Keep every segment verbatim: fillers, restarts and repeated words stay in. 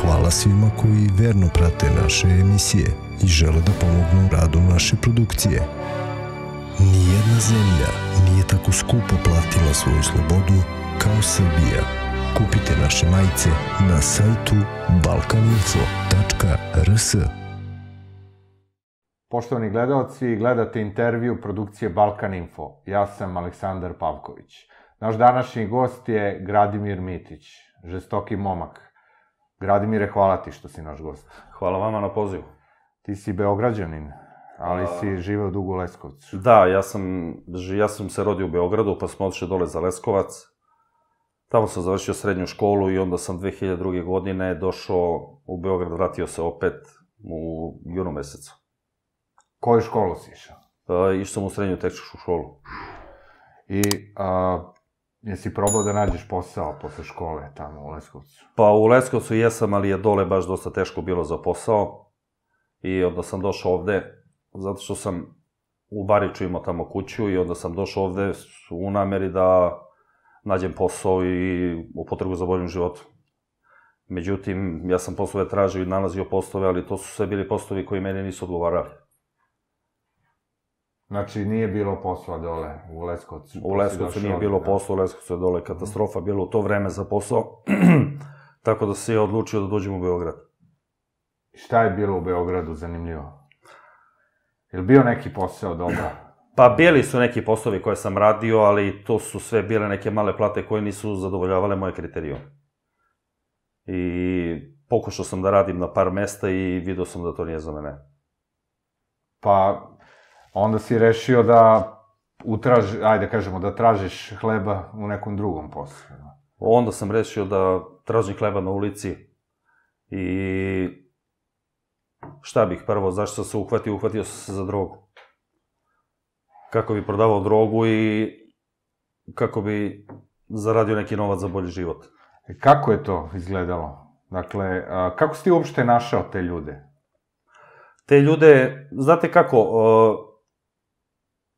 Hvala svima koji verno prate naše emisije i žele da pomognu u radu naše produkcije. Nijedna zemlja nije tako skupo platila svoju slobodu kao Srbija. Kupite naše majice na sajtu balkaninfo tačka r s. Poštovani gledalci, gledate intervju produkcije Balkan Info. Ja sam Aleksandar Pavković. Naš današnji gost je Gradimir Mitić, žestoki momak. Gradimire, hvala ti što si naš gost. Hvala vama na pozivu. Ti si Beograđanin, ali si živeo dugo u Leskovcu. Da, ja sam, ja sam se rodio u Beogradu, pa smo otišli dole za Leskovac. Tamo sam završio srednju školu i onda sam dve hiljade druge. godine došao u Beograd, vratio se opet u junu mesecu. Koju školu si išao? Išao sam u srednju tehničku školu. I jesi probao da nađeš posao posle škole tamo u Leskovcu? Pa u Leskovcu jesam, ali je dole baš dosta teško bilo za posao. I onda sam došao ovde, zato što sam u Bariču imao tamo kuću i onda sam došao ovde u nameri da nađem posao i u potregu za boljim životom. Međutim, ja sam poslove tražio i nalazio poslove, ali to su sve bili poslovi koji meni nisu odgovarali. Znači, nije bilo posla dole u Leskovcu? U Leskovcu nije bilo posla, u Leskovcu je dole katastrofa, bilo u to vreme za posao, tako da se je odlučio da dođem u Beograd. Šta je bilo u Beogradu zanimljivo? Je li bio neki posao dobro? Pa bili su neki poslovi koje sam radio, ali to su sve bile neke male plate koje nisu zadovoljavale moje kriterijume. I pokušao sam da radim na par mesta i vidio sam da to nije za mene. Pa onda si rešio da utraži, ajde kažemo, da tražiš hleba u nekom drugom poslu. Onda sam rešio da tražim hleba na ulici i šta bih prvo, zašto sam se uhvatio, uhvatio sam se za drogu. Kako bi prodavao drogu i kako bi zaradio neki novac za bolji život. Kako je to izgledalo? Dakle, kako si ti uopšte našao te ljude? Te ljude, znate kako,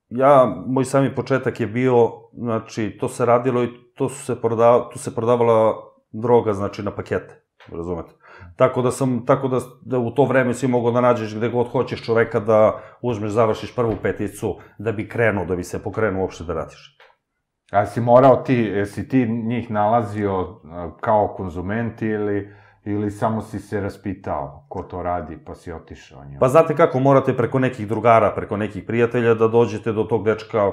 ja, moj sami početak je bio, znači, to se radilo i to su se prodavalo, tu se prodavala droga, znači, na pakete, razumete? Tako da sam, tako da u to vreme si mogao da nađeš gde god hoćeš čoveka da uzmeš, završiš prvu peticu, da bi krenuo, da bi se pokrenuo uopšte da radiš. A si morao ti, jesi ti njih nalazio kao konzument ili, ili samo si se raspitao ko to radi pa si otišao njima? Pa znate kako, morate preko nekih drugara, preko nekih prijatelja da dođete do tog dečka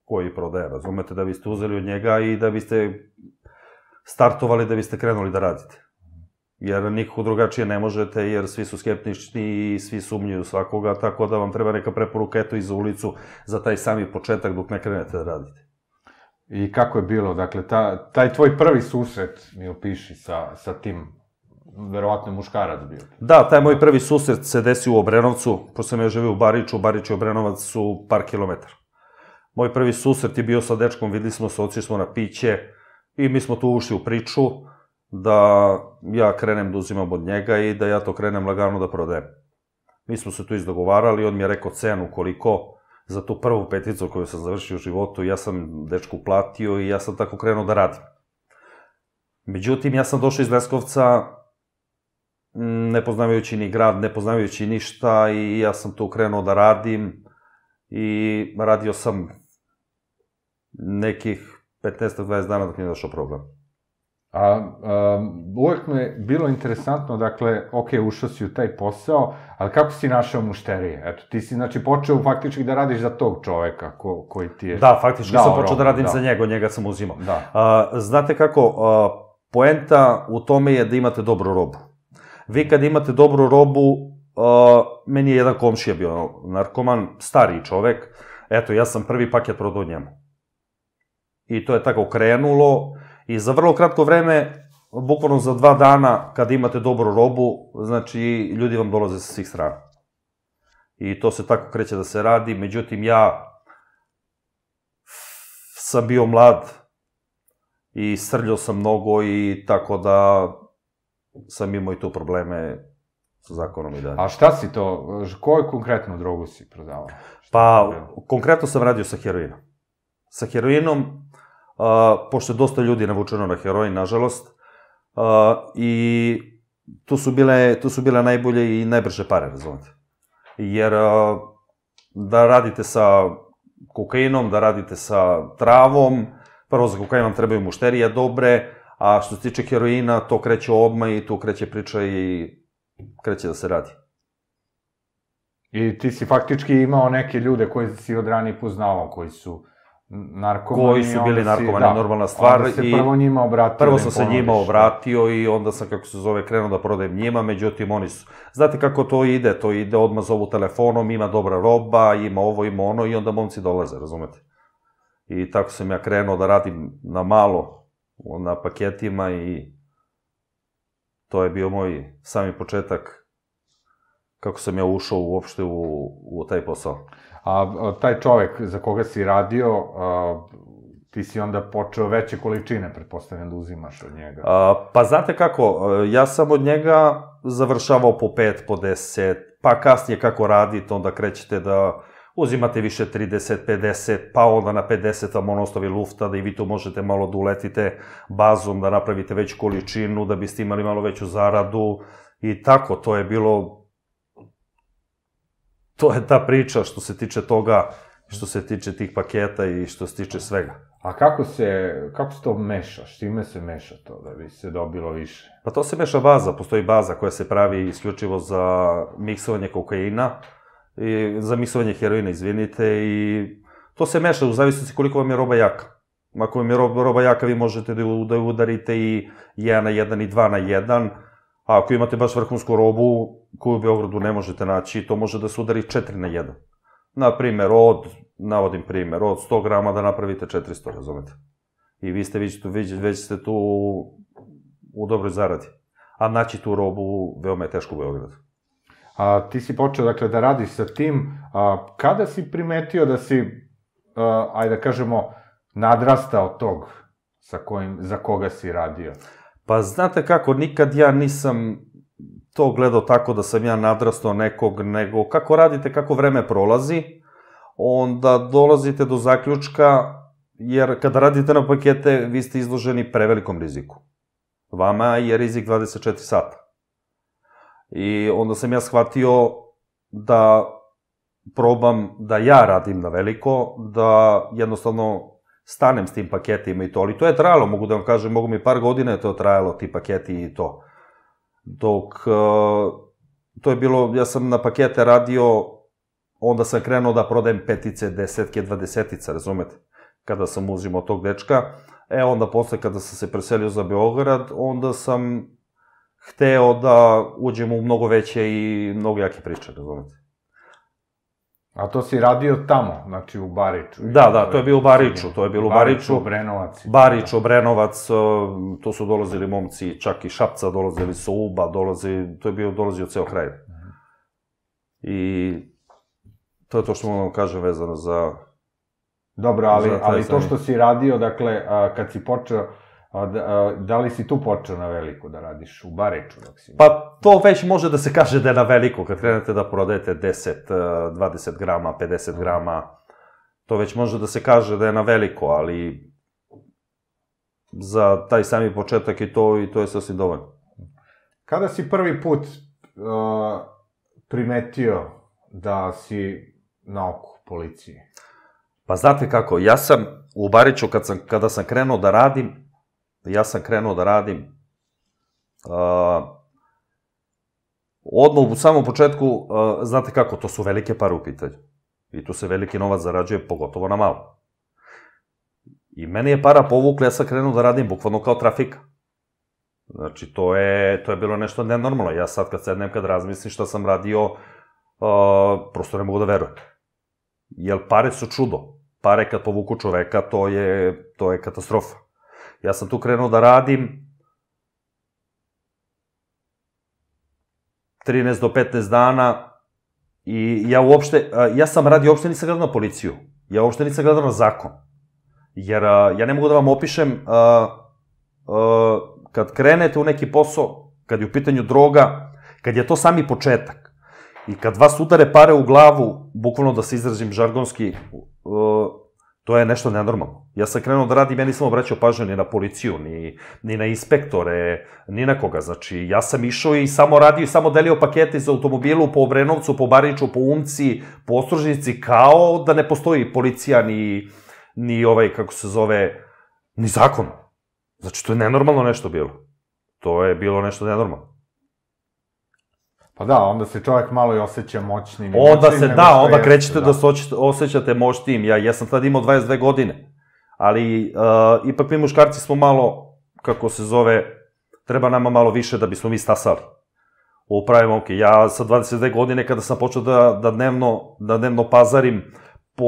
koji prodaje, razumete, da biste uzeli od njega i da biste startovali, da biste krenuli da radite. Jer nikako drugačije ne možete, jer svi su skeptični i svi sumnjuju svakoga, tako da vam treba neka preporuka, eto, i za ulicu, za taj sami početak dok ne krenete da radite. I kako je bilo? Dakle, taj tvoj prvi susret mi opiši sa tim, verovatno je muškarac bio. Da, taj moj prvi susret se desio u Obrenovcu, pošto sam ja živio u Bariču, Barič i Obrenovac su par kilometara. Moj prvi susret je bio sa dečkom, videli smo se, otišli smo na piće i mi smo tu ušli u priču da ja krenem da uzimam od njega i da ja to krenem lagano da prodajem. Mi smo se tu izdogovarali, on mi je rekao cenu koliko za tu prvu peticu koju sam završio u životu, ja sam dečku platio i ja sam tako krenuo da radim. Međutim, ja sam došao iz Leskovca ne poznavajući ni grad, ne poznavajući ništa i ja sam tu krenuo da radim i radio sam nekih petnaest do dvadeset dana dok mi je došao problem. Uvek mi je bilo interesantno, dakle, ok, ušao si u taj posao, ali kako si našao mušterije? Eto, ti si, znači, počeo faktički da radiš za tog čoveka koji ti je... Da, faktički sam počeo da radim za njega, njega sam uzimao. Znate kako, poenta u tome je da imate dobru robu. Vi kad imate dobru robu, meni je jedan komšija bio narkoman, stariji čovek, eto, ja sam prvi paket prodao njemu. I to je tako krenulo. I za vrlo kratko vreme, bukvalno za dva dana, kada imate dobru robu, znači, ljudi vam dolaze sa svih strana. I to se tako kreće da se radi, međutim, ja sam bio mlad i srljao sam mnogo i tako da sam imao i tu probleme sa zakonom i dalje. A šta si to, koju konkretnu drogu si prodavao? Pa, konkretno sam radio sa heroinom. Sa heroinom, pošto je dosta ljudi navučeno na heroin, nažalost, i tu su bile, tu su bile najbolje i najbrže pare, razumete. Jer da radite sa kokainom, da radite sa travom, prvo za kokain vam trebaju mušterije dobre, a što se tiče heroina, to kreće odmah i tu kreće priča i kreće da se radi. I ti si faktički imao neke ljude koji si od ranije poznavao, koji su narkomani. Koji su bili narkomani, normalna stvar. Onda se prvo njima obratio. Prvo sam se njima obratio i onda sam, kako se zove, krenuo da prodajem njima, međutim oni su... Znate kako to ide? To ide odmah zovu telefonom, ima dobra roba, ima ovo, ima ono i onda momci dolaze, razumete? I tako sam ja krenuo da radim na malo, na paketima i to je bio moj sami početak kako sam ja ušao uopšte u taj posao. A taj čovek za koga si radio, ti si onda počeo veće količine, pretpostavljam da uzimaš od njega. Pa znate kako, ja sam od njega završavao po pet, po deset, pa kasnije kako radite, onda krećete da uzimate više trideset, pedeset, pa onda na pedeset vam on ostavi lufta, da i vi tu možete malo da uletite bazom, da napravite veću količinu, da biste imali malo veću zaradu i tako, to je bilo... To je ta priča što se tiče toga, što se tiče tih paketa i što se tiče svega. A kako se, kako se to meša? Štime se meša to da bi se dobilo više? Pa to se meša baza, postoji baza koja se pravi isključivo za miksovanje kokaina, i za miksovanje heroina, izvinite, i to se meša u zavisnosti koliko vam je roba jaka. Ako vam je roba jaka, vi možete da ju udarite i jedan na jedan i dva na jedan, a ako imate baš vrhunsku robu koju u Beogradu ne možete naći, to može da se udari četiri na jedan. Naprimer, od, navodim primer, od sto grama da napravite četiristo, razumete? I vi ste već ste tu u dobroj zaradi. A naći tu robu veoma je teško u Beogradu. A ti si počeo, dakle, da radiš sa tim, kada si primetio da si, ajde da kažemo, nadrastao tog za koga si radio? Pa znate kako, nikad ja nisam to gledao tako da sam ja nadrastao nekog, nego kako radite, kako vreme prolazi, onda dolazite do zaključka, jer kada radite na pakete, vi ste izloženi prevelikom riziku. Vama je rizik dvadeset četiri sata. I onda sam ja shvatio da probam da ja radim na veliko, da jednostavno stanem s tim paketima i to, ali to je trajalo, mogu da vam kažem, mogu mi par godina je to trajalo, ti paketi i to. Dok, to je bilo, ja sam na pakete radio, onda sam krenuo da prodajem petice, desetke, dvadesetice, razumete? Kada sam uzimao tog dečka, e onda posle kada sam se preselio za Beograd, onda sam hteo da uđem u mnogo veće i mnogo jake priče, razumete? A to si radio tamo, znači u Bariču? Da, da, to je bio u Bariču, to je bilo u Bariču. Bariču, Obrenovac. Barič, Obrenovac, to su dolazili momci, čak i Šapca, dolazili su Uba, dolazi, to je bio, dolazio ceo kraj. I to je to što mogu vam kažem vezano za... Dobro, ali to što si radio, dakle, kad si počeo, da li si tu počeo na veliko da radiš, u Bariču? Pa to već može da se kaže da je na veliko, kad krenete da prodajete deset, dvadeset grama, pedeset grama, to već može da se kaže da je na veliko, ali za taj sami početak i to, i to je sasvim dovoljno. Kada si prvi put primetio da si na oku policije? Pa znate kako, ja sam u Bariču, kada sam krenuo da radim, ja sam krenuo da radim, odmah u samom početku, znate kako, to su velike pare u pitanju. I tu se veliki novac zarađuje, pogotovo na malo. I meni je para povukla, ja sam krenuo da radim bukvalno kao trafika. Znači, to je bilo nešto nenormalno. Ja sad kad sednem, kad razmislim šta sam radio, prosto ne mogu da verujem. Jer pare su čudo. Pare kad povuku čoveka, to je katastrofa. Ja sam tu krenuo da radim trinaest do petnaest dana i ja uopšte, ja sam radio, uopšte nisam gledao na policiju. Ja uopšte nisam gledao na zakon. Jer ja ne mogu da vam opišem, kad krenete u neki posao, kad je u pitanju droga, kad je to sami početak i kad vas udare pare u glavu, bukvalno da se izrazim žargonski, To je nešto nenormalno. Ja sam krenuo da radim, ja nisam obraćao pažnju ni na policiju, ni, ni na inspektore, ni na koga. Znači, ja sam išao i samo radio i samo delio pakete iz automobilu po Obrenovcu, po Bariču, po Umci, po Ostružnici, kao da ne postoji policija, ni, ni ovaj, kako se zove, ni zakon. Znači, to je nenormalno nešto bilo. To je bilo nešto nenormalno. Pa da, onda se čovjek malo i osjeća moćnim. Onda se, da, onda krećete da se osjećate moćnim. Ja, ja sam tad imao dvadeset dve godine, ali uh, ipak mi muškarci smo malo, kako se zove, treba nama malo više da bismo mi stasali. Upravimo, ok, ja sa dvadeset dve godine kada sam počeo da, da, dnevno, da dnevno pazarim po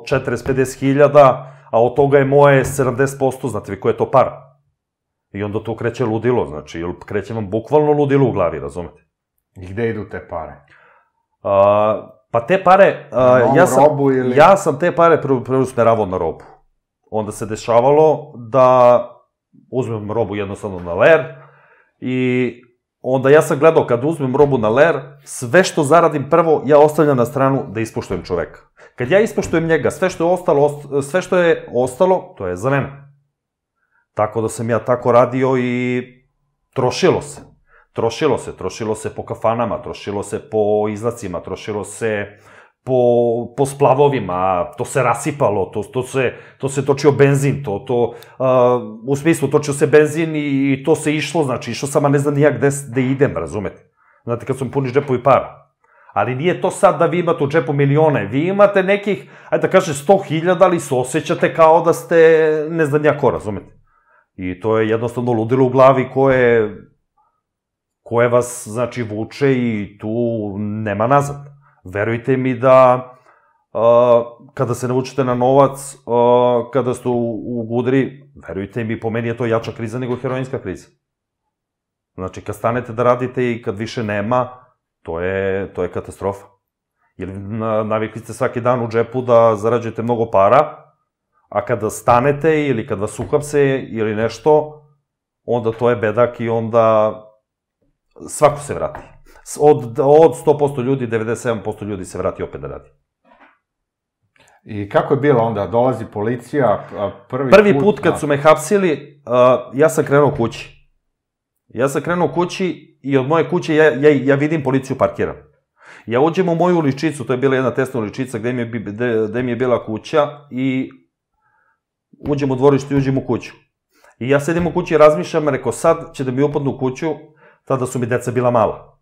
četrdeset do pedeset hiljada, a od toga je moje sedamdeset posto, znate vi ko je to para? I onda to kreće ludilo, znači, kreće vam bukvalno ludilo u glavi, razumete? I gde idu te pare? Uh, pa te pare, uh, ja, sam, robu ili... ja sam te pare preusmeravao na robu. Onda se dešavalo da uzmem robu jednostavno na ler i onda ja sam gledao kad uzmem robu na ler, sve što zaradim prvo ja ostavljam na stranu da ispoštujem čoveka. Kad ja ispoštujem njega, sve što je ostalo, sve što je ostalo, to je za mene. Tako da sam ja tako radio i trošilo se. Trošilo se, trošilo se po kafanama, trošilo se po izlacima, trošilo se po, po splavovima, to se rasipalo, to, to, se, to se točio benzin, to, to, uh, u smislu točio se benzin i, i to se išlo, znači išao sam, a ne znam nijak gde, gde idem, razumete? Znate, kad su mi puni džepovi para. Ali nije to sad da vi imate u džepu milione, vi imate nekih, ajde da kaže, sto hiljada, ali se osjećate kao da ste ne znam nijak ko, razumete? I to je jednostavno ludilo u glavi koje... koje vas, znači, vuče i tu nema nazad. Verujte mi da uh, kada se navučete na novac, uh, kada ste u, u gudri, verujte mi, po meni je to jača kriza nego heroinska kriza. Znači, kad stanete da radite i kad više nema, to je, to je katastrofa. Jer navikli ste svaki dan u džepu da zarađujete mnogo para, a kada stanete ili kad vas uhapse ili nešto, onda to je bedak i onda... svako se vrati. Od, od sto posto ljudi, devedeset sedam posto ljudi se vrati opet da radi. I kako je bilo onda? Dolazi policija, prvi, prvi put... Prvi put kad su me hapsili, uh, ja sam krenuo kući. Ja sam krenuo kući i od moje kuće ja, ja, ja vidim policiju parkiram. Ja uđem u moju uličicu, to je bila jedna tesna uličica gde mi je, gde, gde mi je bila kuća i uđem u dvorište i uđem u kuću. I ja sedim u kući i razmišljam, rekao sad će da mi upadnu u kuću, tada su mi deca bila mala.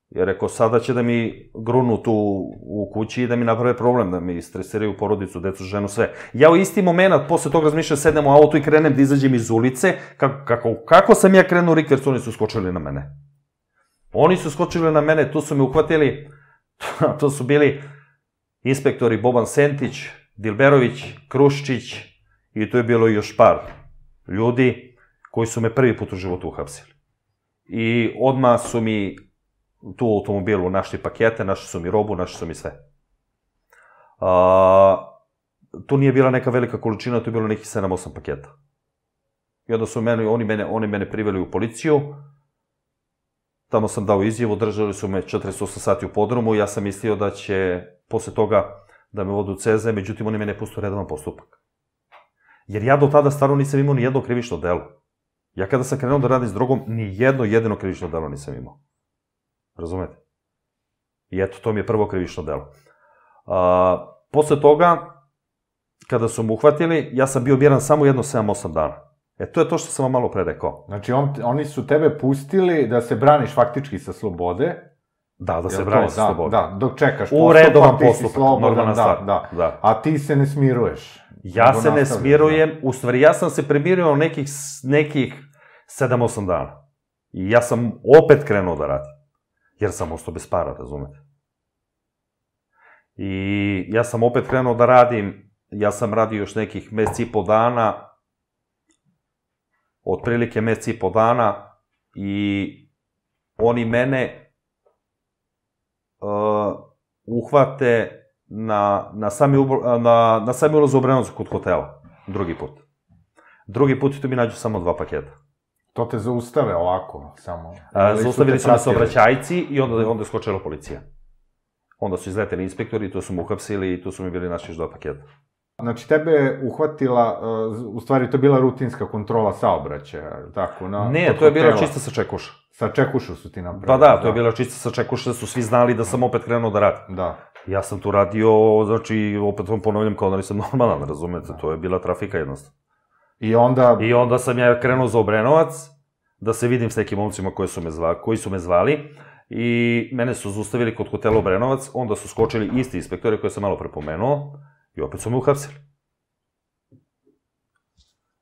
Jer rekao, sada će da mi grunu tu u kući i da mi naprave problem, da mi stresiraju porodicu, decu, ženu, sve. Ja u isti moment, posle toga razmišljam, sednem u auto i krenem da izađem iz ulice, kako, kako, kako sam ja krenuo u rikverc, oni su skočili na mene. Oni su skočili na mene, tu su me uhvatili, to su bili inspektori Boban Sentić, Dilberović, Kruščić i tu je bilo još par ljudi koji su me prvi put u životu uhapsili. I odmah su mi tu u automobilu našli pakete, našli su mi robu, našli su mi sve. A, tu nije bila neka velika količina, tu je bilo nekih sedam osam paketa. I onda su meni, oni, mene, oni mene priveli u policiju, tamo sam dao izjavu, držali su me četrdeset osam sati u podrumu, ja sam mislio da će posle toga da me vodu u C Z, međutim oni mene pustu redovan postupak. Jer ja do tada stvarno nisam imao ni jedno krivično delo. Ja kada sam krenuo da radim s drogom, ni jedno jedino krivično delo nisam imao. Razumete? I eto, to mi je prvo krivično delo. A, posle toga, kada su mu uhvatili, ja sam bio biran samo jedno sedam osam dana. E, to je to što sam vam malo pre rekao. Znači, on, oni su tebe pustili da se braniš faktički sa slobode. Da, da se braniš sa slobode. Da, dok čekaš postupak, u redovan postupak, normalna stvar. Da, da. A ti se ne smiruješ. Ja se ne smirujem, u stvari ja sam se premirio nekih, nekih sedam osam dana. I ja sam opet krenuo da radim. Jer sam ostao bez para, razumete? I ja sam opet krenuo da radim, ja sam radio još nekih mesec i po dana, otprilike mesec i po dana, i oni mene uh, uhvate na, na, sami, na, na sami ulaz u Obrenovac kod hotela, drugi put. Drugi put tu mi nađu samo dva paketa. To te zaustave ovako, samo... A, zaustavili su me saobraćajci i onda, onda je skočila policija. Onda su izleteli inspektori, tu su me uhapsili i tu su mi bili naši još dva paketa. Znači, tebe je uhvatila, u stvari to je bila rutinska kontrola saobraćaja, tako? Ne, to je bila čista sa čekuša. Sa čekušu su ti napravili? Pa da, to je bila čista sa čekuša, su svi znali da sam opet krenuo da radim. Da. Ja sam tu radio, znači, opet vam ponavljam kao da nisam normalan, razumete, to je bila trafika jednostavno. I onda... I onda sam ja krenuo za Obrenovac, da se vidim s nekim momcima koji su me zvali, i mene su zaustavili kod hotela Obrenovac, onda su skočili isti inspektori koje sam malo prepomenuo, i opet su me uhapsili.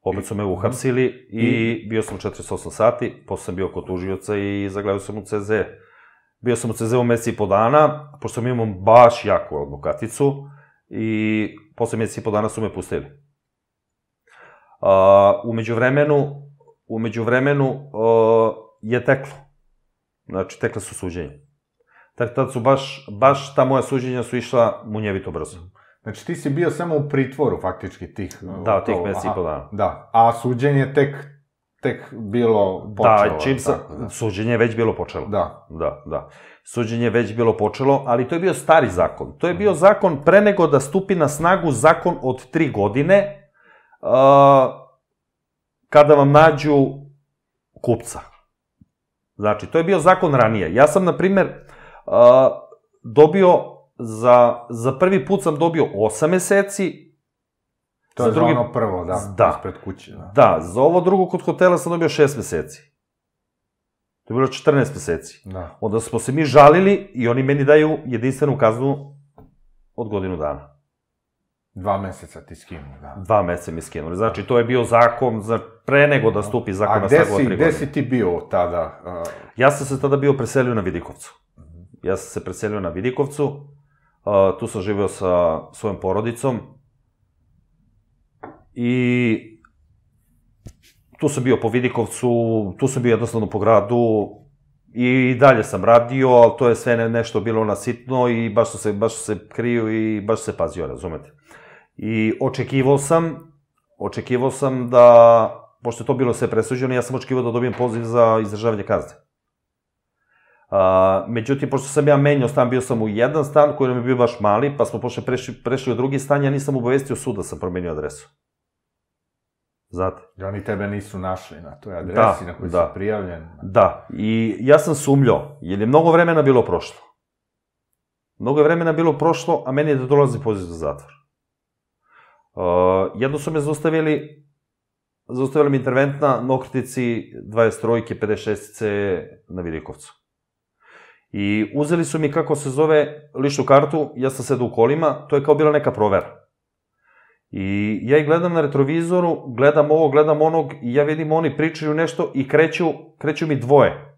Opet su me uhapsili i bio sam četrdeset osam sati, posle sam bio kod tužioca i zagledao sam u C Z. Bio sam u C Z u meseci i po dana, pošto sam imao baš jaku advokaticu, i posle meseci i po dana su me pustili. Umeđu vremenu, umeđu vremenu je teklo. Znači, tekle su suđenje. Tako tad su baš, baš ta moja suđenja su išla munjevito brzo. Znači, ti si bio samo u pritvoru, faktički, tih... Da, tih meseci i po dana. Da, a suđenje tek, tek bilo počelo. Da, čim sam... Suđenje je već bilo počelo. Da. Da, da. Suđenje je već bilo počelo, ali to je bio stari zakon. To je bio zakon pre nego da stupi na snagu zakon od tri godine, kada vam nađu kupca. Znači, to je bio zakon ranije. Ja sam, na primer, dobio, za prvi put sam dobio osam meseci. To je za ono prvo, da, ispred kuće. Da, za ovo drugo kod hotela sam dobio šest meseci. To je bilo četrnaest meseci. Onda smo se mi žalili i oni meni daju jedinstvenu kaznu od godinu dana. Dva meseca ti skinuli, da. Dva meseca mi skinuli. Znači, to je bio zakon pre nego da stupi zakon na snagu od tri godine. A gde si ti bio tada? Ja sam se tada bio preselio na Vidikovcu. Ja sam se preselio na Vidikovcu. Tu sam živeo sa svojom porodicom. I tu sam bio po Vidikovcu, tu sam bio jednostavno po gradu. I dalje sam radio, ali to je sve nešto bilo nasitno i baš su se kriju i baš se pazio, razumete. I očekivao sam, očekivao sam da, pošto je to bilo sve presuđeno, ja sam očekivao da dobijem poziv za izdržavanje kazne. Međutim, pošto sam ja menjao stan, bio sam u jedan stan koji nam je bio baš mali, pa smo pošto prešli u drugi stan, ja nisam obavestio sud da sam promenio adresu. Znate? I oni tebe nisu našli na toj adresi na kojoj si prijavljen. Da, i ja sam sumljao, jer je mnogo vremena bilo prošlo. Mnogo je vremena bilo prošlo, a meni je da dolazi poziv za zatvor. Jedno su me zaustavili, zaustavili mi interventna na okretici dvadeset trojke, pedeset šestice na Vidikovcu. I uzeli su mi, kako se zove, ličnu kartu, ja sam sedao u kolima, to je kao bila neka provera. I ja ih gledam na retrovizoru, gledam ovo, gledam onog, i ja vidim oni pričaju nešto i kreću mi dvoje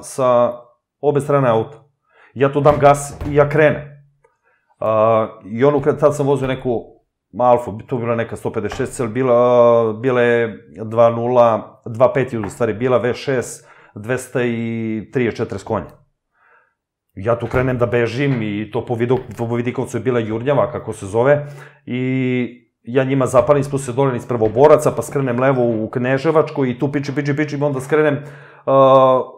sa obe strane auta. Ja tu dam gas i ja krenem. I ono, tad sam vozio neku Alfu, tu bila neka sto pedeset šest, bila je dva nula, dva pet u stvari, bila V šest, dvesta trideset četiri konja. Ja tu krenem da bežim i to po Vidikovcu je bila jurnjava, kako se zove, i ja njima zapalim, spustim se dole iz Prvoboraca, pa skrenem levo u Kneževačku i tu pičim, pičim, pičim, onda skrenem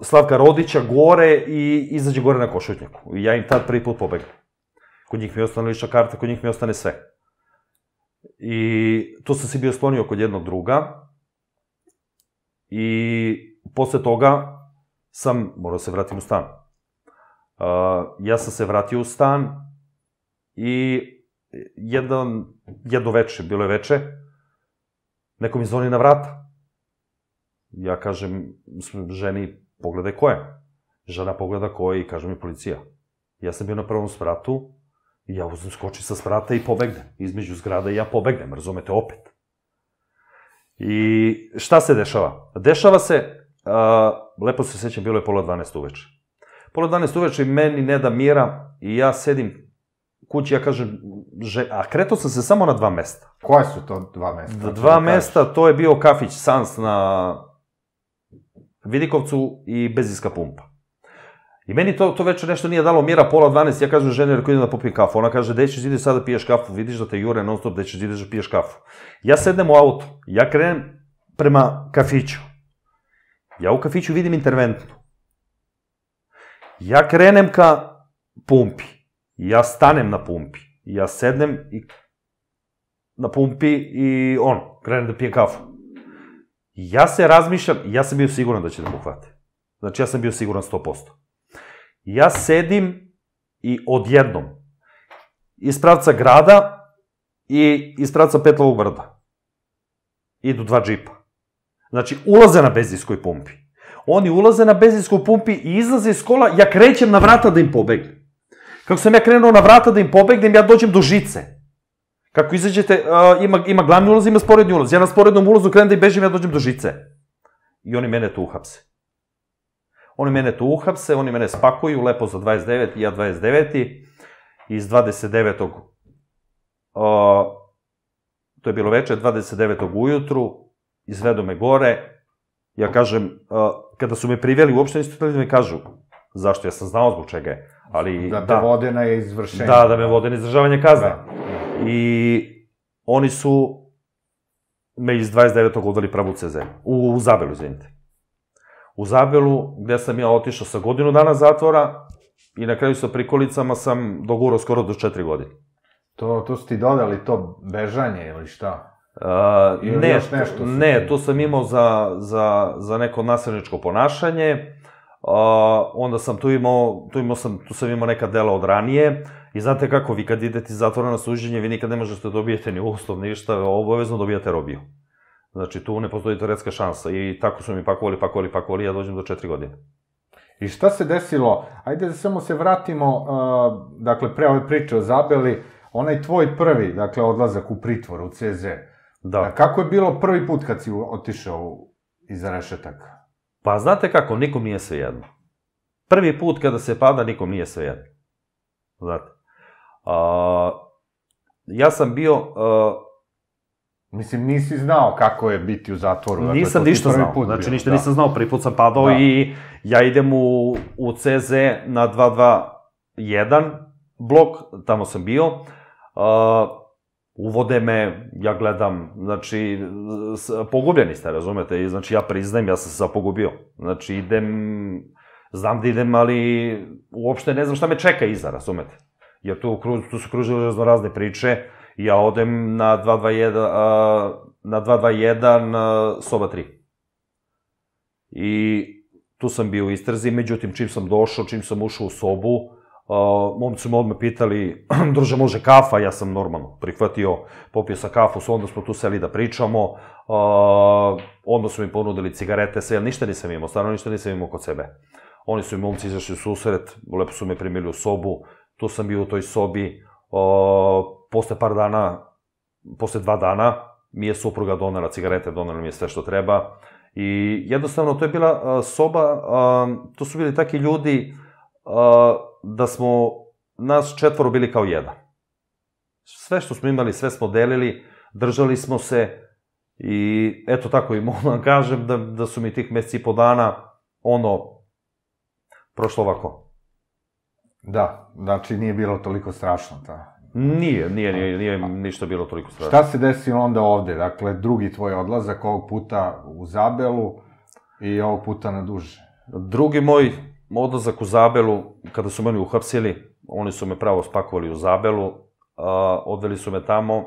Slavka Rodića gore i izađe gore na Košutnjaku. I ja im tad prvi put pobegnem. Kod njih mi ostane lična karta, kod njih mi ostane sve. I tu sam se bio sklonio kod jednog druga i posle toga sam morao se vratiti u stan. Ja sam se vratio u stan i jedno veče, bilo je veče, neko mi zvoni na vrata. Ja kažem ženi, pogledaj ko je. Žena pogleda ko je i kaže mi policija. Ja sam bio na prvom spratu i ja uzem skočim sa sprata i pobegnem. Između zgrada i ja pobegnem, razumete, opet. I šta se dešava? Dešava se, lepo se sećam, bilo je pola dvanaest uveče. Pola dvanaest uveče meni ne da mira i ja sedim kući, ja kažem, a kretao sam se samo na dva mesta. Koje su to dva mesta? Dva mesta, to je bio kafić Sans na Vidikovcu i benzinska pumpa. I meni to večer nešto nije dalo mira, pola dvanaest, ja kažem ženi, rekao idem da popijem kafu. Ona kaže, gde ćeš ideš sada da piješ kafu, vidiš da te jure non stop, gde ćeš ideš da piješ kafu. Ja sednem u auto, ja krenem prema kafiću. Ja u kafiću vidim interventnu. Ja krenem ka pumpi. Ja stanem na pumpi. Ja sednem i na pumpi i on, krenem da pijem kafu. Ja se razmišljam, ja sam bio siguran da će da me uhvate. Znači, ja sam bio siguran sto posto. Ja sedim i odjednom, iz pravca grada i iz pravca Petlovog brda, idu dva džipa. Znači, ulaze na benzinskoj pumpi. Oni ulaze na benzinskoj pumpi i izlaze iz kola, ja krećem na vrata da im pobegnem. Kako sam ja krenuo na vrata da im pobegnem, ja dođem do žice. Kako izađete, ima glavni ulaz, ima sporedni ulaz. Ja na sporednom ulazu krenem da im bežim, ja dođem do žice. I oni mene tu uhapse. Oni mene tu uhapse, oni mene spakuju, lepo za dvadeset deveti, ja dvadeset deveti. Iz dvadeset devetog to je bilo večer, dvadeset devetog ujutru, izvedu me gore. Ja kažem, kada su me priveli, uopšte nisu htjeli da mi kažu zašto, ja sam znao zbog čega je. Da te vode na izvršenje. Da, da me vode na izdržavanje kazne. I oni su me iz dvadeset devetog odveli pravo u C Z, u Zabelu, izvinite. U Zabelu, gde sam ja otišao sa godinu dana zatvora i na kraju sa prikolicama sam dogurao skoro do četiri godine. To su ti dodali to bežanje ili šta? Ne, ne, to sam imao za neko nasilničko ponašanje. Onda sam tu imao, tu sam imao neka dela od ranije i znate kako, vi kad idete iz zatvora na suđenje, vi nikad ne možete dobijete ni uslov, ništa, obavezno dobijate robiju. Znači, tu ne postoji teoretska šansa i tako su mi pakovali, pakovali, pakovali, ja dođem do četiri godine. I šta se desilo? Ajde da samo se vratimo, dakle, pre ove priče o Zabeli, onaj tvoj prvi, dakle, odlazak u pritvor, u C Z. Da. Kako je bilo prvi put kad si otišao iza rešetaka? Pa, znate kako, nikom nije svejedno. Prvi put kada se pada, nikom nije svejedno. Znate. Ja sam bio... Mislim, nisi znao kako je biti u zatvoru. Nisam ništa znao, znači ništa nisam znao, prvi put sam padao i ja idem u C Z na dvesta dvadeset jedan blok, tamo sam bio, uvode me, ja gledam, znači, pogubljeni ste, razumete, znači ja priznajem, ja sam se sad pogubio, znači idem, znam da idem, ali uopšte ne znam šta me čeka iza, razumete, jer tu su kružile razne priče. Ja odem na dvesta dvadeset jedan soba tri. I tu sam bio u istrazi, međutim, čim sam došao, čim sam ušao u sobu, momci su me odmah pitali, druže, može kafa? Ja sam normalno prihvatio, popio sam kafu, onda smo tu seli da pričamo, onda su mi ponudili cigarete, sve, ništa nisam imao, stvarno ništa nisam imao kod sebe. Oni su mi momci izašli u susret, lepo su me primili u sobu, tu sam bio u toj sobi, posle par dana, posle dva dana, mi je supruga donela cigarete, donela mi je sve što treba i jednostavno to je bila soba, to su bili taki ljudi da smo nas četvoro bili kao jedan. Sve što smo imali, sve smo delili, držali smo se i eto tako i mogu vam kažem da su mi tih meseci i po dana ono prošlo ovako. Da, znači nije bilo toliko strašno, ta. Nije, nije, nije ništa bilo toliko strašno. Šta se desilo onda ovde? Dakle, drugi tvoj odlazak, ovog puta u Zabelu i ovog puta na duže. Drugi moj odlazak u Zabelu, kada su meni uhapsili, oni su me pravo spakovali u Zabelu, odveli su me tamo,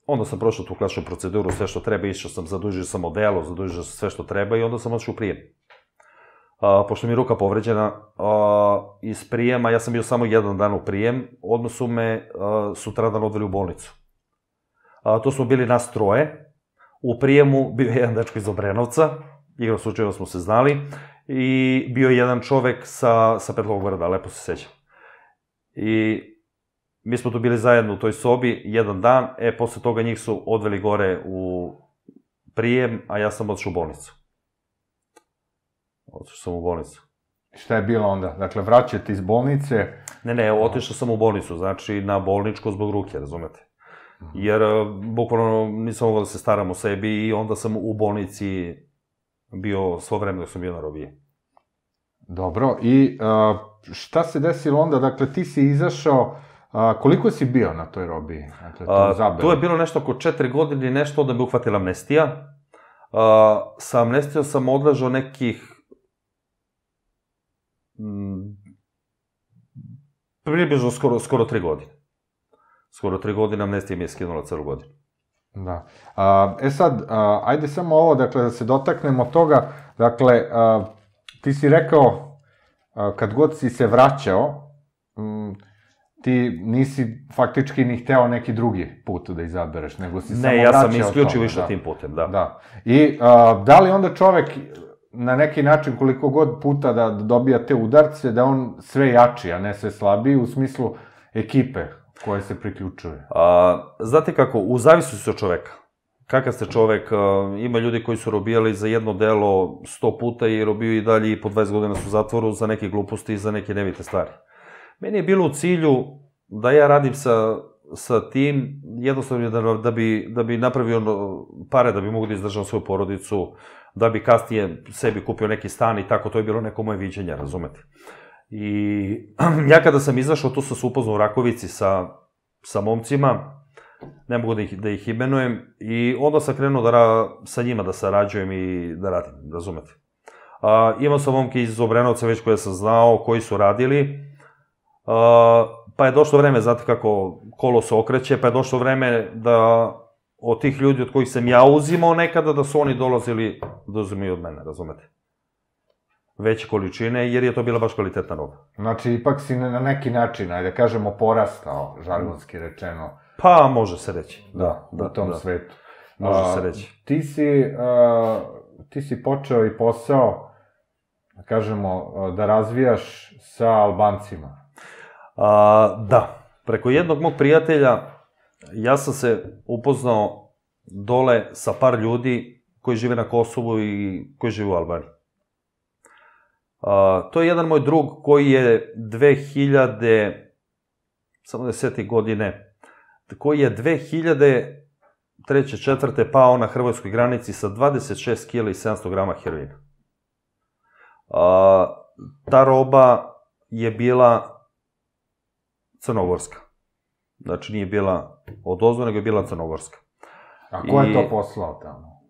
onda sam prošao tu klasičnu proceduru, sve što treba, išao sam, zadužio sam odelo, zadužio sam sve što treba i onda sam odšao u prijem. Pošto mi je ruka povređena, iz prijema, ja sam bio samo jedan dan u prijem, odmah su me sutradan odveli u bolnicu. To smo bili nas troje, u prijemu bio je jedan dečko iz Obrenovca, igra slučajeva smo se znali, i bio je jedan čovek sa Petlovog brda, lepo se sećam. I mi smo tu bili zajedno u toj sobi, jedan dan, e, posle toga njih su odveli gore u prijem, a ja sam odšao u bolnicu. Otišao sam u bolnicu. Šta je bilo onda? Dakle, vraćate iz bolnice? Ne, ne, otišao sam u bolnicu, znači na bolničko zbog ruke, razumete? Jer, bukvalno, nisam mogao da se staram o sebi i onda sam u bolnici bio svo vreme dok sam bio na robiji. Dobro, i šta se desilo onda? Dakle, ti si izašao, koliko si bio na toj robiji? Tu je bilo nešto oko četiri godine, nešto da me uhvatila amnestija. Sa amnestijom sam odležao nekih približno skoro tri godine. skoro tri godine, amnestija mi je skinula celu godinu. Da. A, e sad, a, ajde samo ovo, dakle, da se dotaknemo toga, dakle, a, ti si rekao, a, kad god si se vraćao, m, ti nisi faktički ni hteo neki drugi put da izabereš, nego si ne, samo ja vraćao sam isključivo tome, išao da. tim putem, da. Da. I a, da li onda čovek na neki način koliko god puta da dobija te udarce, da on sve jači, a ne sve slabiji, u smislu ekipe koje se priključuje? A, znate kako, u zavisnosti od čoveka. Kakav ste čovek, a, ima ljudi koji su robijali za jedno delo sto puta i robiju i dalje i po dvadeset godina su u zatvoru za neke gluposti i za neke nevite stvari. Meni je bilo u cilju da ja radim sa, sa tim, jednostavno da, da, bi, da bi napravio pare, da bi mogu da izdržam svoju porodicu, da bi kasnije sebi kupio neki stan i tako, to je bilo neko moje viđenje, razumete. I ja kada sam izašao, tu sam se upoznao u Rakovici sa, sa momcima, ne mogu da ih, da ih imenujem, i onda sam krenuo da ra, sa njima da sarađujem i da radim, razumete. A, imao sam momke iz Obrenovca već koje sam znao, koji su radili, a, pa je došlo vreme, znate kako kolo se okreće, pa je došlo vreme da od tih ljudi od kojih sam ja uzimao nekada, da su oni dolazili da uzimaju od mene, razumete. Veće količine, jer je to bila baš kvalitetna roba. Znači, ipak si na neki način, ajde kažemo, porastao, žargonski rečeno. Pa, može se reći. Da, u tom svetu. Može se reći. Ti si, ti si počeo i posao, da kažemo, da razvijaš sa Albancima. Da. Preko jednog mog prijatelja, ja sam se upoznao dole sa par ljudi koji žive na Kosovu i koji žive u Albaniji. Uh, to je jedan moj drug koji je dve hiljade, samo desete godine, koji je dve hiljade treće, četvrte pao na hrvatskoj granici sa dvadeset šest kila i sedamsto grama heroina. Uh, ta roba je bila crnogorska. Znači nije bila odozvo, nego je bila crnogorska. A ko je to poslao tamo?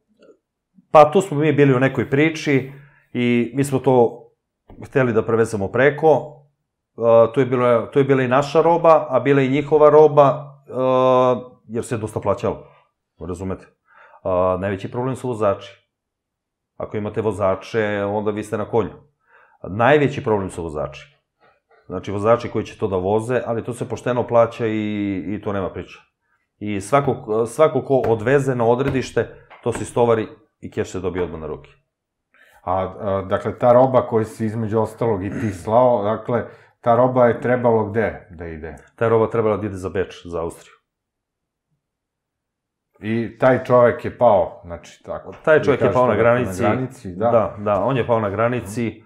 Pa tu smo mi bili u nekoj priči i mi smo to hteli da prevezemo preko, uh, to, je bilo, to je bila i naša roba, a bila i njihova roba, uh, jer se je dosta plaćalo, razumete. Uh, najveći problem su vozači. Ako imate vozače, onda vi ste na konju. Najveći problem su vozači. Znači, vozači koji će to da voze, ali to se pošteno plaća i, i to nema priča. I svako, svako ko odveze na odredište, to se istovari i keš se dobije odmah na ruke. A, a, dakle, ta roba koju si između ostalog i ti slao, dakle, ta roba je trebalo gde da ide? Ta roba trebala da ide za Beč, za Austriju. I taj čovek je pao, znači, tako. Taj čovek je pao na granici. Na granici, da. Da, da, on je pao na granici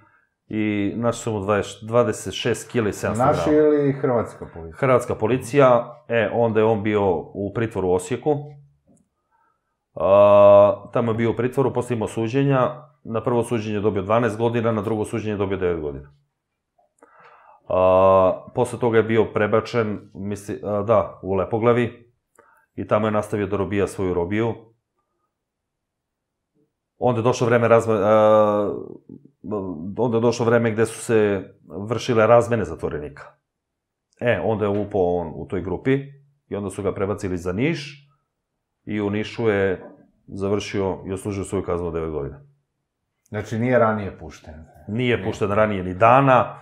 i našli su mu dvadeset šest kila i sedamsto grama. Naši ili hrvatska policija? Hrvatska policija, e, onda je on bio u pritvoru u Osijeku. A, tamo je bio u pritvoru, posle imao suđenja. Na prvo suđenje je dobio dvanaest godina, na drugo suđenje je dobio devet godina. A, posle toga je bio prebačen, misli, a, da, u Lepoglavi i tamo je nastavio da robija svoju robiju. Onda je došlo vreme razme, a, onda je došlo vreme gde su se vršile razmene zatvorenika. E, onda je upao on u toj grupi i onda su ga prebacili za Niš i u Nišu je završio i oslužio svoju kaznu od devet godina. Znači, nije ranije pušten? Nije pušten ranije ni dana,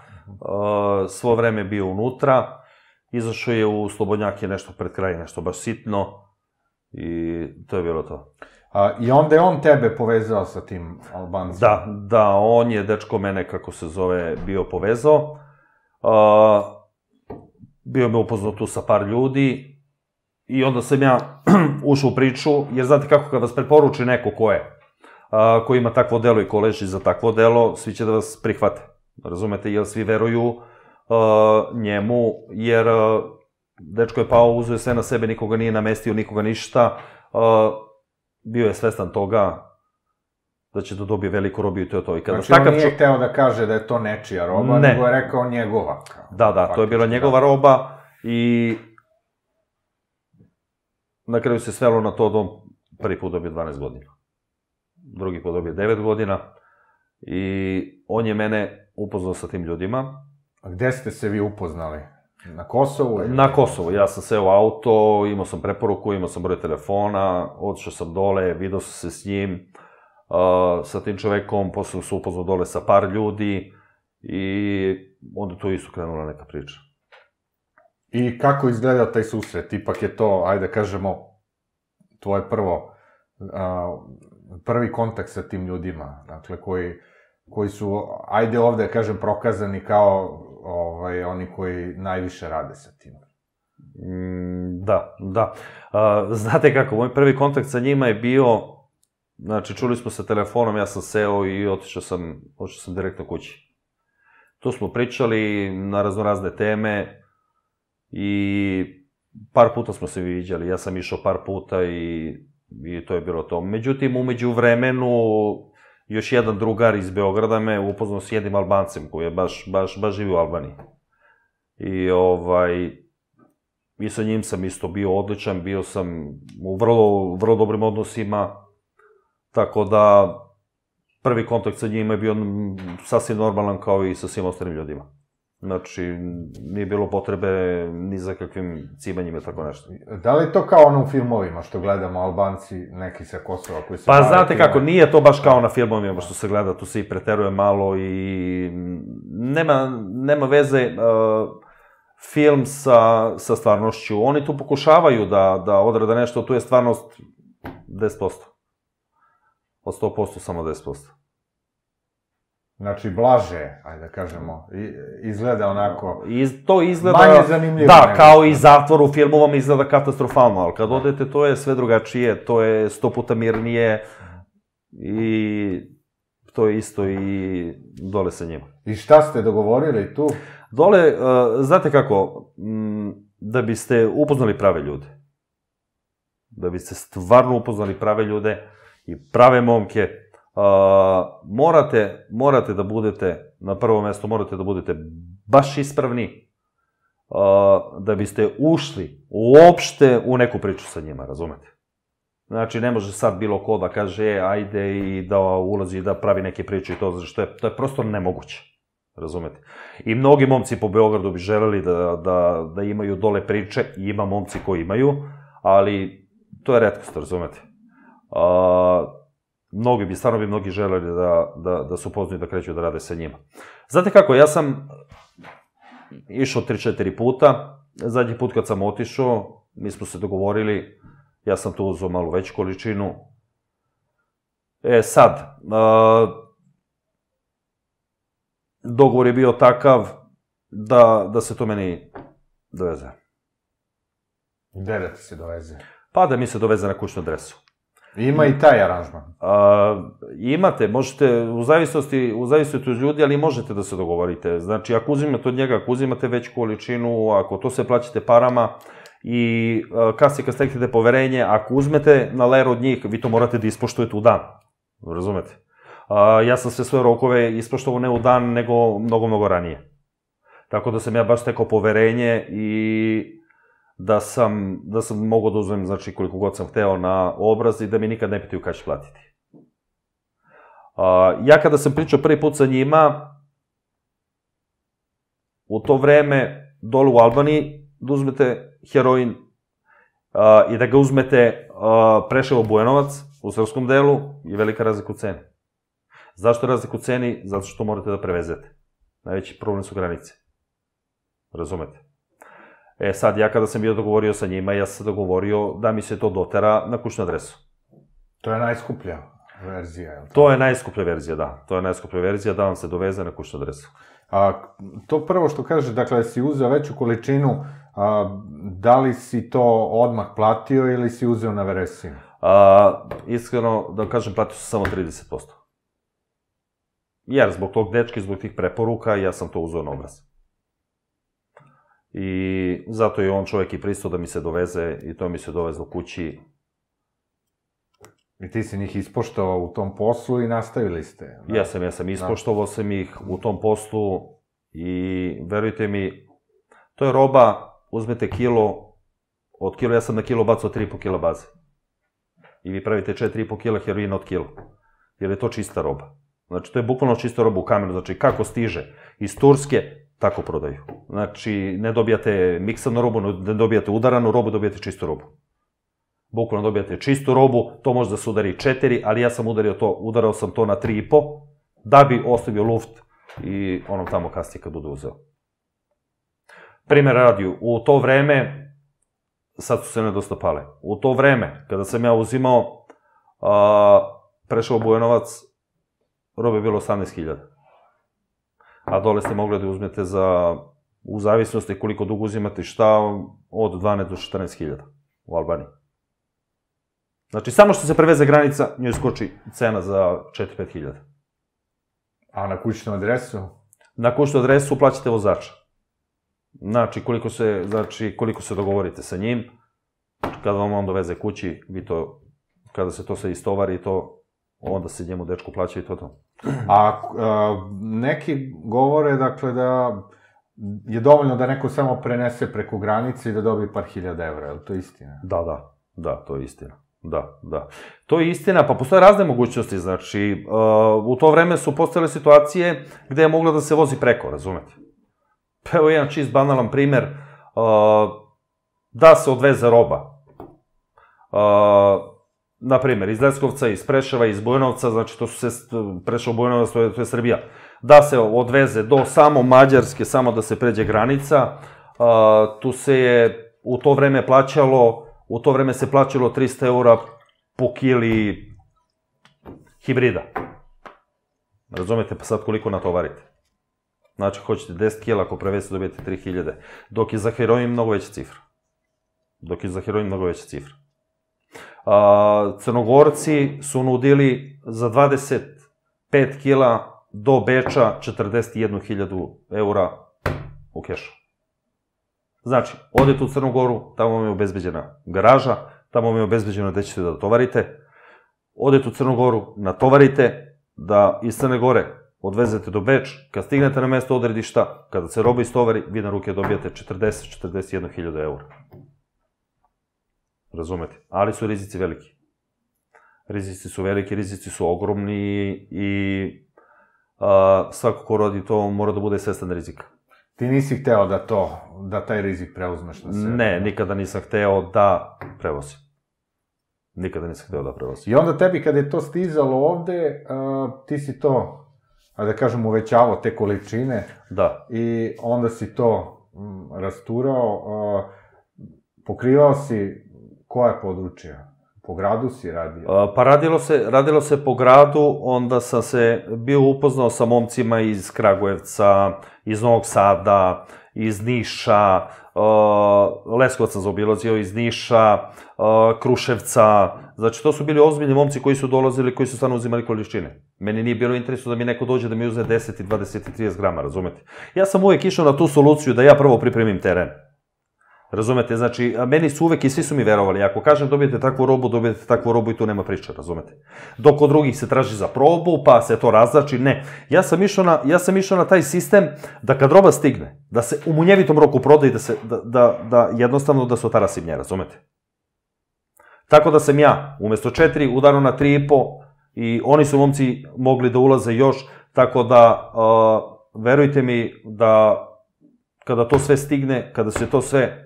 svo vreme je bio unutra, izašao je u Slobodnjake nešto pred kraj, nešto baš sitno i to je bilo to. A, I onda je on tebe povezao sa tim Albancima? Da, da, on je, dečko mene, kako se zove, bio povezao. A, bio me upoznao tu sa par ljudi i onda sam ja ušao u priču, jer znate kako, kad vas preporuči neko ko je, a, ko ima takvo delo i ko leži za takvo delo, svi će da vas prihvate. Razumete, jer svi veruju a, njemu, jer a, dečko je pao, uzeo sve na sebe, nikoga nije namestio, nikoga ništa, a, bio je svestan toga da će da dobije veliku robiju i to je to. I kada znači, on nije hteo da kaže da je to nečija roba, nego je rekao njegova. Da, da, to je bila njegova roba i na kraju se svelo na to da on prvi put dobije dvanaest godina. Drugi put dobije devet godina i on je mene upoznao sa tim ljudima. A gde ste se vi upoznali? Na Kosovu? Na Kosovu. Ja sam seo u auto, imao sam preporuku, imao sam broj telefona, otišao sam dole, vidio sam se s njim, sa tim čovekom, posle sam se upoznao dole sa par ljudi i onda tu isto krenula neka priča. I kako izgledao taj susret? Ipak je to, ajde da kažemo, tvoje prvo, prvi kontakt sa tim ljudima, dakle, koji, koji su, ajde ovde da kažem, prokazani kao ovaj, oni koji najviše rade sa tim. Mm, da, da. A, znate kako, moj prvi kontakt sa njima je bio, znači, čuli smo se telefonom, ja sam seo i otišao sam, otišao sam direktno kući. Tu smo pričali na raznorazne teme i par puta smo se viđali, ja sam išao par puta i, i to je bilo to. Međutim, umeđu vremenu, još jedan drugar iz Beograda me upoznao s jednim Albancem koji je baš, baš, baš živi u Albaniji. I ovaj, i sa njim sam isto bio odličan, bio sam u vrlo, vrlo dobrim odnosima, tako da prvi kontakt sa njima je bio sasvim normalan kao i sa svim ostalim ljudima. Znači, nije bilo potrebe ni za kakvim cibanjima i tako nešto. Da li je to kao ono u filmovima što gledamo Albanci, neki sa Kosova koji se... Pa znate kako, nije to baš kao na filmovima što se gleda, tu se i preteruje malo i nema, nema veze uh, film sa, sa stvarnošću. Oni tu pokušavaju da, da odrade nešto, tu je stvarnost deset posto. Od sto posto samo deset posto. Znači, blaže, ajde da kažemo, izgleda onako... Iz, to izgleda... Manje zanimljivo. Da, kao i zatvor u filmu vam izgleda katastrofalno, ali kad odete, to je sve drugačije, to je sto puta mirnije i to je isto i dole sa njima. I šta ste dogovorili tu? Dole, uh, znate kako, m, da biste upoznali prave ljude, da biste stvarno upoznali prave ljude i prave momke, Uh, morate, morate da budete, na prvo mesto morate da budete baš ispravni, uh, da biste ušli uopšte u neku priču sa njima, razumete? Znači, ne može sad bilo ko da kaže, e, ajde i da ulazi i da pravi neke priče i to, što je, to je prosto nemoguće, razumete? I mnogi momci po Beogradu bi želeli da, da, da imaju dole priče, i ima momci koji imaju, ali to je retkost, razumete? Uh, Mnogi bi, stvarno bi mnogi želeli da, da, da se upoznaju i da kreću da rade sa njima. Znate kako, ja sam išao tri četiri puta, zadnji put kad sam otišao, mi smo se dogovorili, ja sam tu uzeo malo veću količinu. E sad, uh, dogovor je bio takav da, da se to meni doveze. Gde da ti se doveze? Pa da mi se doveze na kućnu adresu. Ima i taj aranžman. Uh, imate, možete, u zavisnosti, u zavisnosti od ljudi, ali možete da se dogovorite. Znači, ako uzimate od njega, ako uzimate veću količinu, ako to sve plaćate parama i uh, kasnije kad steknete poverenje, ako uzmete na ler od njih, vi to morate da ispoštujete u dan. Razumete? Uh, ja sam sve svoje rokove ispoštovao ne u dan, nego mnogo, mnogo ranije. Tako da sam ja baš stekao poverenje i da sam, da sam mogao da uzmem, znači, koliko god sam hteo na obraz i da mi nikad ne pitaju kada ću platiti. Uh, ja kada sam pričao prvi put sa njima, u to vreme, dole u Albaniji, da uzmete heroin uh, i da ga uzmete uh, Preševo Bujanovac, u srpskom delu, je velika razlika u ceni. Zašto je razlika u ceni? Zato što morate da prevezete. Najveći problem su granice. Razumete? E sad, ja kada sam bio dogovorio sa njima, ja sam se dogovorio da mi se to dotera na kućnu adresu. To je najskuplja verzija, je li to? To je najskuplja verzija, da. To je najskuplja verzija da vam se doveze na kućnu adresu. A, to prvo što kažeš, dakle, si uzeo veću količinu, a, da li si to odmah platio ili si uzeo na veresiju? A, iskreno, da kažem, platio sam samo trideset posto. Jer zbog tog dečka, zbog tih preporuka, ja sam to uzeo na obraz. I zato je on čovjek i pristao da mi se doveze i to mi se dovezlo kući. I ti si njih ispoštovao u tom poslu i nastavili ste? Da? Ja sam, ja sam ispoštovao da. sam ih u tom poslu i verujte mi, to je roba, uzmete kilo, od kilo, ja sam na kilo bacao tri i po kila baze. I vi pravite četiri i po kila heroina od kilo. Jer je to čista roba. Znači, to je bukvalno čista roba u kamenu. Znači, kako stiže iz Turske, tako prodaju. Znači, ne dobijate miksanu robu, ne dobijate udaranu robu, dobijate čistu robu. Bukvalno dobijate čistu robu, to može da se udari četiri, ali ja sam udario to, udarao sam to na tri i po, da bi ostavio luft i onom tamo kasnije kad bude uzeo. Primjer radi, u to vreme, sad su se ne dosta pale, u to vreme, kada sam ja uzimao, prešao Bujanovac, robe je bilo osamnaest hiljada. A dole ste mogli da uzmete za, u zavisnosti koliko dugo uzimate šta, od dvanaest do četrnaest hiljada u Albaniji. Znači, samo što se preveze granica, njoj skoči cena za četiri do pet hiljada. A na kućnu adresu? Na kućnu adresu plaćate vozača. Znači, koliko se, znači, koliko se dogovorite sa njim, kada vam on doveze kući, vi to, kada se to sve istovari, to, onda se njemu dečku plaća i to to. A neki govore, dakle, da je dovoljno da neko samo prenese preko granice i da dobije par hiljada evra, je li to istina? Da, da, da, to je istina. Da, da. To je istina, pa postoje razne mogućnosti, znači, u to vreme su postojale situacije gde je moglo da se vozi preko, razumete? Pa evo jedan čist banalan primer, da se odveze roba. Naprimer, iz Leskovca, iz Preševa, iz Bujanovca, znači to su se, Preševo, Bujanovac, to je Srbija, da se odveze do samo Mađarske, samo da se pređe granica, tu se je u to vreme plaćalo, u to vreme se plaćalo trista eura po kili hibrida. Razumete, pa sad koliko natovarite? Znači, hoćete deset kila, ako prevezete dobijete tri hiljade, dok je za heroin mnogo veća cifra. Dok je za heroin mnogo veća cifra. Crnogorci su nudili za dvadeset pet kila do Beča četrdeset jednu hiljadu eura u kešu. Znači, odete u Crnu Goru, tamo vam je obezbeđena garaža, tamo vam je obezbeđeno gde ćete da tovarite, odete u Crnu Goru, natovarite, da iz Crne Gore odvezete do Beč, kad stignete na mesto odredišta, kada se roba istovari, vi na ruke dobijate četrdeset do četrdeset jednu hiljadu eura. Razumete? Ali su rizici veliki. Rizici su veliki, rizici su ogromni i svako ko radi to mora da bude svestan rizika. Ti nisi hteo da to, da taj rizik preuzmeš na sebe? Ne, nikada nisam hteo da prevozim. Nikada nisam hteo da prevozim. I onda tebi kada je to stizalo ovde, ti si to, da kažem, uvećavao te količine. Da. I onda si to rasturao, pokrivao si koja područja? Po gradu si radio? Pa radilo se, radilo se po gradu, onda sam se bio upoznao sa momcima iz Kragujevca, iz Novog Sada, iz Niša, Leskovac sam zaobilazio, iz Niša, Kruševca, znači to su bili ozbiljni momci koji su dolazili, koji su stvarno uzimali količine. Meni nije bilo interesu da mi neko dođe da mi uzme deset, dvadeset i trideset grama, razumete? Ja sam uvek išao na tu soluciju da ja prvo pripremim teren. Razumete, znači, meni su uvek i svi su mi verovali, ako kažem dobijete takvu robu, dobijete takvu robu i tu nema priče, razumete. Dok od drugih se traži za probu, pa se to razlači, ne. Ja sam išao na, ja sam išao na taj sistem da kad roba stigne, da se u munjevitom roku proda i da se, da, da, da jednostavno da se otara simnje, razumete. Tako da sam ja, umesto četiri, udarao na tri i po i oni su momci mogli da ulaze još, tako da, verujte mi da kada to sve stigne, kada se to sve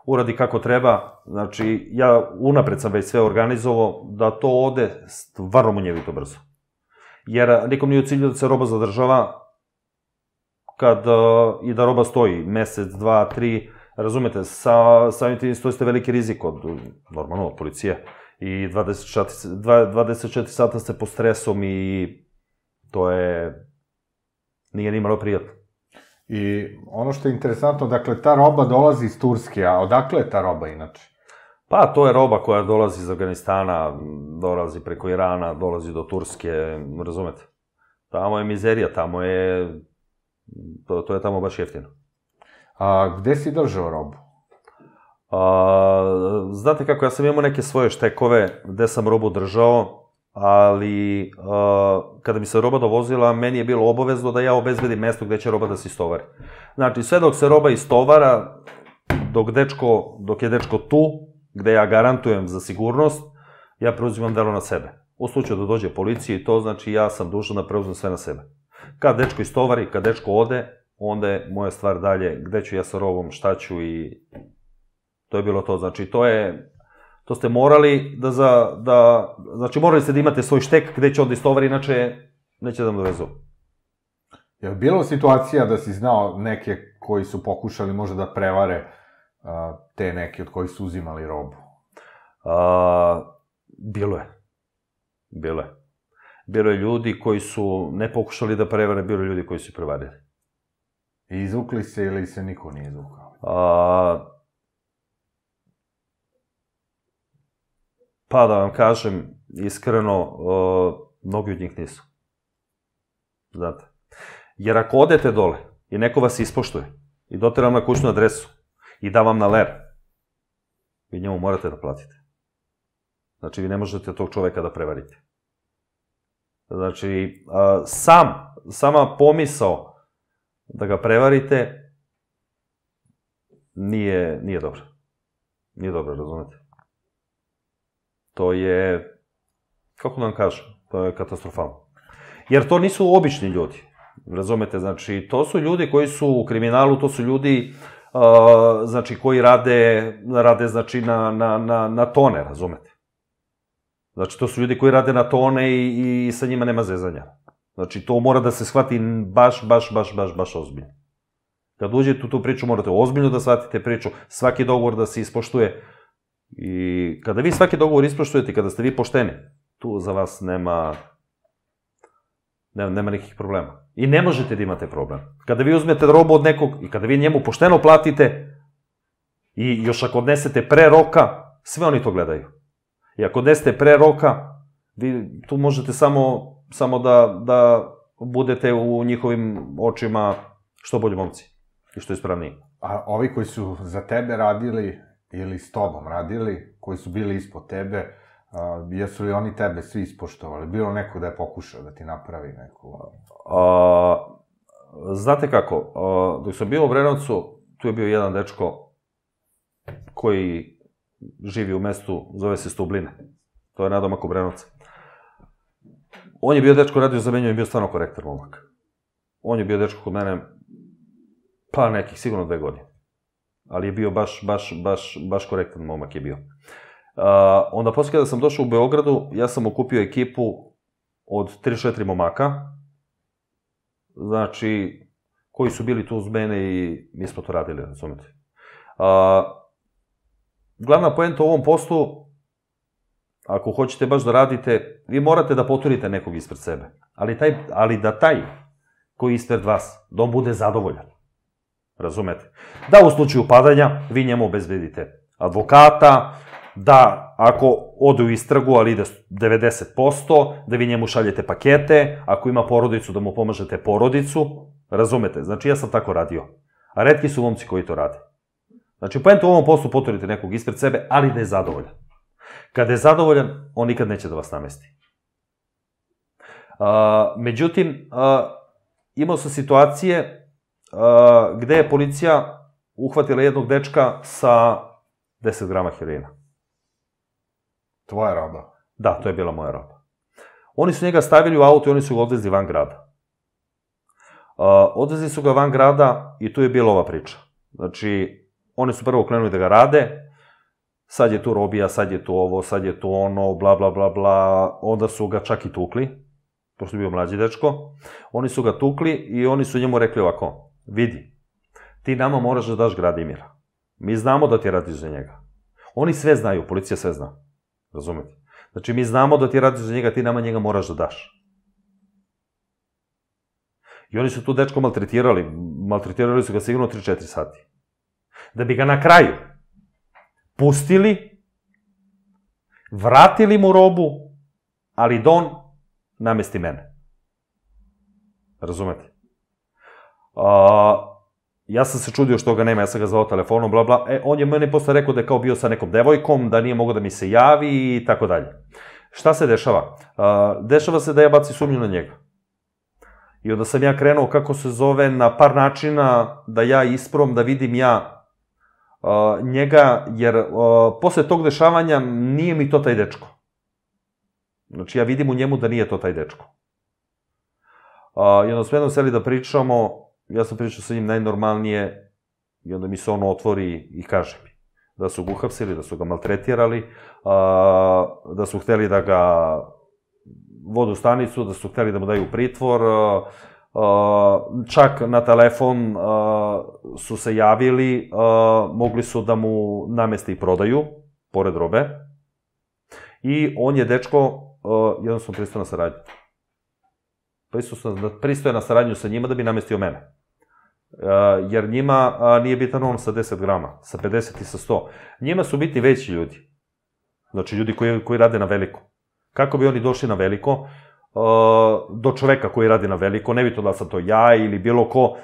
uradi kako treba, znači, ja unapred sam već sve organizovao, da to ode stvarno munjevito brzo. Jer nikom nije u cilju da se roba zadržava kad i da roba stoji mesec, dva, tri, razumete, samim tim stoji ste veliki rizik od, normalno, od policije i dvadeset četiri sata ste pod stresom i to je, nije ni malo prijatno. I ono što je interesantno, dakle, ta roba dolazi iz Turske, a odakle je ta roba inače? Pa, to je roba koja dolazi iz Afganistana, dolazi preko Irana, dolazi do Turske, razumete? Tamo je mizerija, tamo je, to je tamo baš jeftino. A gde si držao robu? Znate kako, ja sam imao neke svoje štekove gde sam robu držao, ali kada mi se roba dovozila, meni je bilo obavezno da ja obezbedim mesto gde će roba da se istovari. Znači, sve dok se roba istovara, dok dečko, dok je dečko tu, gde ja garantujem za sigurnost, ja preuzimam delo na sebe. U slučaju da dođe policija i to, znači ja sam dužan da preuzmem sve na sebe. Kad dečko istovari, kad dečko ode, onda je moja stvar dalje, gde ću ja sa robom, šta ću i to je bilo to. Znači, to je, to ste morali da za, da, znači morali ste da imate svoj štek gde će onda istovar, inače neće da vam dovezu. Je li bilo situacija da si znao neke koji su pokušali možda da prevare a, te neke od kojih su uzimali robu? A, bilo je. Bilo je. Bilo je ljudi koji su ne pokušali da prevare, bilo je ljudi koji su prevarili. I izvukli se ili se niko nije izvukao? A, pa da vam kažem, iskreno, a, mnogi od njih nisu. Znate. Jer ako odete dole i neko vas ispoštuje i dotere vam na kućnu adresu i da vam na ler, vi njemu morate da platite. Znači, vi ne možete tog čoveka da prevarite. Znači, a, sam, sama pomisao da ga prevarite nije, nije dobro. Nije dobro, razumete? To je, kako da vam kažem, to je katastrofalno. Jer to nisu obični ljudi, razumete? Znači, to su ljudi koji su u kriminalu, to su ljudi, uh, znači, koji rade, rade, znači, na, na, na, na tone, razumete? Znači, to su ljudi koji rade na tone i, i sa njima nema zezanja. Znači, to mora da se shvati baš, baš, baš, baš, baš ozbiljno. Kad uđete u tu priču, morate ozbiljno da shvatite priču, svaki dogovor da se ispoštuje. I kada vi svaki dogovor ispoštujete, kada ste vi pošteni, tu za vas nema, nema, nema nekih problema. I ne možete da imate problem. Kada vi uzmete robu od nekog i kada vi njemu pošteno platite i još ako odnesete pre roka, sve oni to gledaju. I ako odnesete pre roka, vi tu možete samo, samo da, da budete u njihovim očima što bolji momci i što ispravniji. A ovi koji su za tebe radili ili s tobom radili, koji su bili ispod tebe, a, jesu li oni tebe svi ispoštovali? Bilo neko da je pokušao da ti napravi neku... A, znate kako, a, dok sam bio u Obrenovcu, tu je bio jedan dečko koji živi u mestu, zove se Stubline. To je nadomak Obrenovca. On je bio dečko, radio za mene, on je bio stvarno korektan momak. On je bio dečko kod mene, pa nekih, sigurno dve godine. Ali je bio baš, baš, baš, baš korektan momak je bio. Uh, onda posle kada sam došao u Beogradu, ja sam okupio ekipu od tri četiri momaka, znači, koji su bili tu uz mene i mi smo to radili, razumete. Uh, glavna poenta u ovom poslu, ako hoćete baš da radite, vi morate da poturite nekog ispred sebe, ali, taj, ali da taj koji je ispred vas, da on bude zadovoljan. Razumete? Da u slučaju padanja vi njemu obezbedite advokata, da ako ode u istragu, ali ide devedeset posto, da vi njemu šaljete pakete, ako ima porodicu, da mu pomažete porodicu. Razumete? Znači, ja sam tako radio. A retki su momci koji to rade. Znači, poenta u ovom poslu poturite nekog ispred sebe, ali da je zadovoljan. Kada je zadovoljan, on nikad neće da vas namesti. A, međutim, a, imao sam situacije Uh, gde je policija uhvatila jednog dečka sa deset grama heroina. Tvoja roba? Da, to je bila moja roba. Oni su njega stavili u auto i oni su ga odvezli van grada. Uh, odvezli su ga van grada i tu je bila ova priča. Znači, oni su prvo krenuli da ga rade, sad je tu robija, sad je tu ovo, sad je tu ono, bla, bla, bla, bla, onda su ga čak i tukli, pošto je bio mlađi dečko, oni su ga tukli i oni su njemu rekli ovako, vidi, ti nama moraš da daš Gradimira. Mi znamo da ti radiš za njega. Oni sve znaju, policija sve zna. Razumete? Znači, mi znamo da ti radiš za njega, ti nama njega moraš da daš. I oni su tu dečko maltretirali. Maltretirali su ga sigurno tri četiri sati. Da bi ga na kraju pustili, vratili mu robu, ali da on namesti mene. Razumete? Uh, ja sam se čudio što ga nema, ja sam ga zvao telefonom, bla, bla. E, on je meni posle rekao da je kao bio sa nekom devojkom, da nije mogao da mi se javi i tako dalje. Šta se dešava? Uh, dešava se da ja baci sumnju na njega. I onda sam ja krenuo, kako se zove, na par načina da ja isprom, da vidim ja uh, njega, jer uh, posle tog dešavanja nije mi to taj dečko. Znači, ja vidim u njemu da nije to taj dečko. Uh, I onda smo jednom seli da pričamo, ja sam pričao sa njim najnormalnije i onda mi se on otvori i kaže mi da su ga uhapsili, da su ga maltretirali, da su hteli da ga vodu u stanicu, da su hteli da mu daju pritvor, čak na telefon su se javili, mogli su da mu nameste i prodaju, pored robe, i on je dečko jednostavno pristao na saradnju. Pristao je na saradnju sa njima da bi namestio mene. Jer njima nije bitan on sa deset grama, sa pedeset i sa sto. Njima su bitni veći ljudi. Znači, ljudi koji rade na veliko. Kako bi oni došli na veliko, do čoveka koji radi na veliko, nebitno da sam to ja ili bilo ko,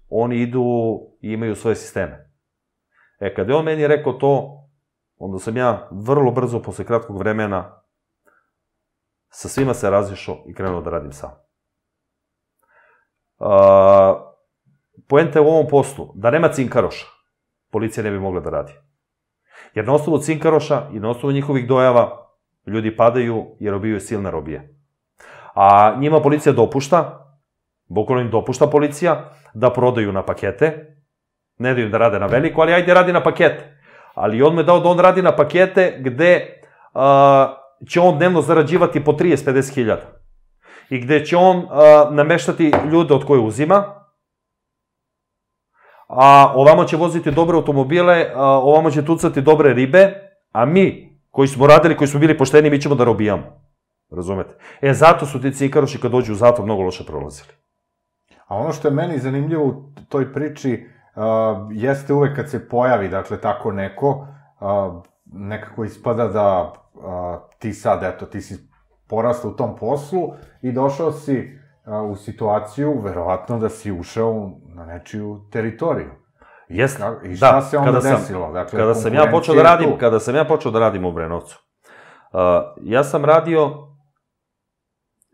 oni idu i imaju svoje sisteme. E, kada je on meni rekao to, onda sam ja vrlo brzo, posle kratkog vremena, sa svima se razišao i krenuo da radim sam. Poenta je u ovom poslu, da nema cinkaroša, policija ne bi mogla da radi. Jer na osnovu cinkaroša i na osnovu njihovih dojava, ljudi padaju jer obijaju silne robije. A njima policija dopušta, bukvalno im dopušta policija, da prodaju na pakete, ne daju im da rade na veliko, ali ajde radi na pakete. Ali on me dao da on radi na pakete gde će on dnevno zarađivati po trideset do pedeset hiljada. I gde će on nameštati ljude od koje uzima, a ovamo će voziti dobre automobile, ovamo će tucati dobre ribe, a mi, koji smo radili, koji smo bili pošteni, mi ćemo da robijamo. Razumete? E, zato su ti cinkaroši kad dođu u zatvor mnogo loše prolazili. A ono što je meni zanimljivo u toj priči, jeste uvek kad se pojavi, dakle, tako neko, nekako ispada da ti sad, eto, ti si porastao u tom poslu i došao si u situaciju, verovatno, da si ušao na nečiju teritoriju. Jeste, I šta se onda desilo? Kada sam ja počeo da radim, kada sam ja počeo da radim u Obrenovcu, ja sam radio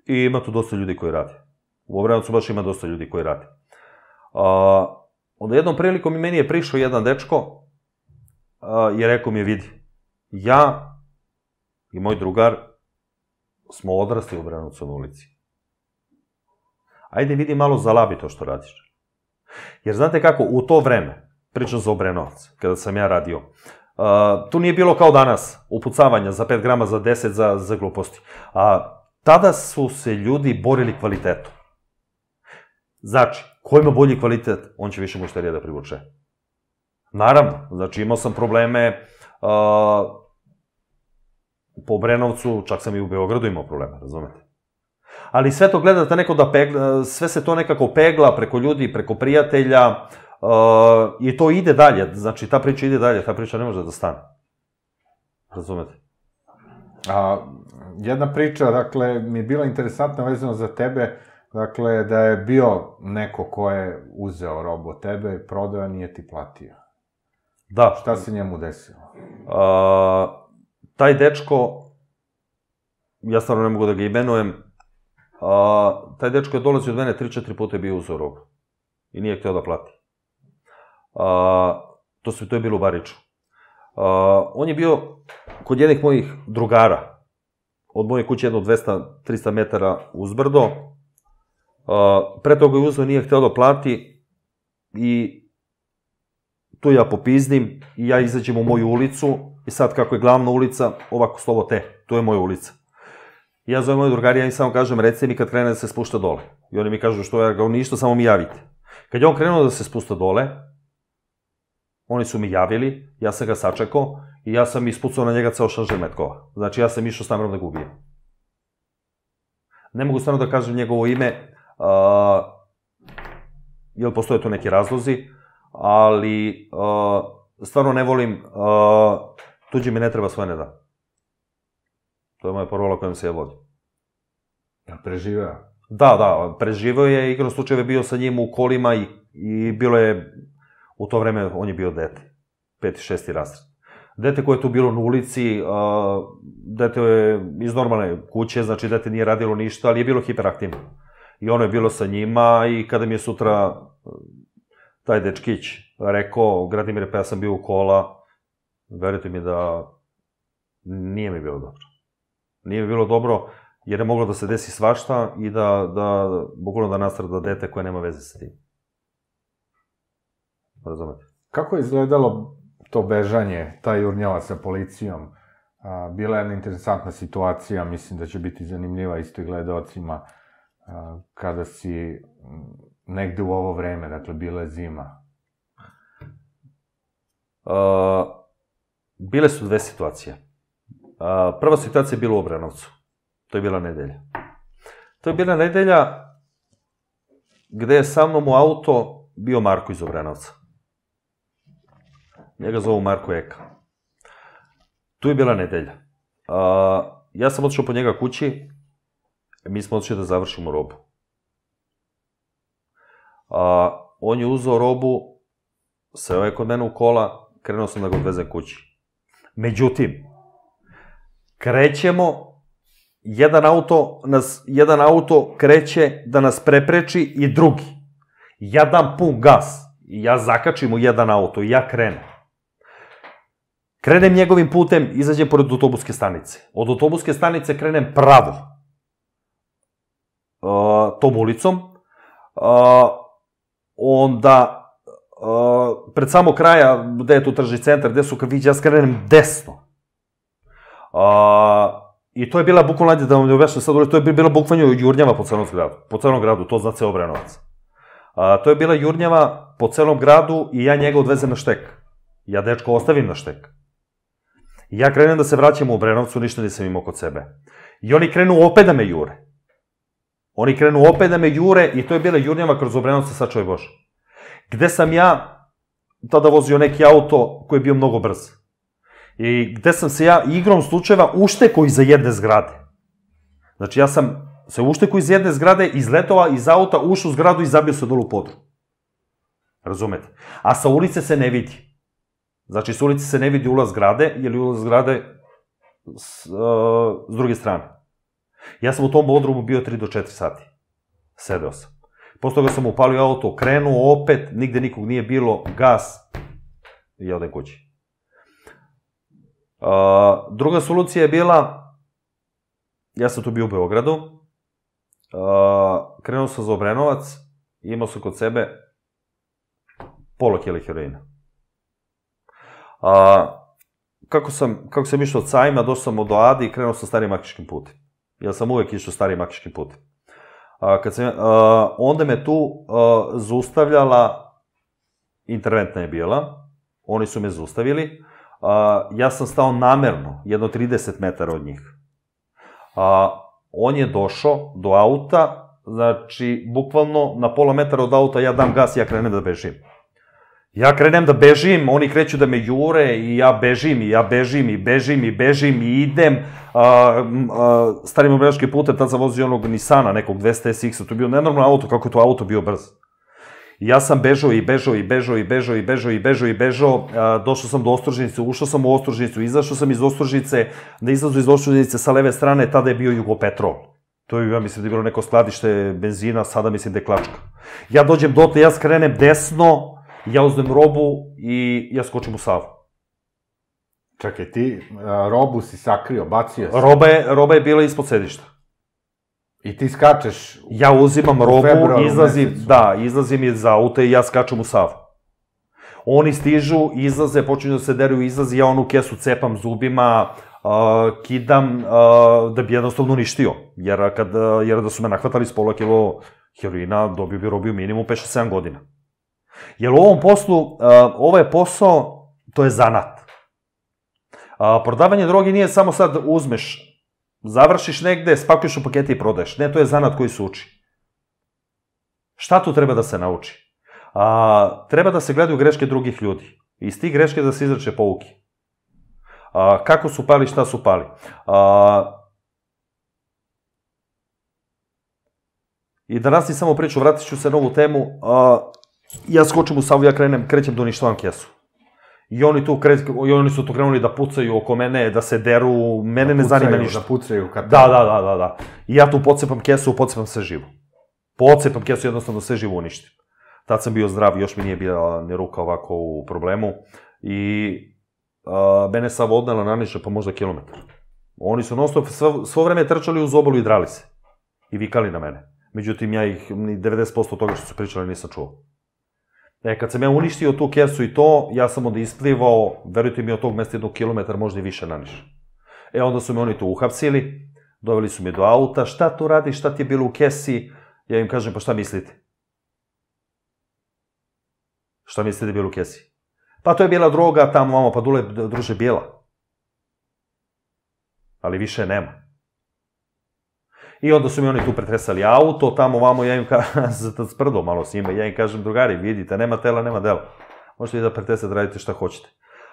i ima tu dosta ljudi koji radi. U Obrenovcu baš ima dosta ljudi koji radi. Onda jednom prilikom i meni je prišao jedan dečko i rekao mi je, vidi, ja i moj drugar smo odrasli u Obrenovcu na ulici. Ajde vidi malo zalabi to što radiš. Jer znate kako, u to vreme, pričam za Obrenovac, kada sam ja radio, tu nije bilo kao danas, upucavanja za pet grama, za deset, za gluposti. Tada su se ljudi borili kvalitetom. Znači, ko ima bolji kvalitet, on će više mušterija da privuče. Naravno, znači imao sam probleme po Obrenovcu, čak sam i u Beogradu imao probleme, razumete? Ali sve to gledate neko da pegla, sve se to nekako pegla preko ljudi, preko prijatelja i to ide dalje, znači ta priča ide dalje, ta priča ne može da stane. Razumete? Jedna priča, dakle, mi je bila interesantna vezano za tebe, dakle, da je bio neko ko je uzeo robu od tebe, prodao, a nije ti platio. Da. Šta se njemu desilo? Taj dečko, ja stvarno ne mogu da ga imenujem, taj dečko je dolazio od mene tri četiri puta je bio uzeo robu. I nije hteo da plati. To je bilo u Bariču. On je bio kod jednih mojih drugara, od moje kuće jedno dvesta do trista metara uzbrdo. Pre toga je uzeo, nije hteo da plati i tu ja popizdim i ja izađem u moju ulicu i sad kako je glavna ulica, ovako slovo te, to je moja ulica. I ja zovem moju drugari, ja im samo kažem, recite mi kad krene da se spušta dole. I oni mi kažu što je, kao ništa, samo mi javite. Kad je on krenuo da se spušta dole, oni su mi javili, ja sam ga sačekao i ja sam ispucao na njega ceo šanžer metkova. Znači ja sam išao s namerom da ga ubijem. Ne mogu stvarno da kažem njegovo ime, jer postoje tu neki razlozi, ali stvarno ne volim, tuđi mi ne treba, svoje ne da. To je moja parola kojom se ja vodim. Ja preživeo? Da, da, preživeo je, igrom slučajeva bio sa njim u kolima i bilo je, u to vreme on je bio dete, peti, šesti razred. Dete koje je tu bilo na ulici, dete je iz normalne kuće, znači dete nije radilo ništa, ali je bilo hiperaktivno. I ono je bilo sa njima i kada mi je sutra taj dečkić rekao, Gradimire, pa ja sam bio u kola, verujte mi da nije mi bilo dobro. Nije mi bilo dobro, jer je moglo da se desi svašta i da, da, bukvalno da nastrada dete koje nema veze sa tim. Razumete? Kako je izgledalo to bežanje, ta jurnjava sa policijom? Bila je jedna interesantna situacija, mislim da će biti zanimljiva isto i gledalcima, kada si negde u ovo vreme, dakle, bila je zima. Bile su dve situacije. Prva situacija je bila u Obrenovcu. To je bila nedelja. To je bila nedelja gde je sa mnom u auto bio Marko iz Obrenovca. Njega zovu Marko Eka. Tu je bila nedelja. Ja sam otišao po njega kući, mi smo otišli da završimo robu. On je uzeo robu, seo je kod mene u kola, krenuo sam da ga odvezem kući. Međutim, krećemo, jedan auto, nas, jedan auto kreće da nas prepreči i drugi. Ja dam pun gas i ja zakačim u jedan auto i ja krenem. Krenem njegovim putem, izađem pored autobuske stanice. Od autobuske stanice krenem pravo. Uh, tom ulicom. Uh, onda, uh, pred samo kraja, gde je tu tržni centar, gde su kafići, ja skrenem desno. Uh, I to je bila bukvalno, da vam ne objašnjam sad, to je bila bukvalno jurnjava po celom gradu. Po celom gradu, to zna ceo Obrenovac. Uh, to je bila jurnjava po celom gradu i ja njega odvezem na štek. Ja dečko ostavim na štek. I ja krenem da se vraćam u Obrenovcu, ništa nisam imao kod sebe. I oni krenu opet da me jure. Oni krenu opet da me jure i to je bila jurnjava kroz Obrenovca, sačuvaj Bože. Gde sam ja tada vozio neki auto koji je bio mnogo brz. I gde sam se ja igrom slučajeva uštekao iza jedne zgrade. Znači ja sam se uštekao iz jedne zgrade, izletova iz auta, ušao u zgradu i zabio se dolu u podru. Razumete? A sa ulice se ne vidi. Znači, s ulici se ne vidi ulaz zgrade, jer je ulaz zgrade s, uh, s druge strane. Ja sam u tom podrumu bio tri do četiri sati. Sedeo sam. Posle toga sam upalio auto, krenuo opet, nigde nikog nije bilo, gas i ja odem kući. Uh, druga solucija je bila, ja sam tu bio u Beogradu, uh, krenuo sam za Obrenovac i imao sam kod sebe pola kile heroina. A, kako sam, kako sam išao od Sajma, došao sam do Adi i krenuo sam starim Makiškim putem. Ja sam uvek išao starim Makiškim putem. A, kad sam, a, onda me tu a, zaustavljala, interventna je bila, oni su me zaustavili, a, ja sam stao namerno, jedno trideset metara od njih. A, on je došao do auta, znači, bukvalno na pola metara od auta ja dam gas i ja krenem da bežim. Ja krenem da bežim, oni kreću da me jure i ja bežim i ja bežim i bežim i bežim i idem. A, a, starim Obrenovačkim putem, tad sam vozio onog Nissana, nekog dvesta S X-a, to je bio nenormalno auto, kako je to auto bio brz. I ja sam bežao i bežao i bežao i bežao i bežao i bežao i bežao, došao sam do Ostružnice, ušao sam u Ostružnicu, izašao sam iz Ostružnice, da izlazu iz Ostružnice sa leve strane, tada je bio Jugopetrol. To je, ja mislim da je bilo neko skladište benzina, sada mislim da je Klačka. Ja dođem dotle, ja skrenem desno, ja uzmem robu i ja skočim u Savu. Čekaj, ti robu si sakrio, bacio si? Roba je, roba je bila ispod sedišta. I ti skačeš? Ja uzimam robu, izlazim, da, izlazim iz auta i ja skačem u Savu. Oni stižu, izlaze, počinju da se deruju, izlazi, ja onu kesu cepam zubima, uh, kidam, uh, da bi jednostavno uništio. Jer, kad, jer da su me nahvatali s pola kilo heroina, dobio bi robio minimum pet šest sedam godina. Jer u ovom poslu, uh, ovaj posao, to je zanat. Uh, prodavanje droge nije samo sad uzmeš, završiš negde, spakuješ u pakete i prodaješ. Ne, to je zanat koji se uči. Šta tu treba da se nauči? A, treba da se gledaju greške drugih ljudi. Iz tih greške da se izrače pouke. A, kako su pali, šta su pali. A, I da nas ni samo priču, vratit ću se na ovu temu. A, ja skočim u Savu, ja krenem, krećem da uništavam kesu. I oni, tu kre, I oni su tu krenuli da pucaju oko mene, da se deru, mene ne zanima ništa. Da pucaju, kad... Da, da, da, da, da. I ja tu pocepam kesu, pocepam sve živo. Pocepam kesu, jednostavno sve živo uništim. Tad sam bio zdrav, još mi nije bila ni ruka ovako u problemu. I a, mene Sava odnela naniže pa možda kilometar. Oni su non stop svo, svo vreme trčali uz obalu i drali se. I vikali na mene. Međutim, ja ih ni devedeset posto toga što su pričali nisam čuo. E, kad sam ja uništio tu kesu i to, ja sam onda isplivao, verujte mi, od tog mesta jednog kilometra, možda i više naniš. E, onda su me oni tu uhapsili, doveli su me do auta, šta tu radiš, šta ti je bilo u kesi? Ja im kažem, pa šta mislite? Šta mislite da je bilo u kesi? Pa to je bila droga, tamo, vamo, pa dule, druže, bijela. Ali više nema. I onda su mi oni tu pretresali auto, tamo, vamo, ja im kažem, sprdo malo s njima, ja im kažem, drugari, vidite, nema tela, nema dela. Možete vi da pretresate, radite šta hoćete.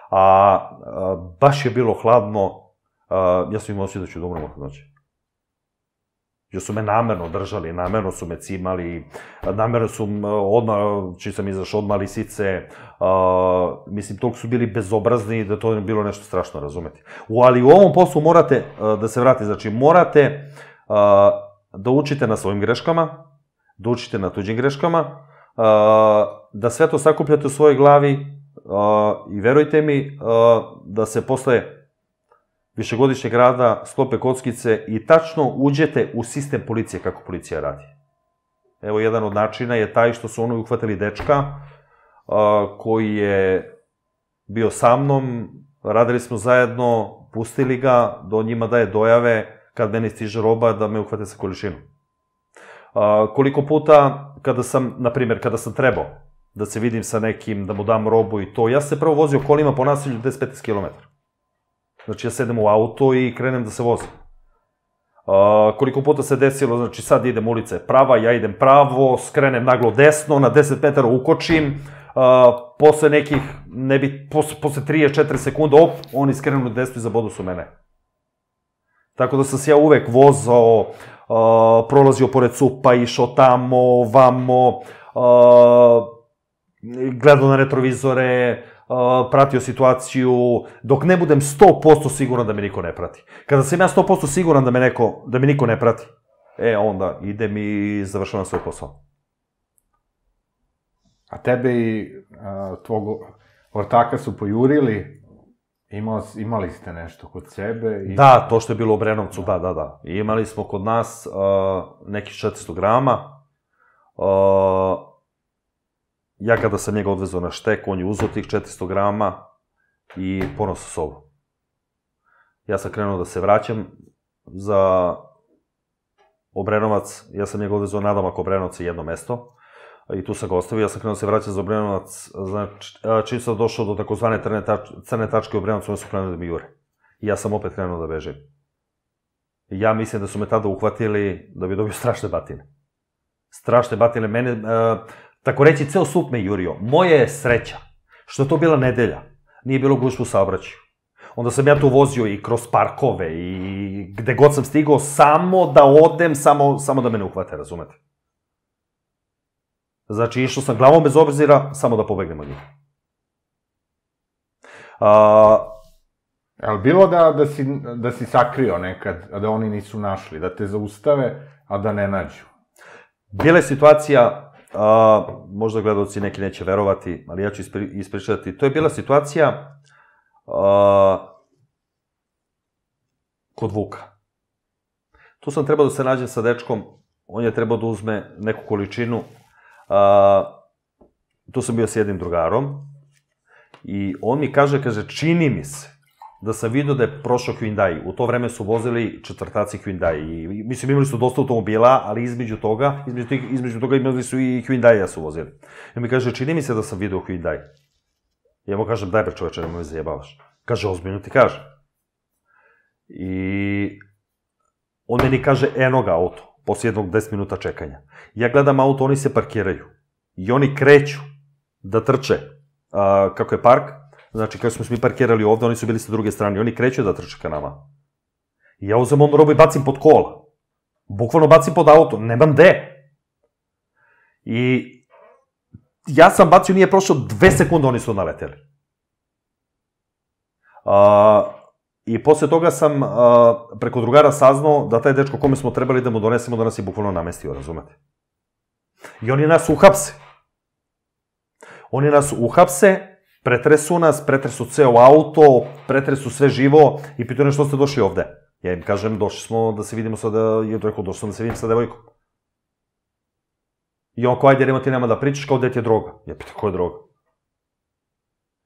A, a baš je bilo hladno, a, ja sam im osjećao da ću da umrem od noći. Jer su me namerno držali, namerno su me cimali, namerno su odmah, čim sam izašao, odmah lisice, uh, mislim, toliko su bili bezobrazni da to je bilo nešto strašno, razumeti. U, ali u ovom poslu morate, uh, da se vrati, znači morate uh, da učite na svojim greškama, da učite na tuđim greškama, uh, da sve to sakupljate u svojoj glavi uh, i verujte mi uh, da se posle višegodišnjeg rada sklope kockice i tačno uđete u sistem policije kako policija radi. Evo, jedan od načina je taj što su oni uhvatili dečka a, koji je bio sa mnom, radili smo zajedno, pustili ga, da on njima daje dojave kad meni stiže roba da me uhvate sa količinom. A, koliko puta kada sam, na primjer, kada sam trebao da se vidim sa nekim, da mu dam robu i to, ja se prvo vozio kolima po naselju deset do petnaest kilometara. Znači, ja sedem u auto i krenem da se vozim. Uh, koliko puta se desilo, znači, sad idem, ulica je prava, ja idem pravo, skrenem naglo desno, na deset metara ukočim, uh, posle nekih, ne bi, posle, posle trideset četiri sekunde, op, oni skrenu desno i zabodu su mene. Tako da sam se ja uvek vozao, uh, prolazio pored cupa, išao tamo, vamo, uh, gledao na retrovizore, Uh, pratio situaciju, dok ne budem sto posto siguran da me niko ne prati. Kada sam ja sto posto siguran da me, neko, da me niko ne prati, e, onda idem i završavam svoj posao. A tebe i a, tvog ortaka su pojurili, Imao, imali ste nešto kod sebe? I... Da, to što je bilo u Obrenovcu, da, da, da. Imali smo kod nas uh, nekih četiristo grama. Uh, Ja kada sam njega odvezao na štek, on je uzeo tih četiristo grama i ponosao sa sobom. Ja sam krenuo da se vraćam za Obrenovac, ja sam njega odvezao nadomak Obrenovca jedno mesto i tu sam ga ostavio, ja sam krenuo da se vraćam za Obrenovac, znači, čim sam došao do takozvane crne tačke u Obrenovcu, oni su krenuli da mi jure. I ja sam opet krenuo da bežim. Ja mislim da su me tada uhvatili da bi dobio strašne batine. Strašne batine, mene... Uh, Tako reći, ceo sup me jurio. Moja je sreća, što je to bila nedelja, nije bilo gužve u saobraćaju. Onda sam ja tu vozio i kroz parkove i gde god sam stigao, samo da odem, samo, samo da me ne uhvate, razumete? Znači, išao sam glavom bez obzira, samo da pobegnem od njih. A... Je li bilo da, da, si, da si sakrio nekad, a da oni nisu našli, da te zaustave, a da ne nađu? Bila je situacija... Uh, možda gledalci neki neće verovati, ali ja ću ispri, ispričati. To je bila situacija uh, kod Vuka. Tu sam trebao da se nađem sa dečkom, on je trebao da uzme neku količinu. Uh, tu sam bio s jednim drugarom i on mi kaže, kaže, čini mi se da sam vidio da je prošao Hyundai. U to vreme su vozili četvrtaci Hyundai. I, mislim, imali su dosta automobila, ali između toga, između, tih, između toga imali su i Hyundai-a su vozili. I mi kaže, čini mi se da sam vidio Hyundai. Ja mu kažem, daj bre čoveče, nemoj me zajebavaš. Kaže, ozbiljno ti kaže. I on meni kaže, eno ga auto, posle jednog deset minuta čekanja. Ja gledam auto, oni se parkiraju. I oni kreću da trče. A, kako je park? Znači, kada smo mi parkirali ovde, oni su bili sa druge strane, oni kreću da trče ka nama. I ja uzem onu robu i bacim pod kola. Bukvalno bacim pod auto, nemam gde. I ja sam bacio, nije prošlo dve sekunde, oni su naleteli. A, I posle toga sam a, preko drugara saznao da taj dečko kome smo trebali da mu donesemo, da nas je bukvalno namestio, razumete? I oni nas uhapse. Oni nas uhapse, pretresu nas, pretresu ceo auto, pretresu sve živo i pitaju što ste došli ovde. Ja im kažem, došli smo da se vidimo sada, i je rekao, došli smo da se vidim sa devojkom. I on, ko, ajde, nema ti nema da pričaš, kao, gde ti je droga? Ja pitam, ko je droga?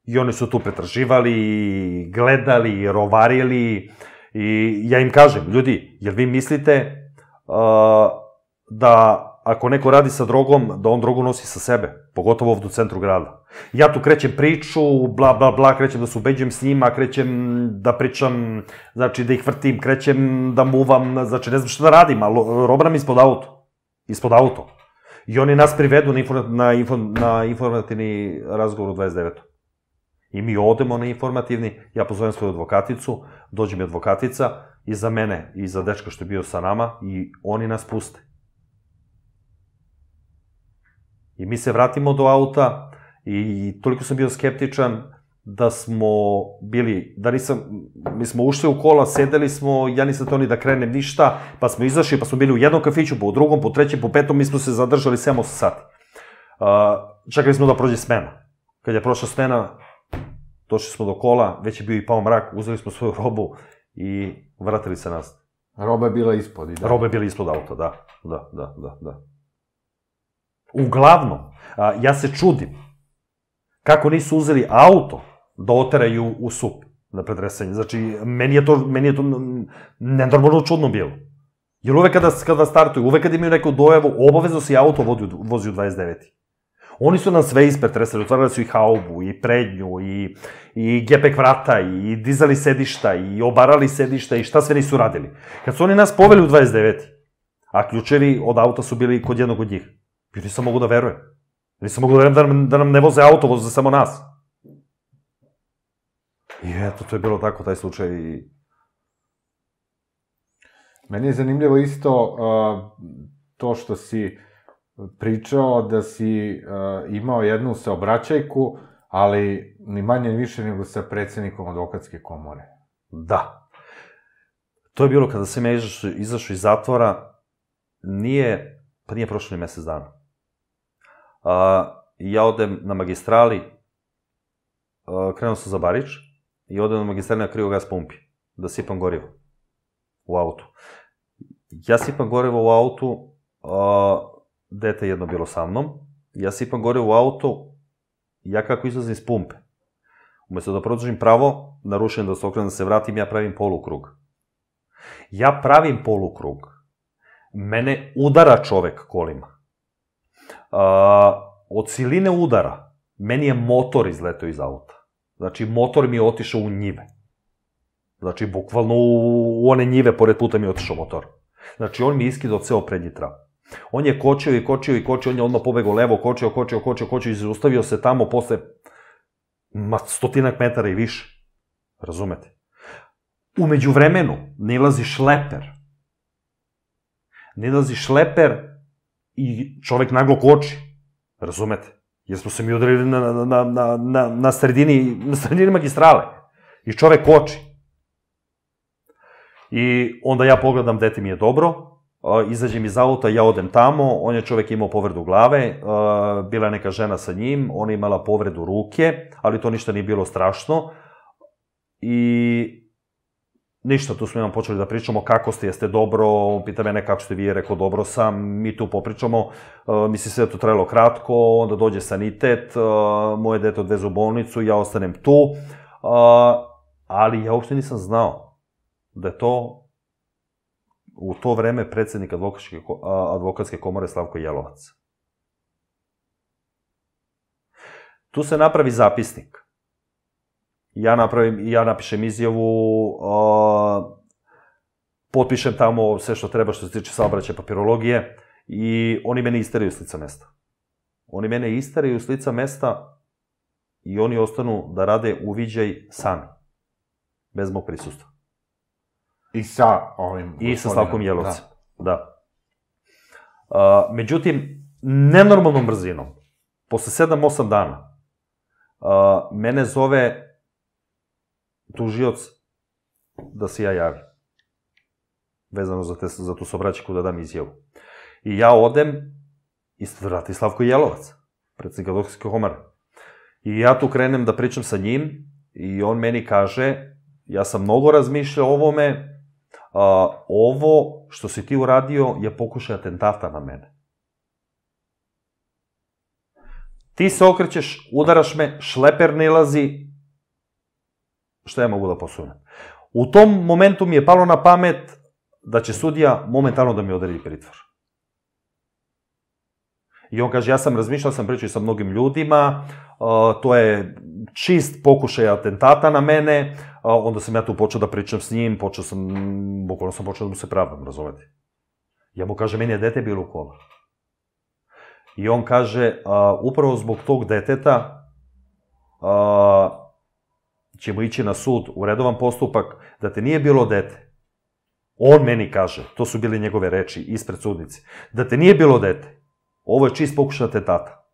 I oni su tu pretraživali, gledali, rovarili, i ja im kažem, ljudi, jel vi mislite da ako neko radi sa drogom, da on drogu nosi sa sebe, pogotovo ovdje u centru grada. Ja tu krećem priču, bla, bla, bla, krećem da se ubeđujem s njima, krećem da pričam, znači da ih vrtim, krećem da muvam, znači ne znam što da radim, ali robram ispod auto. Ispod auto. I oni nas privedu na informativni razgovor u dvadeset devetom I mi odemo na informativni, ja pozovem svoju advokaticu, dođe mi advokatica, i za mene, i za dečka što je bio sa nama, i oni nas puste. I mi se vratimo do auta, i toliko sam bio skeptičan da smo bili, da nisam, mi smo ušli u kola, sedeli smo, ja nisam to ni da krenem ništa, pa smo izašli, pa smo bili u jednom kafiću, pa u drugom, po trećem, po petom, mi smo se zadržali sedam osam sati. Čekali smo da prođe smena. Kad je prošla smena, došli smo do kola, već je bio i pao mrak, uzeli smo svoju robu i vratili se nazad. Roba je bila ispod, i da? Roba je bila ispod auta, da, da, da, da, da. Uglavnom, ja se čudim kako nisu uzeli auto da oteraju u sup na predresanje. Znači, meni je to, meni je to nenormalno čudno bilo. Jer uvek kada, kada startuju, uvek kada imaju neku dojavu, obavezno se i auto vozi u dvadeset deveti Oni su nam sve ispretresali, otvarali su i haubu, i prednju, i, i gepek vrata, i dizali sedišta, i obarali sedišta, i šta sve nisu radili. Kad su oni nas poveli u dvadeset deveti a ključevi od auta su bili kod jednog od njih, ja nisam mogu da verujem. Nisam mogu da verujem da nam, da nam ne voze auto, voze samo nas. I eto, to je bilo tako, taj slučaj. Meni je zanimljivo isto uh, to što si pričao da si uh, imao jednu saobraćajku, ali ni manje ni više nego sa predsednikom advokatske komore. Da. To je bilo kada sam ja izašao iz zatvora, nije, pa nije prošlo ni mesec dana. Uh, ja odem na magistrali, uh, krenuo sam za Barič, i odem na magistrali na kriogas pumpi, da sipam gorivo u autu. Ja sipam gorivo u autu, uh, dete jedno bilo sa mnom, ja sipam gorivo u autu, ja kako izlazim iz pumpe, umesto da produžim pravo, narušujem da se okrenem da se vratim, ja pravim polukrug. Ja pravim polukrug, mene udara čovek kolima. Uh, od siline udara, meni je motor izletao iz auta. Znači, motor mi je otišao u njive. Znači, bukvalno u one njive pored puta mi je otišao motor. Znači, on mi je iskidao ceo prednji trav. On je kočio i kočio i kočio, on je odmah pobegao levo, kočio, kočio, kočio, kočio i zaustavio se tamo posle stotinak metara i više. Razumete? Umeđu vremenu nilazi šleper. Nilazi šleper i čovek naglo koči. Razumete? Jer smo se mi udarili na, na, na, na, na, sredini, na sredini magistrale. I čovek koči. I onda ja pogledam, dete mi je dobro, izađem iz auta, ja odem tamo, on je čovek imao povredu glave, bila je neka žena sa njim, ona je imala povredu ruke, ali to ništa nije bilo strašno. I ništa, tu smo imam počeli da pričamo kako ste, jeste dobro, on pita mene kako ste vi, rekao dobro sam, mi tu popričamo, misli se da to trajalo kratko, onda dođe sanitet, moje dete odveze u bolnicu, ja ostanem tu, ali ja uopšte nisam znao da je to u to vreme predsednik advokatske komore Slavko Jelovac. Tu se napravi zapisnik. Ja napravim, ja napišem izjavu, potpišem tamo sve što treba što se tiče saobraćaja, papirologije i oni mene isteraju s lica mesta. Oni mene isteraju s lica mesta i oni ostanu da rade uviđaj sami, bez mog prisustva. I sa ovim... I sa Slavkom Jelovcem, da. Međutim, nenormalnom brzinom, posle sedam osam dana, mene zove tužioc da se ja javim, vezano za tu saobraćajku da dam izjavu. I ja odem i vrati Slavko Jelovac, predsednik advokatske komore. I ja tu krenem da pričam sa njim i on meni kaže, ja sam mnogo razmišljao o ovome, ovo što si ti uradio je pokušaj atentata na mene. Ti se okrećeš, udaraš me, šleper nilazi, šta ja mogu da posunem? U tom momentu mi je palo na pamet da će sudija momentalno da mi odredi pritvor. I on kaže, ja sam razmišljao, sam pričao sa mnogim ljudima, to je čist pokušaj atentata na mene, onda sam ja tu počeo da pričam s njim, počeo sam, bukvalno sam počeo da mu se pravdam, razumete? Ja mu kaže, meni je dete bilo u kola. I on kaže, upravo zbog tog deteta ćemo ići na sud u redovan postupak, da te nije bilo dete. On meni kaže, to su bile njegove reči ispred sudnice, da te nije bilo dete. Ovo je čist pokušaj atentata.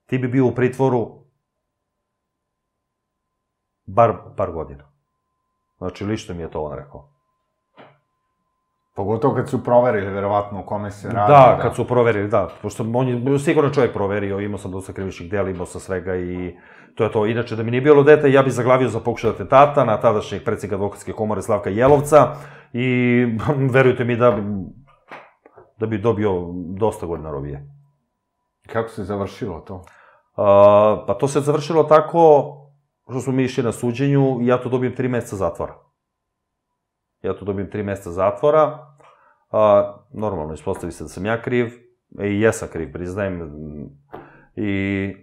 Ti bi bio u pritvoru bar par godina. Znači, lično mi je to on rekao. Pogotovo kad su proverili, verovatno, u kome se radi. Da, kad su proverili, da. Pošto on je sigurno čovjek proverio, imao sam dosta krivičnih dela, imao sam svega i to je to. Inače, da mi nije bilo dete, ja bih zaglavio za pokušaj atentata na tadašnjeg predsjednika Advokatske komore Slavka Jelovca i verujte mi da da bi dobio dosta godina robije. Kako se završilo to? Pa to se završilo tako što smo mi išli na suđenju i ja tu dobijem tri meseca zatvora. Ja tu dobijem tri meseca zatvora. Normalno, ispostavi se da sam ja kriv. I jesam kriv, priznajem. I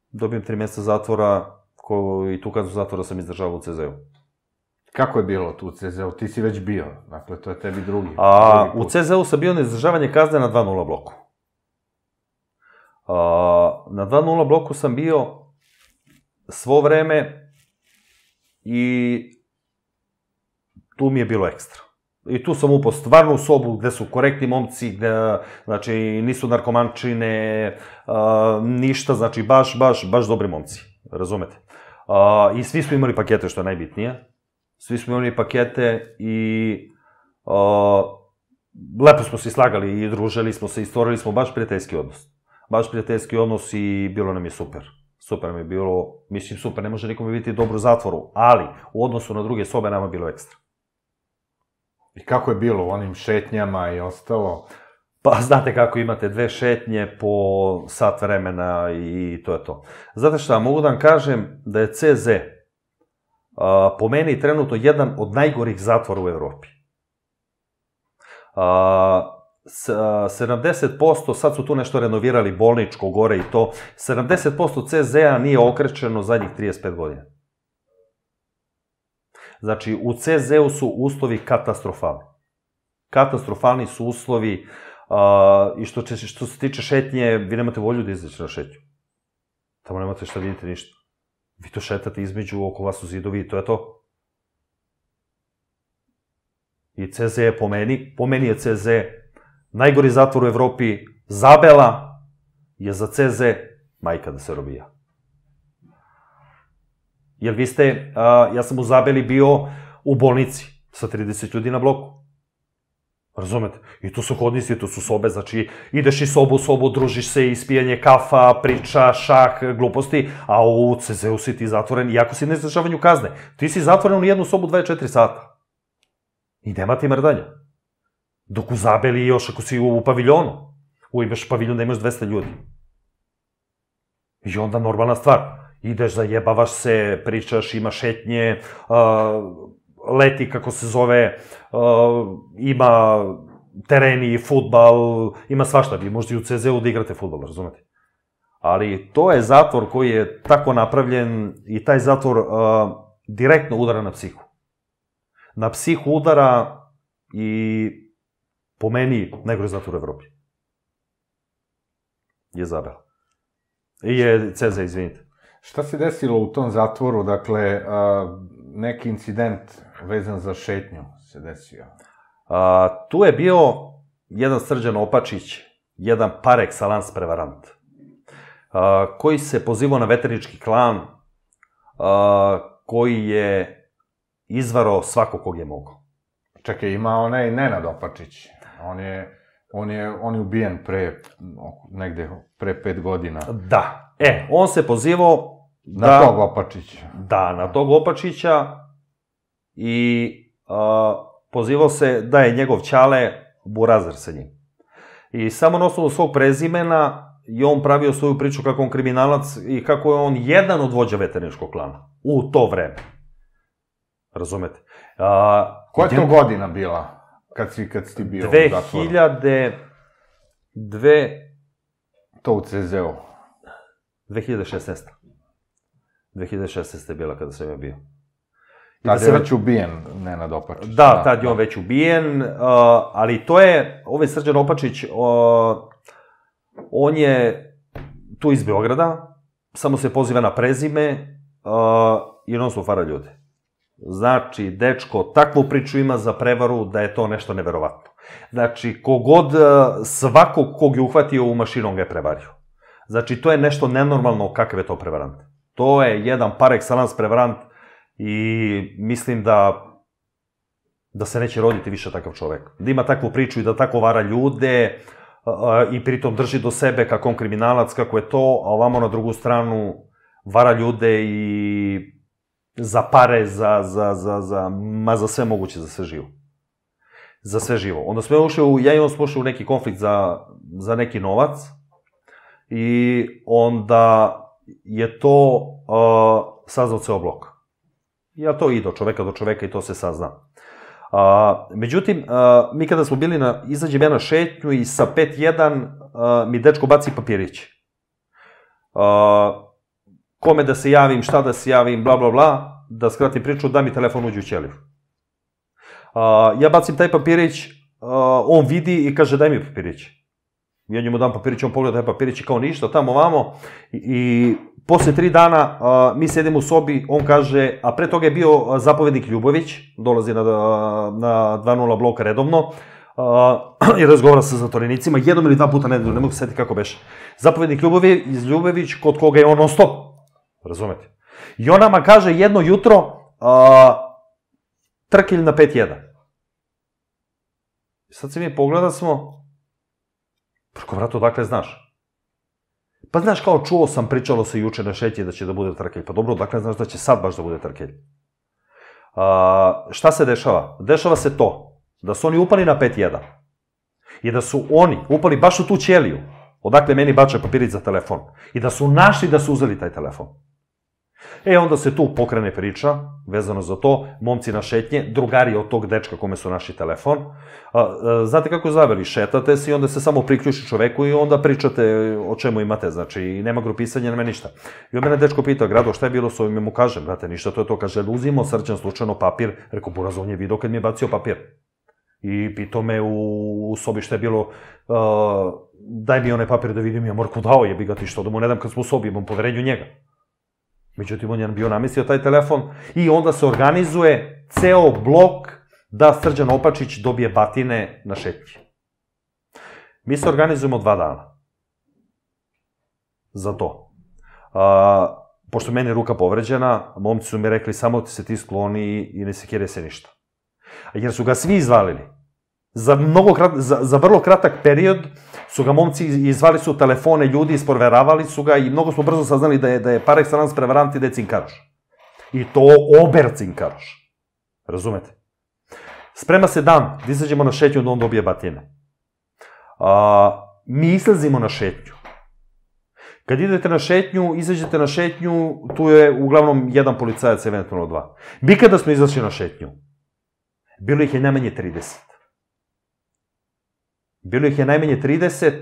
dobijem tri meseca zatvora i tu kaznu zatvora sam izdržavao u ce zeu. Kako je bilo tu u ce zeu? Ti si već bio, dakle, to je tebi drugi. U ce zeu sam bio na izdržavanje kazne na dva nula bloku. Na dva nula bloku sam bio svo vreme i tu mi je bilo ekstra. I tu sam upao stvarno u sobu gde su korektni momci, gde, znači, nisu narkomančine, ništa, znači, baš, baš, baš dobri momci, razumete? I svi smo imali pakete, što je najbitnije. Svi smo imali pakete i lepo smo se slagali i družili smo se i stvorili smo baš prijateljski odnos. Baš prijateljski odnos i bilo nam je super. Super nam je bilo, mislim super, ne može nikome biti dobro u zatvoru, ali u odnosu na druge sobe nama je bilo ekstra. I kako je bilo u onim šetnjama i ostalo? Pa znate kako, imate dve šetnje po sat vremena i to je to. Znate šta, mogu da vam kažem da je ce ze po meni trenutno jedan od najgorih zatvora u Evropi. sedamdeset posto, sad su tu nešto renovirali, bolničko, gore i to, sedamdeset posto ce zea nije okrečeno zadnjih trideset pet godina. Znači, u ce zeu su uslovi katastrofalni. Katastrofalni su uslovi i što se tiče šetnje, vi nemate volju da izađete na šetnju. Tamo nemate šta vidite ništa. Vi to šetate između, oko vas su zidovi i to je to. I ce ze je po meni, po meni je ce ze najgori zatvor u Evropi. Zabela je za ce ze majka da se robija. Jer vi ste, ja sam u Zabeli bio u bolnici sa trideset ljudi na bloku. Razumete? I tu su hodnici, tu su sobe, znači ideš iz sobu u sobu, družiš se, ispijanje kafa, priča, šah, gluposti, a u ce zeu si ti zatvoren, iako si na izdržavanju kazne. Ti si zatvoren u jednu sobu dvadeset četiri sata. I nema ti mrdanja. Dok u Zabeli još ako si u paviljonu, imaš paviljon da imaš dvesta ljudi. I onda normalna stvar, ideš, zajebavaš se, pričaš, imaš šetnje, leti, kako se zove, ima tereni, fudbal, ima svašta, vi možete i u ce zeu da igrate fudbal, razumete? Ali to je zatvor koji je tako napravljen i taj zatvor direktno udara na psihu. Na psihu udara i po meni najgori zatvor u Evropi. Je Zabela. I je ce ze, izvinite. Šta se desilo u tom zatvoru, dakle, neki incident vezan za šetnju se desio? Tu je bio jedan Srđan Opačić, jedan par excellence prevarant, koji se pozivao na veternički klan, koji je izvarao svako kog je mogao. Čekaj, ima onaj Nenad Opačić. On je, on je, on je ubijen pre, negde, pre pet godina. Da. E, on se pozivao na tog Opačića. Da, na tog Opačića i pozivao se da je njegov ćale burazir sa njim. I samo na osnovu svog prezimena je on pravio svoju priču kako on kriminalac i kako je on jedan od vođa veterničkog klana. U to vreme. Razumete? Koja je to godina bila kad si ti bio u zatvoru? dve hiljade dve... To u ce ze u? dve hiljade šesnaeste. dve hiljade šesnaeste je bila kada sam ja bio. Tad je već ubijen Nenad Opačić. Da, tad je on već ubijen, ali to je, ovaj Srđan Opačić, on je tu iz Beograda, samo se poziva na prezime i non su fara ljude. Znači, dečko takvu priču ima za prevaru da je to nešto neverovatno. Znači, kogod, svakog kog je uhvatio u mašinu, on ga je prevario. Znači, to je nešto nenormalno kakav je to prevarant. To je jedan par excellence prevarant i mislim da da se neće roditi više takav čovek. Da ima takvu priču i da tako vara ljude i pritom drži do sebe kako on kriminalac, kako je to, a ovamo na drugu stranu vara ljude i za pare, za, za, za, za, ma za sve moguće, za sve živo. Za sve živo. Onda smo ušli u, ja i on smo ušli u neki konflikt za, za neki novac i onda je to uh, saznao ceo blok. Ja to i do čoveka do čoveka i to se sazna. Uh, međutim, uh, mi kada smo bili na, izađem ja na šetnju i sa pet jedan uh, mi dečko baci papirić. Uh, kome da se javim, šta da se javim, bla, bla, bla, da skratim priču, da mi telefon uđe u ćeliju. Uh, ja bacim taj papirić, uh, on vidi i kaže daj mi papirić. Ja njemu dam papirić, on pogleda taj papirić i kao ništa, tamo vamo. I, i posle tri dana uh, mi sedimo u sobi, on kaže, a pre toga je bio zapovednik Ljubović, dolazi na, na dva nula bloka redovno, uh, i razgovara sa zatvorenicima, jednom ili dva puta nedelju, ne mogu se setiti kako beše. Zapovednik Ljubović, Ljubović, kod koga je on non stop, razumete? I on nama kaže jedno jutro, uh, trkelj na pet jedan. I sad se mi pogleda smo, preko vrata, odakle znaš? Pa znaš, kao čuo sam, pričalo se juče na šetnji da će da bude trkelj. Pa dobro, odakle znaš da će sad baš da bude trkelj? Šta se dešava? Dešava se to, da su oni upali na pet jedan. I da su oni upali baš u tu ćeliju, odakle meni bača papirić za telefon. I da su našli da su uzeli taj telefon. E, onda se tu pokrene priča, vezano za to, momci na šetnje, drugari od tog dečka kome su našli telefon. Znate kako zaveli? Šetate se i onda se samo priključi čoveku i onda pričate o čemu imate, znači nema grupisanja, nema ništa. I on mene dečko pita, Grado, šta je bilo s ovim? Ja mu kažem, brate, ništa, to je to, kaže, uzimo Srđan slučajno papir, rekao, buraz, on je vidio kad mi je bacio papir. I pitao me u sobi šta je bilo, daj mi onaj papir da vidim, ja Morku dao, jebi ga ti što, da mu ne dam kad smo u sobi, imam poverenju njega. Međutim, on je bio namestio taj telefon i onda se organizuje ceo blok da Srđan Opačić dobije batine na šetnji. Mi se organizujemo dva dana za to. A, pošto meni je ruka povređena, momci su mi rekli samo ti se ti skloni i ne sekiraj se ništa. Jer su ga svi izvalili. Za, mnogo krat, za, za vrlo kratak period su ga momci izvali su telefone, ljudi isproveravali su ga i mnogo smo brzo saznali da je, da je par excellence prevarant i da je cinkaroš. I to ober cinkaroš. Razumete? Sprema se dan, da izađemo na šetnju da on dobije batine. A, mi izlazimo na šetnju. Kad idete na šetnju, izađete na šetnju, tu je uglavnom jedan policajac, eventualno dva. Mi kada smo izašli na šetnju, bilo ih je najmanje trideset. Bilo ih je najmanje trideset,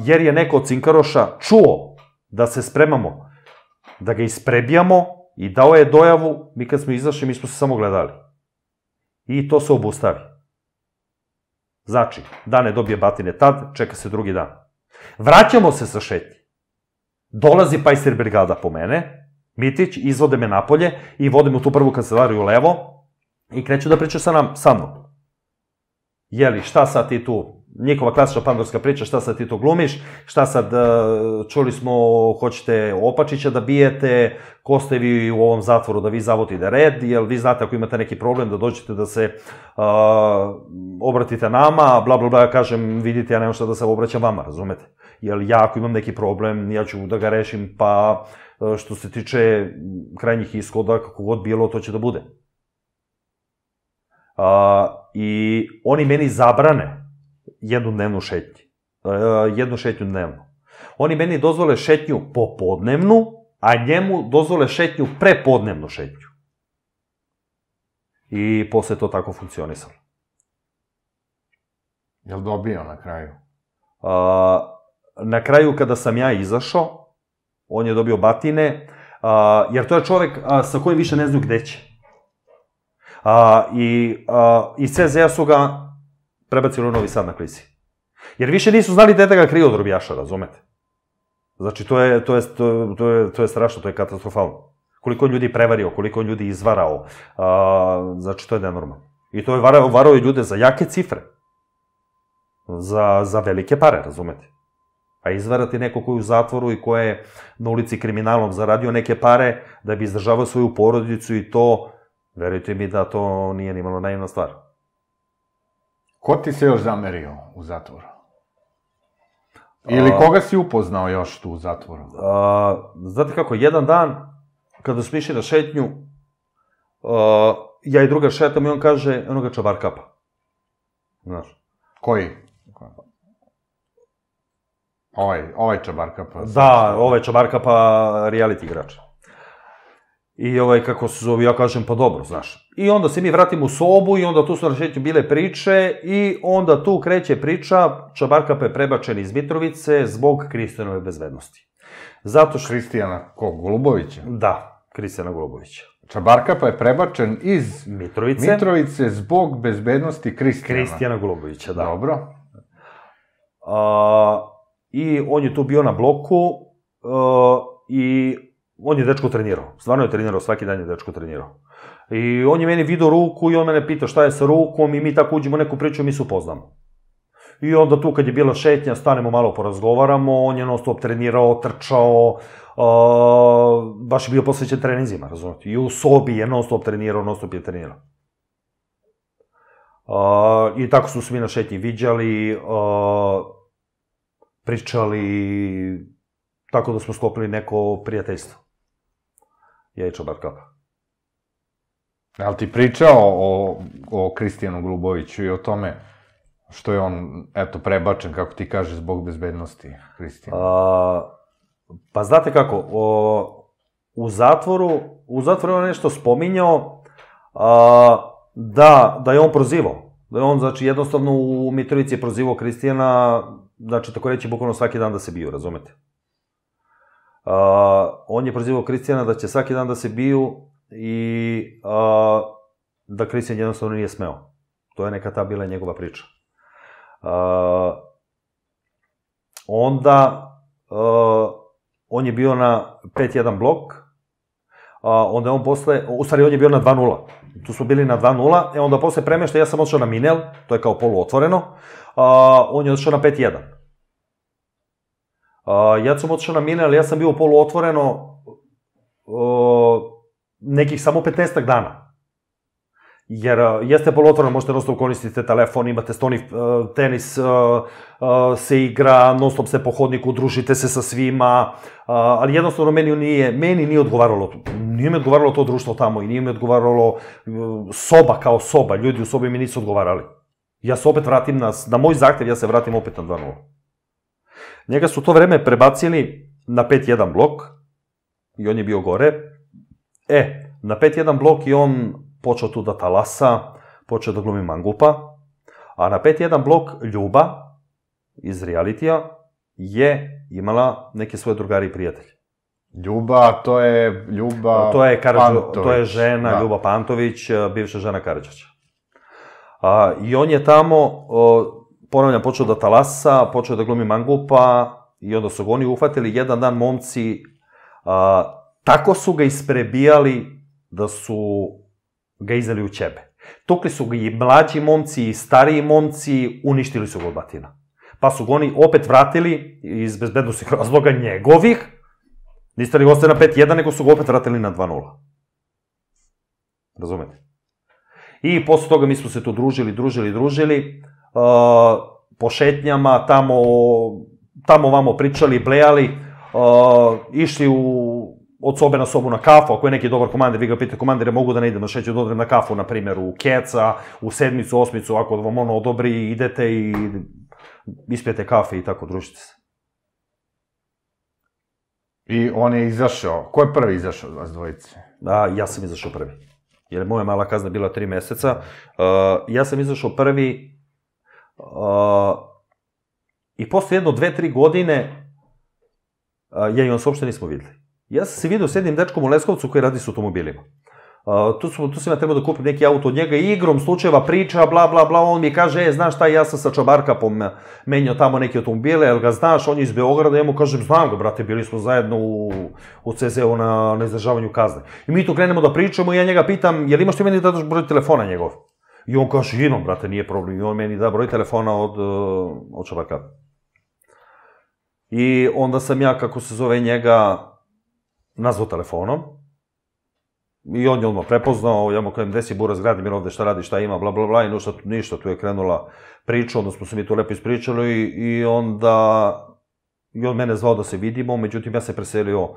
jer je neko od cinkaroša čuo da se spremamo, da ga isprebijamo i dao je dojavu, mi kad smo izašli, mi smo se samo gledali. I to se obustavi. Znači, dan ne dobije batine tad, čeka se drugi dan. Vraćamo se sa šetnji. Dolazi Pajser brigada po mene, Mitić, izvode me napolje i vode me u tu prvu kancelariju levo i kreću da pričaju sa nam, sa mnom. Jeli, šta sad ti tu, njihova klasična pandorska priča, šta sad ti tu glumiš, šta sad, čuli smo, hoćete Opačića da bijete, ko ste vi u ovom zatvoru da vi zavodite red, jel vi znate ako imate neki problem da dođete da se uh, obratite nama, bla bla bla, ja kažem, vidite, ja nemam šta da se obraćam vama, razumete? Jel ja ako imam neki problem, ja ću da ga rešim, pa što se tiče krajnjih ishoda, kako god bilo, to će da bude. I oni meni zabrane jednu dnevnu šetnju. Jednu šetnju dnevno. Oni meni dozvole šetnju popodnevnu, a njemu dozvole šetnju prepodnevnu šetnju. I posle to tako funkcionisalo. Je li dobio na kraju? Na kraju, kada sam ja izašao, on je dobio batine, jer to je čovek sa kojim više ne znaju gde će. I iz C Z A su ga prebacili u Novi Sad na klisi. Jer više nisu znali gde da ga kriju od robijaša, razumete? Znači, to je strašno, to je katastrofalno. Koliko on ljudi prevario, koliko on ljudi izvarao, znači, to je nenormalno. I to je varao i ljude za jake cifre. Za velike pare, razumete? A izvarati neko koji je u zatvoru i ko je na ulici kriminalom zaradio neke pare da bi izdržavao svoju porodicu i to, verujte mi da to nije ni malo naivna stvar. Ko ti se još zamerio u zatvoru? Ili koga si upoznao još tu u zatvoru? Znate kako, jedan dan, kada smo išli na šetnju, ja i druga šetam i on kaže, onoga Čabarkapa. Znaš? Koji? Ovaj Čabarkapa. Da, ovaj Čabarkapa, reality igrač. I ovaj, kako se zove, ja kažem, pa dobro, znaš. I onda se mi vratimo u sobu i onda tu su na šetnju bile priče i onda tu kreće priča, Čabarkapa je prebačen iz Mitrovice zbog Kristijanove bezbednosti. Zato što... Kristijana, ko, Golubovića? Da, Kristijana Golubovića. Čabarkapa je prebačen iz Mitrovice, Mitrovice zbog bezbednosti Kristijana. Kristijana Golubovića, da. Dobro. I on je tu bio na bloku i on je dečko trenirao. Stvarno je trenirao, svaki dan je dečko trenirao. I on je meni vidio ruku i on mene pita šta je sa rukom i mi tako uđemo u neku priču i mi se upoznamo. I onda tu kad je bila šetnja, stanemo malo porazgovaramo, on je non stop trenirao, trčao, baš je bio posvećen treninzima, razumijete. I u sobi je non stop trenirao, non stop je trenirao. I tako su se mi na šetnji viđali, pričali, tako da smo sklopili neko prijateljstvo. Ja i Čabarkapa. Je li ti pričao o Kristijanu Goluboviću i o tome što je on, eto, prebačen, kako ti kaže, zbog bezbednosti Kristijana? Pa znate kako, u zatvoru, u zatvoru je on nešto spominjao da je on prozivao. Da je on, znači, jednostavno u Mitrovici je prozivao Kristijana, znači, tako reći, bukvalno svaki dan da se biju, razumete? On je prozivao Kristijana da će svaki dan da se biju i da Kristijan jednostavno nije smeo. To je neka ta bila njegova priča. Onda, on je bio na pet jedan blok, onda je on posle, u stvari on je bio na dva nula. Tu smo bili na dva nula, e onda posle premešta ja sam odšao na Minel, to je kao poluotvoreno, on je odšao na pet jedan. Ja sam odšao na Minel, ja sam bio poluotvoreno nekih samo petnaestak dana. Jer jeste poluotvoreno, možete non stop koristiti telefon, imate stoni tenis, se igra, non stop ste po hodniku, družite se sa svima, ali jednostavno meni nije, meni nije odgovaralo, nije mi odgovaralo to društvo tamo i nije mi odgovaralo soba kao soba, ljudi u sobi mi nisu odgovarali. Ja se opet vratim na, na moj zahtev, ja se vratim opet na dva nula. Njega su to vreme prebacili na pet jedan blok i on je bio gore. E, na pet jedan blok i on počeo tu da talasa, počeo da glumi mangupa, a na pet jedan blok Ljuba iz realitija je imala neke svoje drugari i prijatelje. Ljuba, to je Ljuba Pantović. To je žena Ljuba Pantović, bivša žena Karadžića. I on je tamo, ponavljam, počeo da talasa, počeo da glumi mangupa i onda su ga oni uhvatili jedan dan momci, tako su ga isprebijali da su ga izneli u ćebe. Tukli su ga i mlađi momci i stariji momci, uništili su ga od batina. Pa su ga oni opet vratili iz bezbednostnih razloga njegovih, niste li ga ostaje na pet jedan, nego su ga opet vratili na dva nula. Razumete? I posle toga mi smo se tu družili, družili, družili, po šetnjama, tamo, tamo vamo pričali, blejali, išli u od sobe na sobu na kafu, ako je neki dobar komandir, vi ga pitate, komandire, mogu da ne idem na šećer, da odrem na kafu, na primjer, u Keca, u sedmicu, osmicu, ako vam ono odobri, idete i ispijete kafe i tako, družite se. I on je izašao. Ko je prvi izašao od vas dvojice? Da, ja sam izašao prvi. Jer moja mala kazna bila tri meseca. Ja sam izašao prvi i posle jedno, dve, tri godine ja i on se uopšte nismo videli. Ja sam se vidio s jednim dečkom u Leskovcu koji radi s automobilima. Tu sam ja trebao da kupim neki auto od njega i igrom slučajeva priča, bla, bla, bla, on mi kaže, e, znaš šta, ja sam sa Čabarkapom menjao tamo neke automobile, jel ga znaš, on je iz Beograda, ja mu kažem, znam ga, brate, bili smo zajedno u ce zeu na izdržavanju kazne. I mi tu krenemo da pričamo i ja njega pitam, jel imaš ti meni da daš broj telefona njegov? I on kaže, imam, brate, nije problem, i on meni da broj telefona od Čabarkapa. I onda sam ja, kako se zove njega, nazvao telefonom. I on je odmah prepoznao, ja mu kažem, gde si Buraz, Gradimir, ovde šta radi, šta ima, bla, bla, bla, i ništa, tu je krenula priča, onda smo se mi to lepo ispričali i onda i on mene zvao da se vidimo, međutim ja se preselio,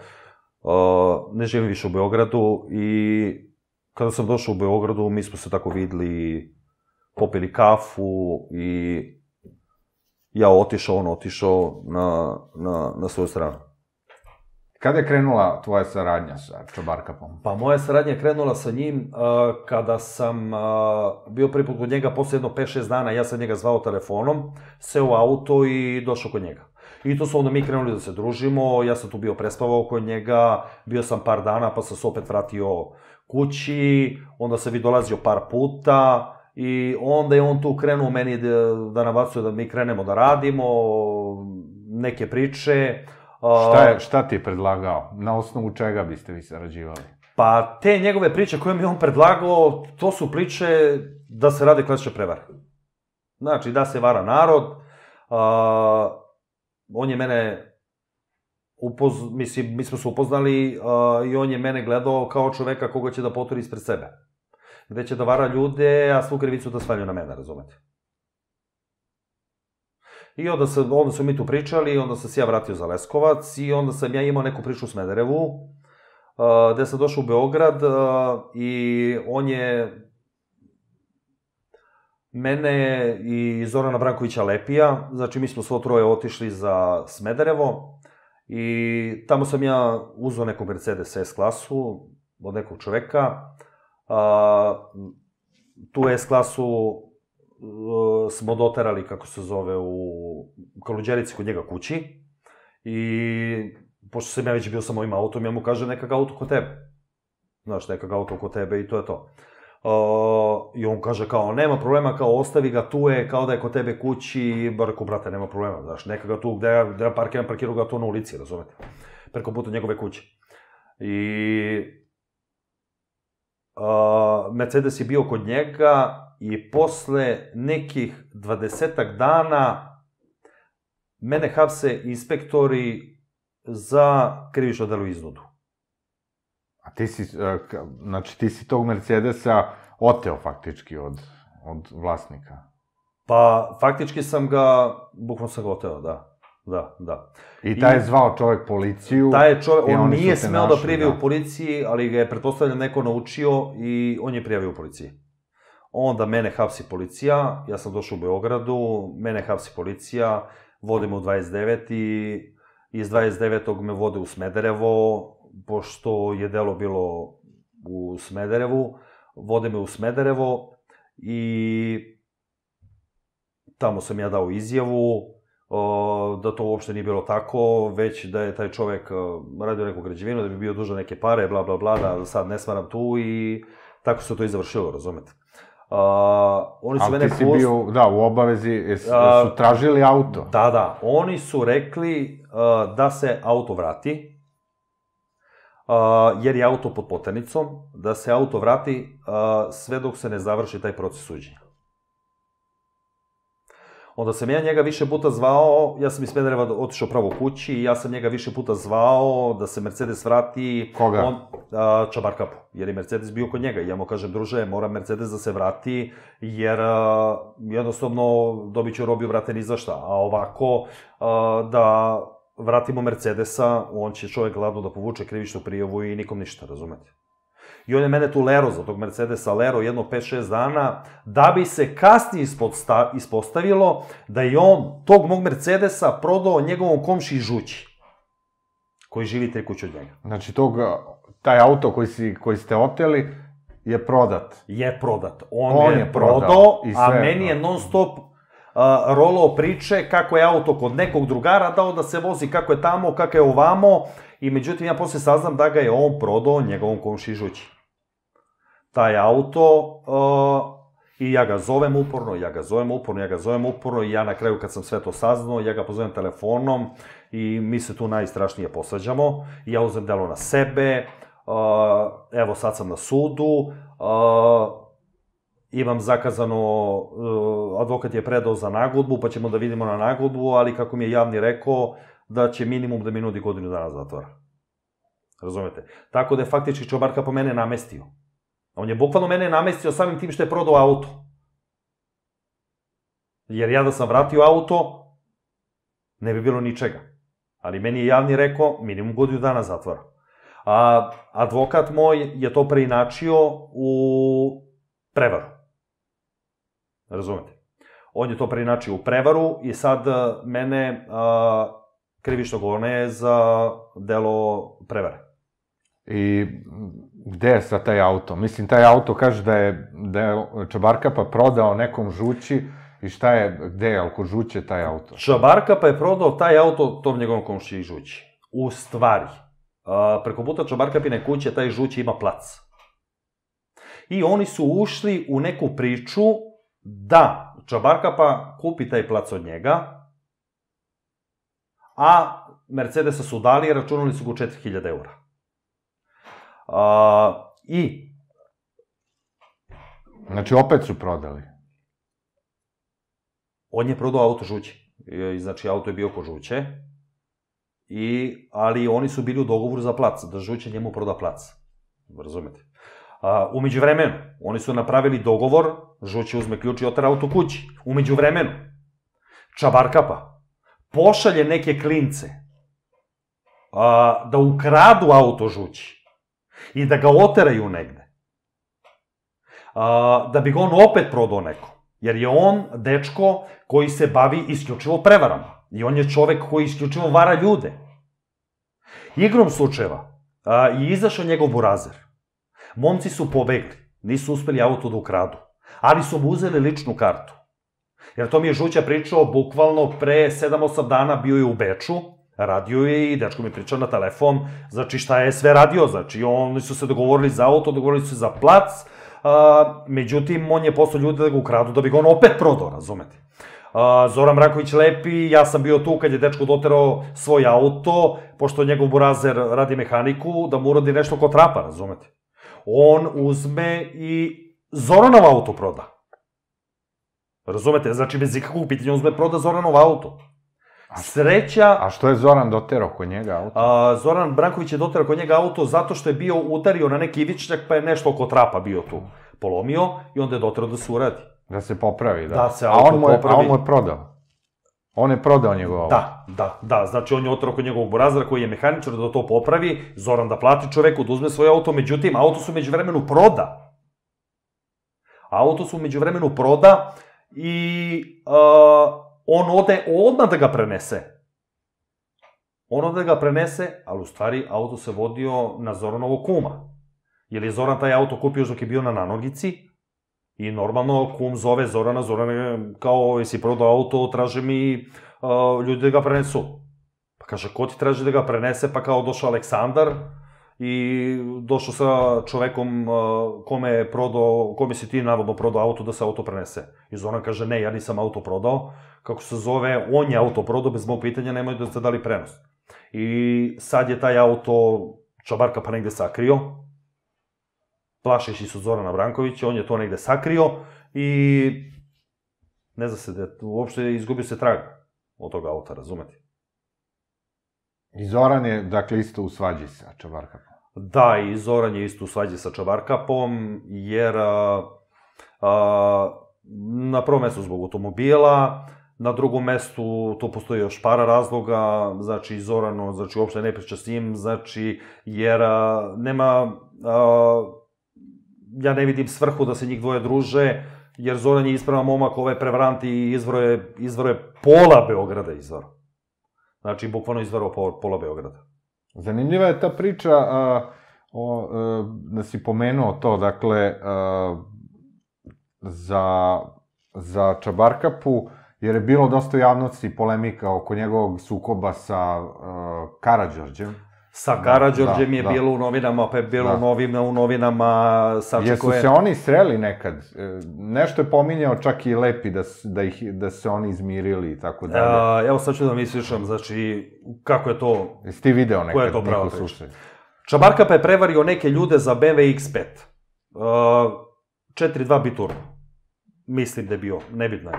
ne živim više u Beogradu i kada sam došao u Beogradu, mi smo se tako videli, popili kafu i ja otišao, on otišao na svoju stranu. Kada je krenula tvoja saradnja sa Čabarkapom? Pa moja saradnja je krenula sa njim kada sam bio prvi put kod njega, posle jedno pet šest dana, ja sam njega zvao telefonom, seo u auto i došao kod njega. I tu su onda mi krenuli da se družimo, ja sam tu bio prespavao kod njega, bio sam par dana pa sam se opet vratio kući, onda sam vi dolazio par puta i onda je on tu krenuo meni da nabacuje da mi krenemo da radimo, neke priče. Šta ti je predlagao? Na osnovu čega biste vi sarađivali? Pa te njegove priče koje mi je on predlagao, to su priče da se rade klasične prevare. Znači, da se vara narod, on je mene, mislim, mi smo se upoznali i on je mene gledao kao čoveka koga će da poturi ispred sebe. Gde će da vara ljude, a svu krivicu da svalju na mene, razumete? I onda smo mi tu pričali, onda sam se ja vratio za Leskovac i onda sam ja imao neku priču u Smederevu, gde sam došao u Beograd i on je mene i Zorana Brankovića Lepija, znači mi smo svo troje otišli za Smederevo i tamo sam ja uzeo neku Mercedes S klasu od nekog čoveka, tu S klasu smo doterali, kako se zove, u Kaluđerici kod njega kući i pošto sam ja već bio sa mojim autom, ja mu kažem neka ga auto kod tebe. Znaš, neka ga auto kod tebe i to je to. I on kaže kao, nema problema, kao ostavi ga tu je, kao da je kod tebe kući, bar rekao, brate, nema problema, znaš, neka ga tu, gde ja parkiram, parkiru ga tu na ulici, razumete, preko puta njegove kuće. I Mercedes je bio kod njega i posle nekih dvadesetak dana mene hapse inspektori za krivično delo iznudu. A ti si, znači ti si tog Mercedesa oteo faktički od vlasnika? Pa faktički sam ga, bukvalno sam ga oteo, da. Da, da. I taj je zvao čovek policiju? Taj je čovek, on nije smeo da prijavi u policiji, ali ga je, pretpostavljam, neko naučio i on je prijavio u policiji. Onda mene hapsi policija, ja sam došao u Beogradu, mene hapsi policija, vode me u dvadeset devet i iz dvadeset devetog me vode u Smederevo, pošto je delo bilo u Smederevu, vode me u Smederevo i tamo sam ja dao izjavu da to uopšte nije bilo tako, već da je taj čovek radio neku građevinu, da bi bio dužan neke pare, bla, bla, bla, da sad ne smaram tu i tako se to i završilo, razumete. Ali ti si bio, da, u obavezi, su tražili auto? Da, da, oni su rekli da se auto vrati, jer je auto pod poternicom, da se auto vrati sve dok se ne završi taj proces suđenja. Onda sam ja njega više puta zvao, ja sam iz Smedereva otišao pravo kući i ja sam njega više puta zvao da se Mercedes vrati. Koga? Čabarkapu, jer je Mercedes bio kod njega i ja mu kažem, druže, mora Mercedes da se vrati, jer jednostavno dobit ću robiju, vrate, ni za šta, a ovako da vratimo Mercedesa, on će čovjek gladno da povuče krivičnu prijavu i nikom ništa, razumete? I on je mene tu lero za tog Mercedesa, lero jedno pet šest dana, da bi se kasnije ispostavilo da je on tog mog Mercedesa prodao njegovom komši Žući, koji živi tri kuće od njega. Znači, tog, taj auto koji, si, koji ste oteli je prodat? Je prodat. On, on je, je prodao, a meni je non stop uh, rolao priče kako je auto kod nekog drugara dao da se vozi, kako je tamo, kako je ovamo, i međutim ja posle saznam da ga je on prodao njegovom komši Žući. Taj auto, uh, i ja ga zovem uporno, ja ga zovem uporno, ja ga zovem uporno, i ja na kraju kad sam sve to saznao, ja ga pozovem telefonom i mi se tu najstrašnije posvađamo, i ja uzem delo na sebe, uh, evo sad sam na sudu, uh, imam zakazano, uh, advokat je predao za nagodbu, pa ćemo da vidimo na nagodbu, ali kako mi je javni rekao, da će minimum da mi nudi godinu dana zatvora. Razumete? Tako da je faktički Čobarka po mene namestio. On je bukvalno mene namestio samim tim što je prodao auto. Jer ja da sam vratio auto, ne bi bilo ničega. Ali meni je javni rekao minimum godinu dana zatvora. A advokat moj je to preinačio u prevaru. Razumete? On je to preinačio u prevaru i sad mene a, krivično govore za delo prevare. I gde je sad taj auto? Mislim, taj auto kaže da je, da je Čabarkapa prodao nekom Žući, i šta je, gde je, ali kod Žuće taj auto? Čabarkapa je prodao taj auto tom njegovom komšiji Žući. U stvari, a, preko puta Čabarkapine kuće taj Žući ima plac. I oni su ušli u neku priču da Čabarkapa kupi taj plac od njega, a Mercedesa su dali i računali su go četiri hiljade eura. A, I... Znači, opet su prodali? On je prodao auto Žući. I, znači, auto je bio ko Žuće, i, ali oni su bili u dogovoru za plac, da Žuće njemu proda plac. Razumete? A, umeđu vremenu, oni su napravili dogovor, Žuće uzme ključ i otara auto kući. Umeđu vremenu, Čabarkapa pošalje neke klince a, da ukradu auto Žući i da ga oteraju negde, a, da bi ga on opet prodao neko. Jer je on dečko koji se bavi isključivo prevarama. I on je čovek koji isključivo vara ljude. Igrom slučajeva a, je izašao njegov burazer. Momci su pobegli, nisu uspeli auto da ukradu, ali su mu uzeli ličnu kartu. Jer to mi je Žuća pričao bukvalno pre sedam osam dana, bio je u Beču, radio je i dečko mi pričao na telefon, znači šta je sve radio, znači oni su se dogovorili za auto, dogovorili su se za plac, a, međutim on je poslao ljude da ga ukradu da bi ga on opet prodao, razumete. A, Zoran Branković lepi, ja sam bio tu kad je dečko doterao svoj auto, pošto njegov burazer radi mehaniku, da mu uradi nešto ko trapa, razumete. On uzme i Zoranov auto proda. Razumete? Znači, bez ikakvog pitanja uzme proda Zoranov auto. Sreća... A što je Zoran doterao kod njega auto? A, Zoran Branković je doterao kod njega auto zato što je bio udario na neki ivičnjak, pa je nešto oko trapa bio tu polomio i onda je doterao da se uradi. Da se popravi, da. Da se auto a on je, popravi. A on mu je prodao? On je prodao njegov auto? Da, da, da. Znači, on je oterao kod njegovog burazera koji je mehaničar da to popravi, Zoran da plati čoveku, da uzme svoj auto, međutim, auto su među vremenu proda. Auto su među vremenu proda i uh, on ode odmah da ga prenese. On ode da ga prenese, ali u stvari auto se vodio na Zoranovo kuma. Jer je Zoran taj auto kupio dok je bio na nanogici i normalno kum zove Zorana, Zoran kao, jesi prodao auto, traže mi uh, ljudi da ga prenesu. Pa kaže, ko ti traži da ga prenese? Pa kao došao Aleksandar i došao sa čovekom uh, kome je prodao, kome si ti navodno prodao auto da se auto prenese. I Zoran kaže, ne, ja nisam auto prodao. Kako se zove, on je auto prodao, bez mog pitanja, nemoj da ste dali prenos. I sad je taj auto Čabarka pa negde sakrio, plašeći su Zorana Brankovića, on je to negde sakrio i ne zna se da uopšte izgubio se trag od toga auta, razumete? I Zoran je, dakle, isto u svađi sa Čabarkapom. Da, i Zoran je isto u svađi sa Čabarkapom, jer a, a, na prvom mestu zbog automobila, Na drugom mestu, to postoji još para razloga, znači Zorano, znači uopšte ne priča s njim, znači jer nema, ja ne vidim svrhu da se njih dvoje druže, jer Zoran je ispravan momak, ove prevaranti izvaro je pola Beograda izvaro. Znači, bukvalno izvaro pola Beograda. Zanimljiva je ta priča, da si pomenuo to, dakle, za Čabarkapu, jer je bilo dosta javnosti polemika oko njegovog sukoba sa Karađorđem. Sa Karađorđem je bilo u novinama, pa je bilo u novinama... Jesu se oni sreli nekad? Nešto je pominjao čak i Lepi da se oni izmirili i tako dalje. Evo sad ću da mi ispričam, znači, kako je to... Jesi ti video nekad njihov slušaj? Čabarkapa je prevario neke ljude za B M W X pet. četiri dva biturbo. Mislim da je bio, nebitno je.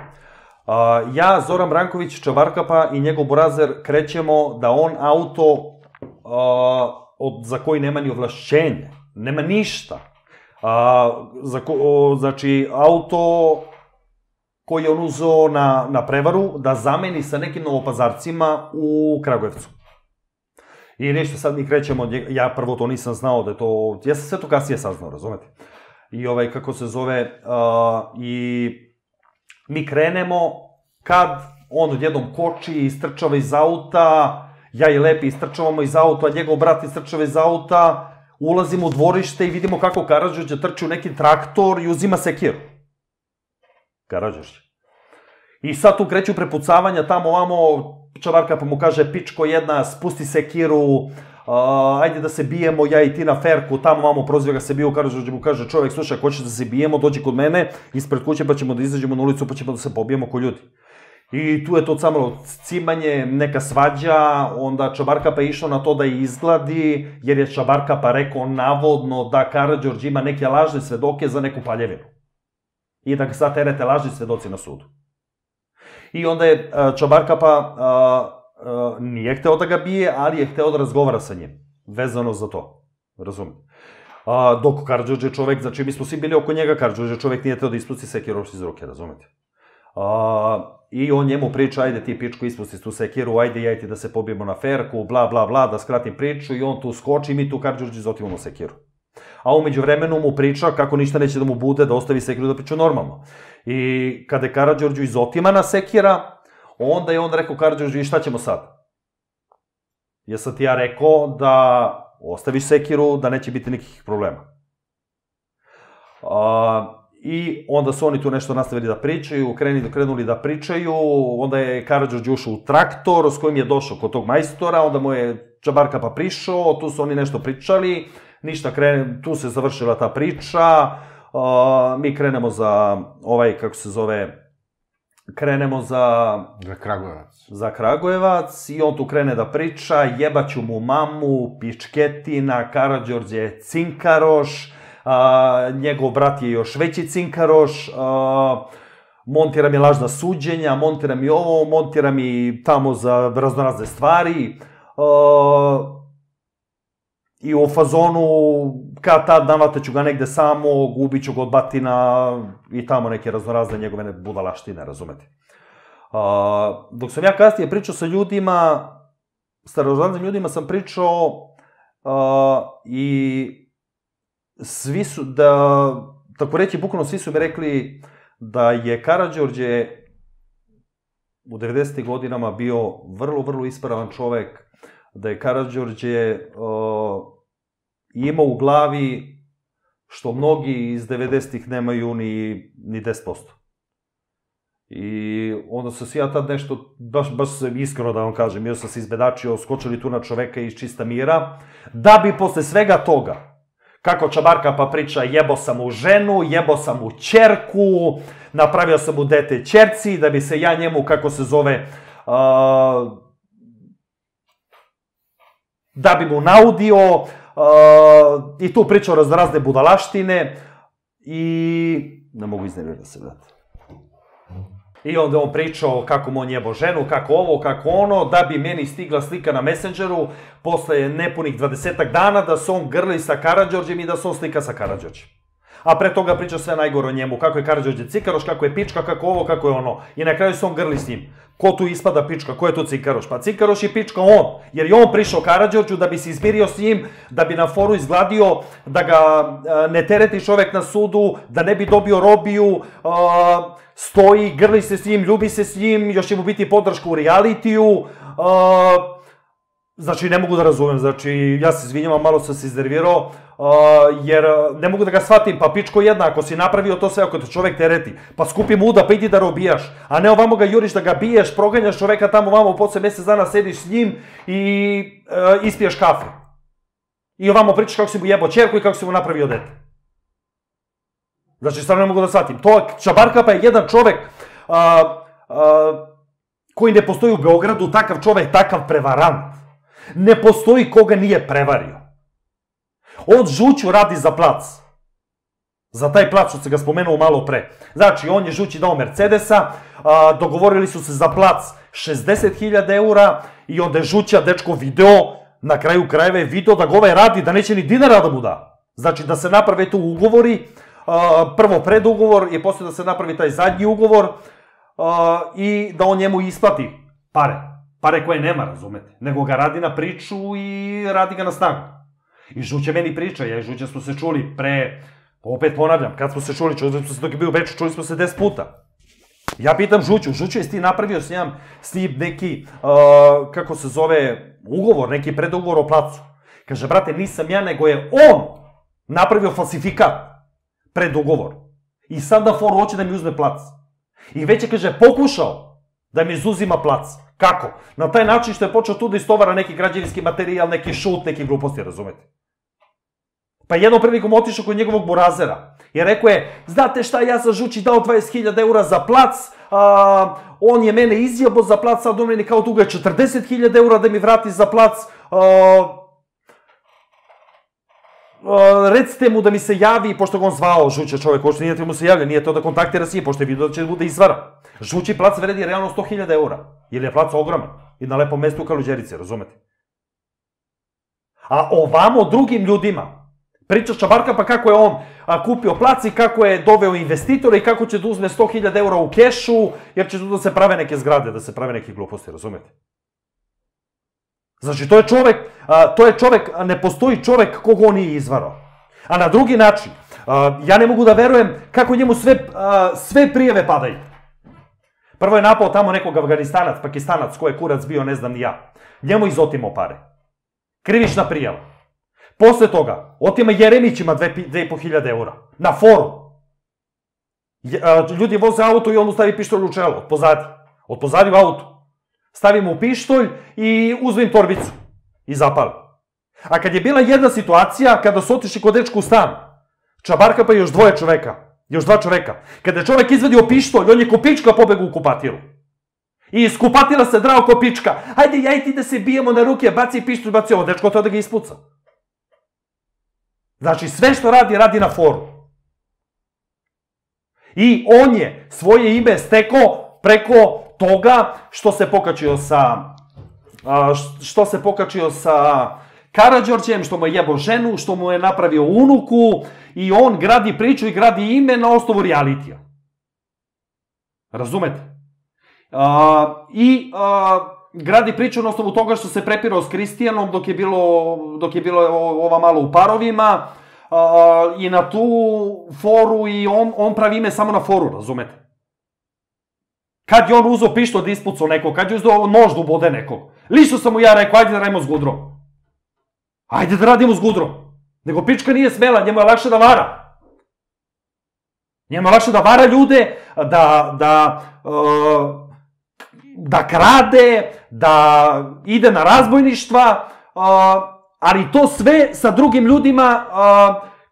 Ja, Zoran Branković, Čabarkapa i njegov burazer krećemo da on auto za koji nema ni ovlašćenje, nema ništa. Znači, auto koji je on uzeo na prevaru da zameni sa nekim novopazarcima u Kragujevcu. I nešto, sad mi krećemo, ja prvo to nisam znao da je to, ja sam sve to kasnije saznao, razumete? I ovaj, kako se zove, i mi krenemo, kad on odjednom koči i istrčava iz auta, ja i Lepi istrčavamo iz auta, njegov brat istrčava iz auta, ulazimo u dvorište i vidimo kako Karađorđe trči u neki traktor i uzima sekiru. Karađorđe. I sad tu kreću prepucavanja tamo ovamo, Čabarkapa mu kaže, pičko jedna, spusti sekiru, ajde da se bijemo, ja i ti na ferku, tamo ovamo proziva ga se bio, Karađorđe mu kaže, čovjek, slušaj, ako hoćeš da se bijemo, dođi kod mene, ispred kuće pa ćemo da izađemo na ulicu pa ćemo da se pobijemo ko ljudi. I tu je to samalo cimanje, neka svađa, onda Čabarkapa je išao na to da je izgladi, jer je Čabarkapa rekao navodno da Karađorđe ima neke lažne svedoke za neku paljevinu. I da ga sad terete lažni svedoci na sudu. I onda je Čabarkapa nije hteo da ga bije, ali je hteo da razgovara sa njim, vezano za to, razumijete. Dok Karađorđe je čovek, znači mi smo svi bili oko njega, Karađorđe je čovek nije hteo da ispusti sekiru iz ruke, razumijete. I on njemu priča, ajde ti pičko ispusti tu sekiru, ajde ja i ti da se pobijemo na ferku, bla bla bla, da skratim priču i on tu skoči i mi tu Karađorđe izotivamo sekiru. A umeđu vremenu mu priča kako ništa neće da mu bude, da ostavi sekiru da priča normalno. I kada je Karađorđu izotimana sekira, onda je on rekao Karađorđu i šta ćemo sad? Jesam ti ja rekao da ostaviš sekiru, da neće biti nikakvih problema. I onda su oni tu nešto nastavili da pričaju, krenuli da pričaju, onda je Karađorđe ušao u traktor s kojim je došao kod tog majstora, onda mu je Čabarkapa prišao, tu su oni nešto pričali, ništa, tu se završila ta priča, mi krenemo za ovaj, kako se zove, krenemo za... Za Kragujevac. Za Kragujevac i on tu krene da priča, jebaću mu mamu, pičketina, Karađorđe je cinkaroš, njegov brat je još veći cinkaroš, montira mi lažna suđenja, montira mi ovo, montira mi tamo za raznorazne stvari. I u fazonu, kad tad navataću ga negde samo, gubit ću ga od batina i tamo neke raznorazne njegove budalaštine, razumete. Dok sam ja kasnije pričao sa ljudima, starožitnim ljudima sam pričao i svi su, da, tako reći, bukvalno svi su mi rekli da je Karađorđe u devedesetim godinama bio vrlo, vrlo ispravan čovek, da je Karađorđe imao u glavi što mnogi iz devedesetih nemaju ni deset posto. I onda sam se ja tad nešto, baš sam iskreno da vam kažem, ja sam se izbedačio, skočili tu na čoveka iz čista mira, da bi posle svega toga, kako Čabarkapa priča, jebo sam mu ženu, jebo sam mu ćerku, napravio sam mu dete ćerci, da bi se ja njemu, kako se zove, da bi mu naudio, i tu pričao razne budalaštine i ne mogu iznervirati se, brate. I onda on pričao kako mu on jebo ženu, kako ovo, kako ono, da bi meni stigla slika na Messengeru posle nepunih dvadesetak dana da se on grli sa Karađorđem i da se on slika sa Karađorđem. a pre toga priča sve najgore o njemu, kako je Karađorđe Cikaroš, kako je pička, kako ovo, kako je ono. I na kraju se on grli s njim. Ko tu ispada pička, ko je tu Cikaroš? Pa Cikaroš je pička on, jer je on prišao Karađorđu da bi se izmirio s njim, da bi na foru izgladio, da ga ne tereti čovek na sudu, da ne bi dobio robiju, stoji, grli se s njim, ljubi se s njim, još će mu biti podrška u realitiju. Znači, ne mogu da razumem, znači, ja se izvinjavam, malo sam se iznervirao, jer ne mogu da ga shvatim, pa pičko jedna, ako si napravio to sve, ako te čovek tereti, pa skupi muda, pa idi da robijaš, a ne ovamo ga juriš da ga biješ, proganjaš čoveka tamo ovamo, posle mesec dana sediš s njim i ispiješ kafe. I ovamo pričaš kako si mu jebao ćerku i kako si mu napravio dete. Znači, stvarno ne mogu da shvatim. To, Čabarkapa je jedan čovek koji ne postoji u Beogradu, takav čovek, takav prevarant. Ne postoji koga nije prevario. On Žuću radi za plac. Za taj plac što se ga spomenuo malo pre. Znači, on je Žući dao Mercedesa, dogovorili su se za plac šezdeset hiljada eura i onda je Žuća dečko video, na kraju krajeva je video da ga ovaj radi, da neće ni dinara da mu da. Znači, da se naprave tu ugovori, prvo predugovor i posle da se napravi taj zadnji ugovor i da on njemu isplati pare. Pare koje nema, razumete, nego ga radi na priču i radi ga na snagu. I Žuće meni priča, ja i Žuće smo se čuli pre, opet ponavljam, kad smo se čuli, čuli smo se dok je bio u Beču, čuli smo se deset puta. Ja pitam Žuću, Žuću, jesi ti napravio s njim, s njim neki, kako se zove, ugovor, neki predugovor o placu? Kaže, brate, nisam ja, nego je on napravio falsifikat, predugovor. I sad da foru hoće da mi uzme plac. I već je, kaže, pokušao da mi izuzima plac. Kako? Na taj način što je počeo tu da istovara neki građevinski materijal, neki šut, neki gluposti, razumete? Pa jednom prilikom otišao kod njegovog burazera i rekao je, znate šta, ja sam Žući dao dvadeset hiljada eura za plac, on je mene izjebo za plac, sad on meni kao dugo je četrdeset hiljada eura da mi vrati za plac, recite mu da mi se javi, pošto ga on zvao Žuća čovek, uopšte nije te mu se javlja, nije to da kontaktira s njim, pošto je vidio da će bude izvara. Žući plac vredi realno sto hiljada eura, jer je plac ogroman i na lepom mestu u Kaluđerici, razumete? A ovamo drugim ljudima priča Čabarkapa kako je on kupio plac i kako je doveo investitora i kako će da uzme sto hiljada eura u kešu, jer će tu da se prave neke zgrade, da se prave neke gluposti, razumete? Znači, to je čovek, to je čovek, ne postoji čovek koga on nije izvarao. A na drugi način, ja ne mogu da verujem kako njemu sve prijeve padaju. Prvo je napao tamo nekog Afganistanac, Pakistanac, ko je kurac bio, ne znam ni ja. Njemu izotimao pare. Krivična prijava. Posle toga, otima Jeremićima dve i po hiljade eura. Na foru. Ljudi voze auto i on mu stavi pištolj u čelo, od pozadi. Od pozadi u auto. Stavi mu pištolj i uzme im torbicu. I zapali. A kad je bila jedna situacija, kada su otišli kod dečka u stan, Čabarkapa i još dvoje čoveka, još dva čoveka, kada je čovek izvadio pištolj, on je ko pička pobegao u kupatilu. I iz kupatila se drao ko pička. Hajde, ja i ti da se bijemo na ruke, baci pištolj, baci ovo, dečko to da ga ispuca. Znači, sve što radi, radi na foru. I on je svoje ime stekao preko toga što se pokačio sa što se pokačio sa Karađorđem, što mu je jebo ženu, što mu je napravio unuku i on gradi priču i gradi ime na osnovu realitija. Razumete? I gradi priču na osnovu toga što se prepirao s Kristijanom dok je bilo dok je bilo ova malo u parovima i na tu foru i on pravi ime samo na foru, razumete? Kad je on uzao pištolj da ispucao nekog, kad je uzao nož da ubode nekog. Lično sam mu ja rekao, ajde da radimo s Gudrom. Ajde da radimo s Gudrom. Nego pička nije smela, njemu je lakše da vara. Njemu je lakše da vara ljude, da, da, da krade, da ide na razbojništva, ali to sve sa drugim ljudima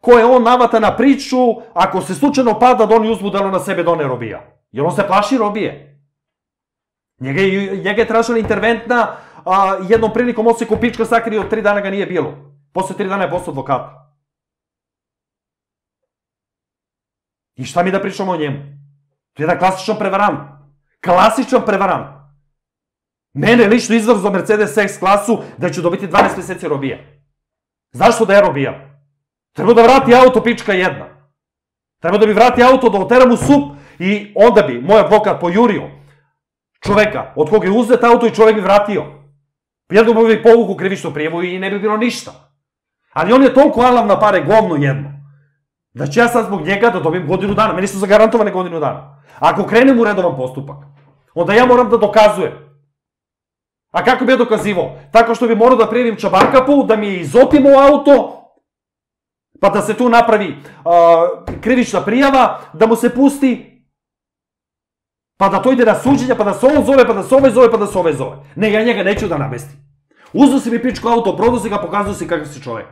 koje on navata na priču, ako se slučajno pada da oni uzmu delo na sebe da on ne robija. Jer on se plaši robije. Njega je tražila interventna, jednom prilikom on se ko pička sakrio, tri dana ga nije bilo. Posle tri dana je postao advokata. I šta mi da pričamo o njemu? To je jedan klasičan prevarant. Klasičan prevarant. Mene lično izvor za Mercedes S klasu da ću dobiti dvanaest meseci robije. Znaš što da je robija? Treba da vrati auto pička jedna. Treba da mi vrati auto, da oteram u sup i onda bi moj advokat pojurio čoveka od koga je uzet auto i čovek bi vratio. Jedno bi povuku krivičnu prijavu i ne bi bilo ništa. Ali on je toliko alav na pare, govno jedno, da ću ja sad zbog njega da dobijem godinu dana. Meni su zagarantovane godinu dana. Ako krenem u redovan postupak, onda ja moram da dokazujem. A kako bi ja dokazivao? Tako što bi morao da prijavim Čabarkapu, da mi je izotimo auto, pa da se tu napravi krivična prijava, da mu se pusti, pa da to ide na suđenja, pa da se on zove, pa da se ove zove, pa da se ove zove. Ne, ja njega neću da namestim. Uzeo si mi pičko auto, prodao si ga, pokazao si kakav si čovek.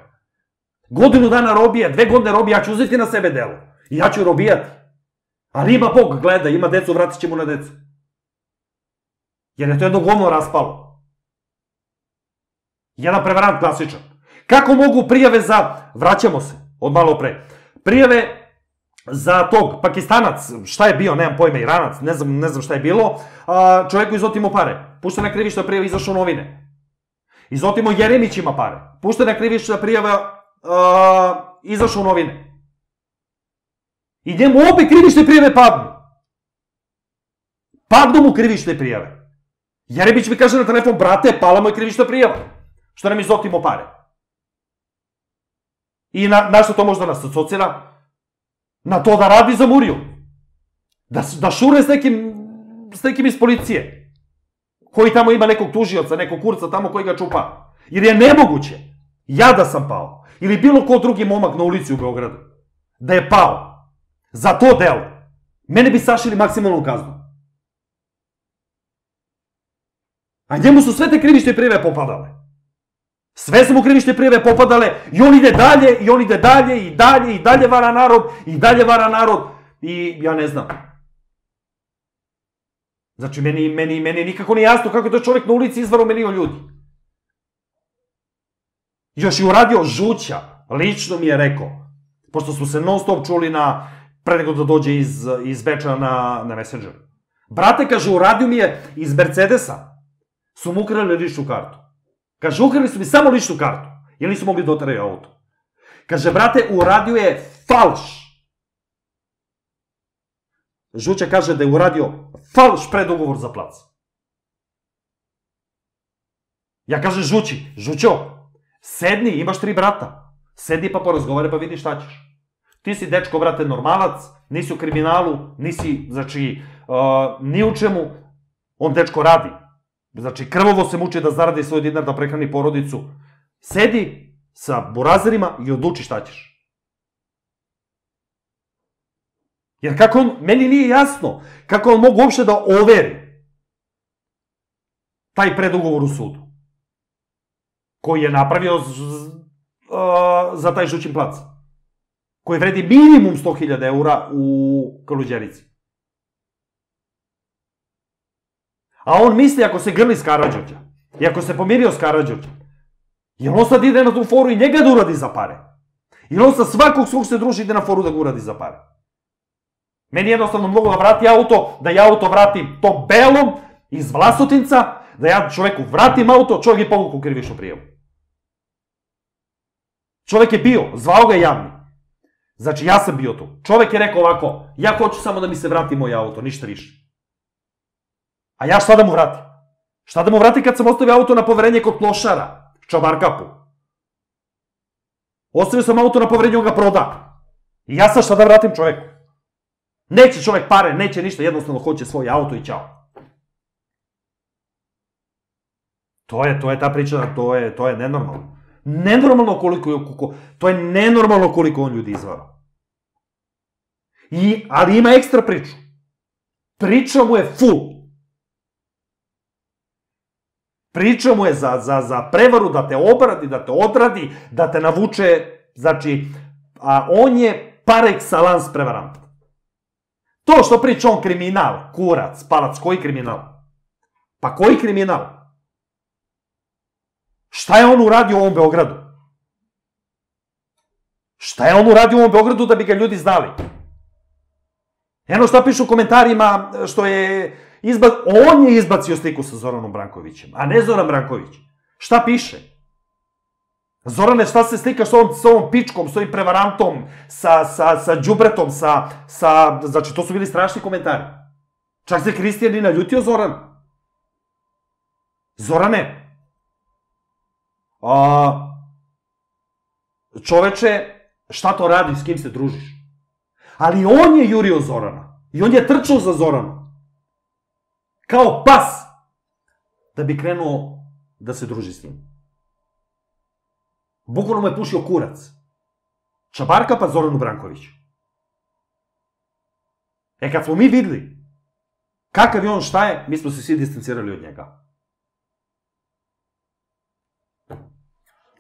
Godinu dana robija, dve godine robija, ja ću uzeti na sebe delo. I ja ću robijati. Ali ima Bog, gleda, ima decu, vratit će mu na decu. Jer je to jedno govno raspalo. Jedan prevarant klasičan. Kako mogu prijave za, vraćamo se, od malo pre, prijave za tog Pakistanac, šta je bio, nemam pojma, Iranac, ne znam, ne znam šta je bilo, čovjeku izotimo pare, puštena krivična prijava, izašao novine. Izotimo Jeremić ima pare, puštena krivična prijava, izašao novine. I njemu obe krivične prijave padnu. Padnu mu krivične prijave. Jeremić mi kaže na telefon, brate, pala mu je krivična prijava, što nam izotimo pare. I na što to možda nas asocira? Na to da radi za Muriju. Da šure s nekim iz policije. Koji tamo ima nekog tužioca, nekog kurca tamo koji ga čupa. Jer je nemoguće, ja da sam pao, ili bilo ko drugi momak na ulici u Beogradu, da je pao za to delo, mene bi sašili maksimalnu kaznu. A njemu su sve te krivične prijave popadale. Sve su mu krivične prijave popadale i on ide dalje, i on ide dalje, i dalje, i dalje vara narod, i dalje vara narod, i ja ne znam. Znači, meni, meni, meni nikako nije jasno kako je to čovjek na ulici izvaro milion ljudi. Još je uradio žuća, lično mi je rekao, pošto smo se non stop čuli na, pre nego da dođe iz, iz Beča na, na Messenger. Brate, kaže, uradio mi je iz Mercedesa, su mu ukrali ličnu kartu. Kaže, ukrali su mi samo ličnu kartu, jer nisu mogli doteraju auto. Kaže, brate, uradio je falš. Žuća kaže da je uradio falš predugovor za plac. Ja kažem Žući, Žućo, sedni, imaš tri brata. Sedni pa porazgovore pa vidi šta ćeš. Ti si dečko, brate, normalac, nisi u kriminalu, nisi, znači, ni u čemu. On dečko radi. Znači, krvovo se muči da zaradi svoj dinar, da prehrani porodicu. Sedi sa burazerima i odluči šta ćeš. Jer kako on, meni nije jasno, kako on mogu uopšte da overi taj predugovor u sudu, koji je napravio za taj Žućin plac, koji vredi minimum sto hiljada eura u Kaluđerici. A on misli, ako se grli s Karađorđa, i ako se pomirio s Karađorđa, jer on sad ide na tu foru i njega da uradi za pare. Jer on sa svakog svog se druži ide na foru da ga uradi za pare. Meni jednostavno mogu da vrati auto, da ja auto vratim tom belom iz Vlasotinca, da ja čoveku vratim auto, čovjek je povukao krivičnu prijavu. Čovjek je bio, zvao ga javni. Znači, ja sam bio tu. Čovjek je rekao ovako, ja hoću samo da mi se vrati moj auto, ništa više. A ja šta da mu vratim? Šta da mu vratim kad sam ostavio auto na poverenje kod klošara, Čabarkapu? Ostavio sam auto na poverenje, on ga proda. I ja sad šta da vratim čoveku? Neće čovjek pare, neće ništa, jednostavno hoće svoj auto i ćao. To je, to je ta priča, to je, to je nenormalno. Nenormalno koliko, to je nenormalno koliko on ljudi izvara. I, ali ima ekstra priču. Priča mu je full. Priča mu je za, za, za prevaru da te obradi, da te odradi, da te navuče, znači, a on je par excellence prevarant. To što priča on kriminal, kurac, palac, koji kriminal? Pa koji kriminal? Šta je on uradio u ovom Beogradu? Šta je on uradio u ovom Beogradu da bi ga ljudi znali? Eno šta piše u komentarima, što je izbac... on je izbacio sliku sa Zoranom Brankovićem, a ne Zoran Branković. Šta piše? Zorane, šta se slikaš s ovom, s ovom pičkom, s ovim prevarantom, sa, sa, sa đubretom, sa, sa... Znači, to su bili strašni komentari. Čak se Kristijan i naljutio Zoran. Zorane, a, čoveče, šta to radi, s kim se družiš? Ali on je jurio Zorana. I on je trčao za Zorana. Kao pas. Da bi krenuo da se druži s njim. Bukvalno mu je pušio kurac. Čabarka pa Zoranu Brankoviću. E kad smo mi videli kakav je on, šta je, mi smo se svi distancirali od njega.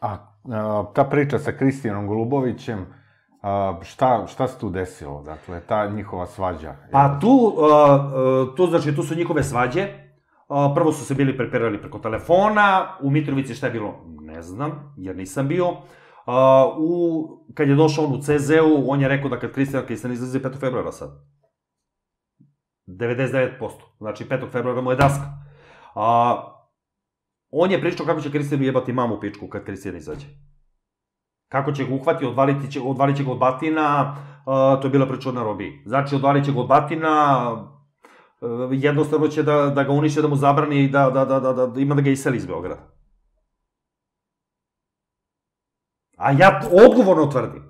A, a ta priča sa Kristijanom Golubovićem, a, šta, šta se tu desilo? Dakle, ta njihova svađa? Pa tu, a, tu, znači, tu su njihove svađe. A, prvo su se bili preperali preko telefona, u Mitrovici šta je bilo? Ne znam, jer nisam bio. A, u, kad je došao on u C Z U, on je rekao da kad Kristijan Kristijan izlazi petog februara sad. devedeset devet posto. Znači, petog februara mu je daska. A, on je pričao kako će Kristijanu jebati mamu pičku kad Kristijan izađe. Kako će ga uhvati, odvaliti će, odvalit će ga od batina, a, to je bila priča na robiji. Znači, odvalit će ga od batina, a, jednostavno će da, da ga uniše, da mu zabrani i da, da, da, da, da ima da ga iseli iz Beograda. A ja odgovorno tvrdim,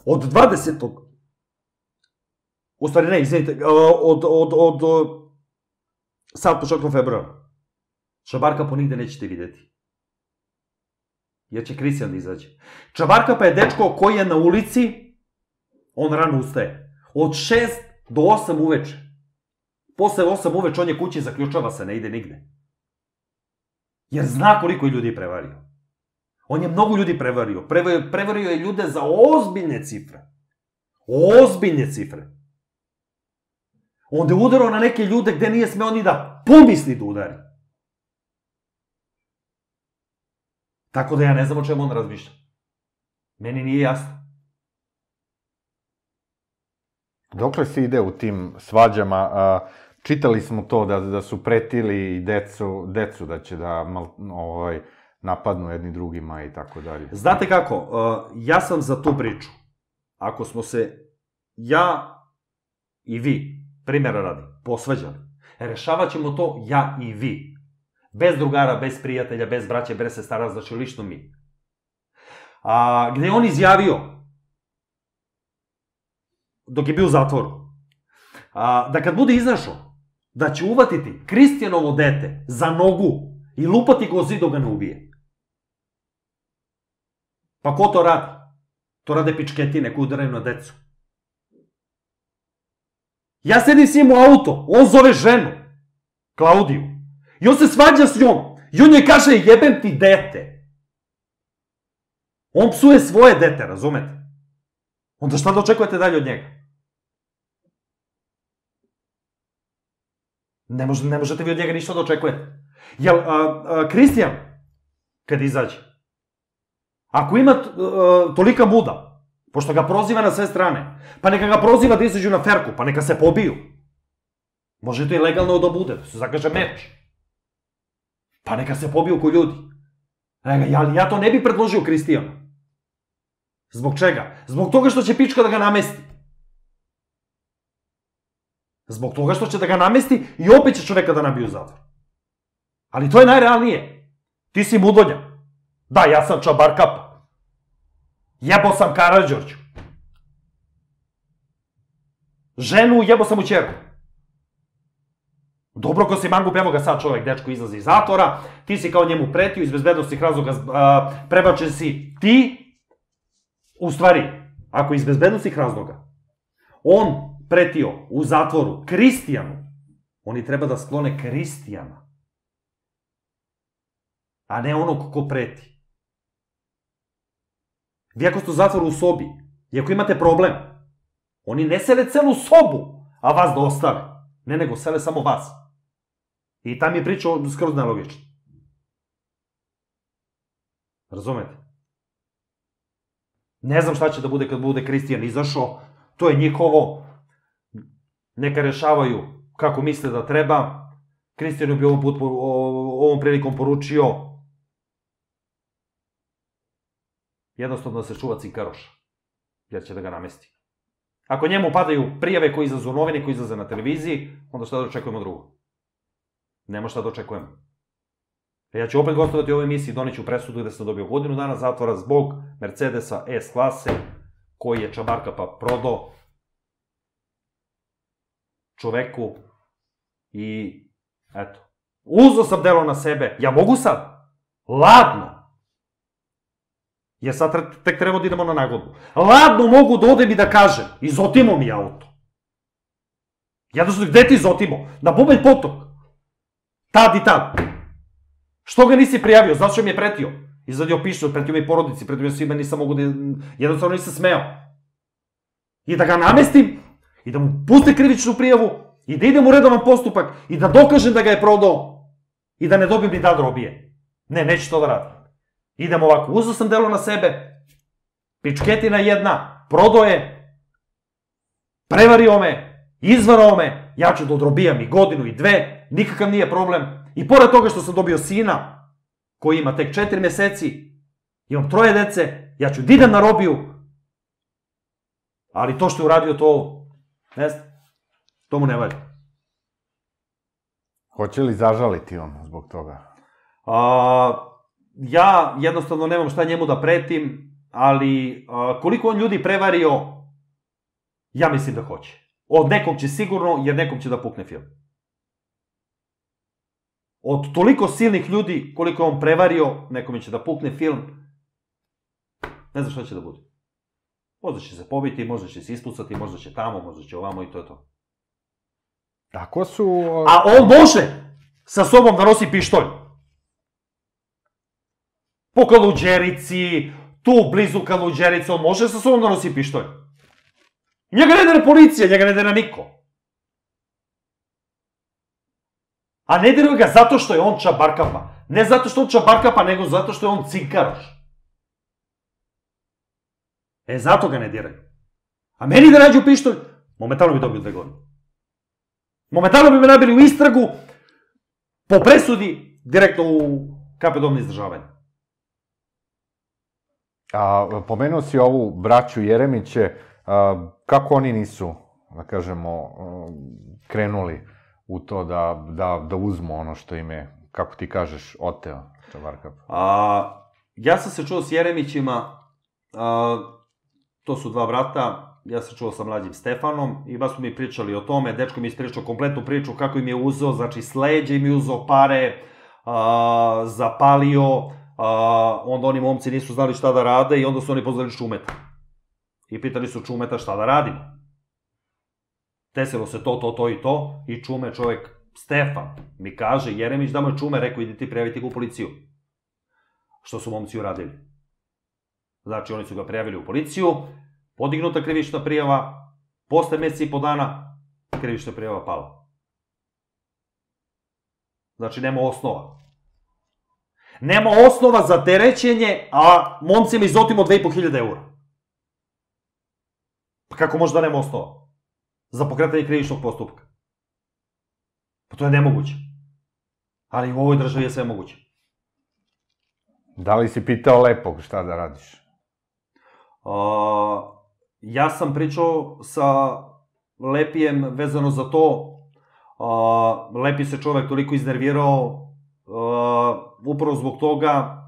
od dvadesetog U stvari ne, izvinite, od, od, od, od sad početkom februara, Čabarka po nigde nećete videti. Jer će Kristijan da izađe. Čabarka pa je dečko koji je na ulici, on rano ustaje. Od šest do osam uveče. Posle osam uveče on je kući, zaključava se, ne ide nigde. Jer zna koliko je ljudi prevario. On je mnogo ljudi prevario. Prevario, prevario je ljude za ozbiljne cifre. Ozbiljne cifre. Onda je udarao na neke ljude gde nije smeo ni da pomisli da udari. Tako da ja ne znam o čemu on razmišlja. Meni nije jasno. Dokle se ide u tim svađama? A, čitali smo to da, da su pretili i decu, decu da će da mal, ovaj, napadnu jedni drugima i tako dalje. Znate kako, uh, ja sam za tu priču. Ako smo se, ja i vi, primjera radi, posvađali, rešavat ćemo to ja i vi. Bez drugara, bez prijatelja, bez braće, bez sestara, znači lično mi. A, gde je on izjavio, dok je bio u zatvoru, a, da kad bude izašao, da će uvatiti Kristijanovo dete za nogu i lupati go zid dok ga ne ubije. Pa ko to radi? To rade pičketine koji udaraju na decu. Ja sedim s njim u auto, on zove ženu, Klaudiju, i on se svađa s njom, i on joj kaže jebem ti dete. On psuje svoje dete, razumete? Onda šta da očekujete dalje od njega? Ne, može, ne možete vi od njega ništa da očekujete. Jel, a, a, Kristijan, kad izađe, ako ima a, tolika muda, pošto ga proziva na sve strane, pa neka ga proziva da izađu na ferku, pa neka se pobiju. Može to i legalno da bude, da se zakaže meč. Pa neka se pobiju ko ljudi. Ali ja to ne bi predložio Kristijanu. Zbog čega? Zbog toga što će pička da ga namesti. Zbog toga što će da ga namesti i opet će čoveka da nabiju u zatvor. Ali to je najrealnije. Ti si mudonja. Da, ja sam Čabarkapa. Jebo sam Karađorđu. Ženu jebo sam u ćerku. Dobro ko si mangup, evo ga sad čovek, dečko izlazi iz zatvora, ti si kao njemu pretio, iz bezbednostnih razloga prebačen si ti, u stvari, ako iz bezbednostnih razloga, on pretio u zatvoru Kristijanu, oni treba da sklone Kristijana, a ne onog ko preti. Vi ako ste u zatvoru u sobi, i ako imate problem, oni ne sele celu sobu, a vas da ostave. Ne, nego sele samo vas. I tam je priča skroz nelogična. Razumete? Ne znam šta će da bude kad bude Kristijan izašao, to je njihovo, neka rešavaju kako misle da treba. Kristijan bi ovom, put, ovom prilikom poručio jednostavno da se čuva cinkaroša, jer će da ga namesti. Ako njemu padaju prijave koji izlaze u novini, koji izlaze na televiziji, onda šta da očekujemo drugo? Nemo šta da očekujemo. Ja ću opet gostovati u ovoj emisiji, doneću presudu gde sam dobio godinu dana zatvora zbog Mercedesa S klase, koji je Čabarkapa prodao čoveku i eto. Uzeo sam delo na sebe, ja mogu sad, ladno, jer sad tek treba da idemo na nagodbu. Ladno mogu da odem i da kažem, izotimo mi auto. Jednostavno, gde ti izotimo? Na Bubanj potok. Tad i tad. Što ga nisi prijavio? Zato što mi je pretio. Izvadio pištolj, pretio mi porodici, pretio mi svima, nisam mogu da... Jednostavno nisam smeo. I da ga namestim, i da mu puste krivičnu prijavu, i da idem u redovan postupak, i da dokažem da ga je prodao, i da ne dobijem ni da robije. Ne, neću to da radim. Idem ovako, uzeo sam delo na sebe, pičketina jedna, prodao je, prevario me, izvarao me, ja ću da odrobijam i godinu i dve, nikakav nije problem. I pored toga što sam dobio sina, koji ima tek četiri meseci, imam troje dece, ja ću da idem na robiju, ali to što je uradio to, ne znam, to mu ne valja. Hoće li zažaliti on zbog toga? Ja jednostavno nemam šta njemu da pretim, ali koliko on ljudi prevario, ja mislim da hoće. Od nekog će sigurno, jer nekom će da pukne film. Od toliko silnih ljudi koliko je on prevario, nekom će da pukne film, ne znam šta će da bude. Možda će se pobiti, možda će se ispucati, možda će tamo, možda će ovamo i to je to. Ako su... A on može sa sobom da nosi pištolj. Po Kaluđerici, tu blizu Kaluđerice, on može sa sobom da nosi pištolj. Njega ne dere policija, njega ne dere niko. A ne dere ga zato što je on Čabarkapa. Ne zato što je on Čabarkapa, nego zato što je on cinkaroš. E, zato ga ne diraju. A meni da nađu pištolj, momentalno bi dobio dve godine. Momentalno bi me nabili u istragu, po presudi, direktno u kape dom na izdržavanje. A, pomenuo si ovu braću Jeremiće, a, kako oni nisu, da kažemo, krenuli u to da, da, da uzmu ono što im je, kako ti kažeš, oteo Čabarkapa? A, ja sam se čuo s Jeremićima, a, to su dva brata, ja sam čuo sa mlađim Stefanom i baš smo mi pričali o tome, dečko mi je ispričao kompletnu priču kako im je uzeo, znači s leđa im je uzeo pare, a, zapalio, a, onda oni momci nisu znali šta da rade i onda su oni pozvali Čumeta. I pitali su Čumeta šta da radimo. Desilo se to, to, to i to i Čume, čovek Stefan, mi kaže, Jeremić da mu je Čume rekao idi ti prijaviti ga u policiju. Što su momci uradili? Znači oni su ga prijavili u policiju, podignuta krivična prijava, posle meseci i po dana krivična prijava pala. Znači nema osnova. Nema osnova za terećenje, a momcima izotimo dve i po hiljade eura. Pa kako može da nema osnova? Za pokretanje krivičnog postupka. Pa to je nemoguće. Ali u ovoj državi je sve moguće. Da li si pitao Lepog šta da radiš? Uh, ja sam pričao sa Lepijem vezano za to. Uh, Lepi se čovek toliko iznervirao uh, upravo zbog toga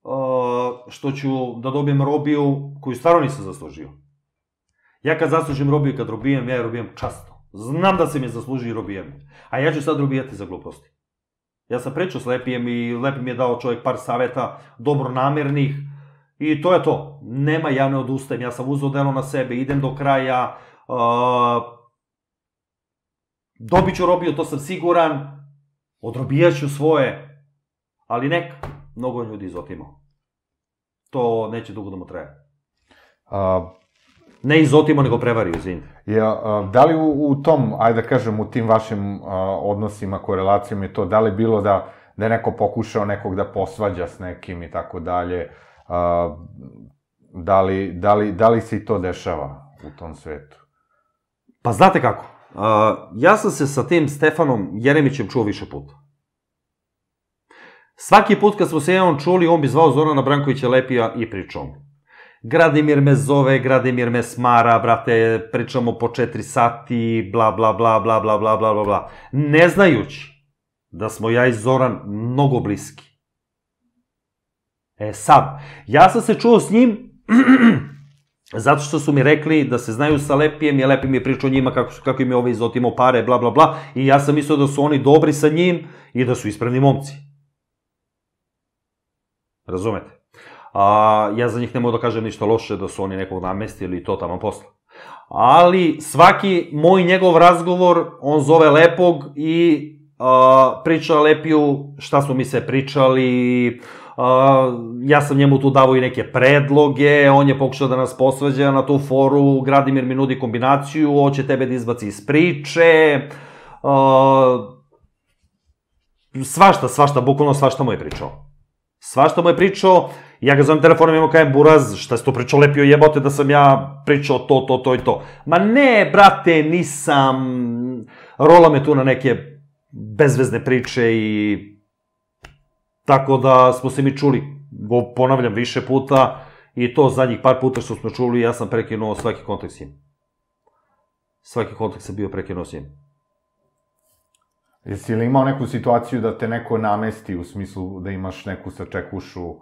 uh, što ću da dobijem robiju koju stvarno nisam zaslužio. Ja kad zaslužim robiju i kad robijem, ja je robijem časno. Znam da se mi zasluži i robijem. A ja ću sad robijati za gluposti. Ja sam pričao s Lepijem i Lepi mi je dao čovjek par saveta dobronamernih. I to je to. Nema ja ne odustajem. Ja sam uzeo delo na sebe, idem do kraja. Uh, dobit ću robiju, to sam siguran. Odrobijat ću svoje. Ali neka. Mnogo ljudi izotimao. To neće dugo da mu traje. A... Ne izotimo, nego prevario, izvinite. Ja, da li u, u tom, ajde da kažem, u tim vašim a, odnosima, korelacijama i to, da li bilo da, da je neko pokušao nekog da posvađa s nekim i tako dalje, a, da, li, da, li, da li se i to dešava u tom svetu? Pa znate kako, a, ja sam se sa tim Stefanom Jeremićem čuo više puta. Svaki put kad smo se jednom čuli, on bi zvao Zorana Brankovića Lepija i pričao mu. Gradimir me zove, Gradimir me smara, brate, pričamo po četiri sati, bla, bla, bla, bla, bla, bla, bla, bla, bla. Ne znajući da smo ja i Zoran mnogo bliski. E sad, ja sam se čuo s njim zato što su mi rekli da se znaju sa Lepijem, i Lepi mi je pričao njima kako, kako im je ovaj izotimao pare, bla, bla, bla, i ja sam mislio da su oni dobri sa njim i da su ispravni momci. Razumete? A, ja za njih ne mogu da kažem ništa loše, da su oni nekog namestili i to tamo posla. Ali svaki moj njegov razgovor, on zove Lepog i a, priča Lepiju šta smo mi se pričali. Uh, ja sam njemu tu davao i neke predloge, on je pokušao da nas posvađa na tu foru, Gradimir mi nudi kombinaciju, hoće tebe da izbaci iz priče, uh, svašta, svašta, bukvalno svašta mu je pričao. Svašta mu je pričao, ja ga zovem telefonom i mu kajem, Buraz, šta si to pričao Lepio, jebote da sam ja pričao to, to, to i to. Ma ne, brate, nisam, rola me tu na neke bezvezne priče i... Tako da smo se mi čuli, ponavljam, više puta, i to zadnjih par puta što smo čuli, ja sam prekinuo svaki kontakt s njim. Svaki kontakt sam bio prekinuo s njim. Jesi li imao neku situaciju da te neko namesti u smislu da imaš neku sačekušu?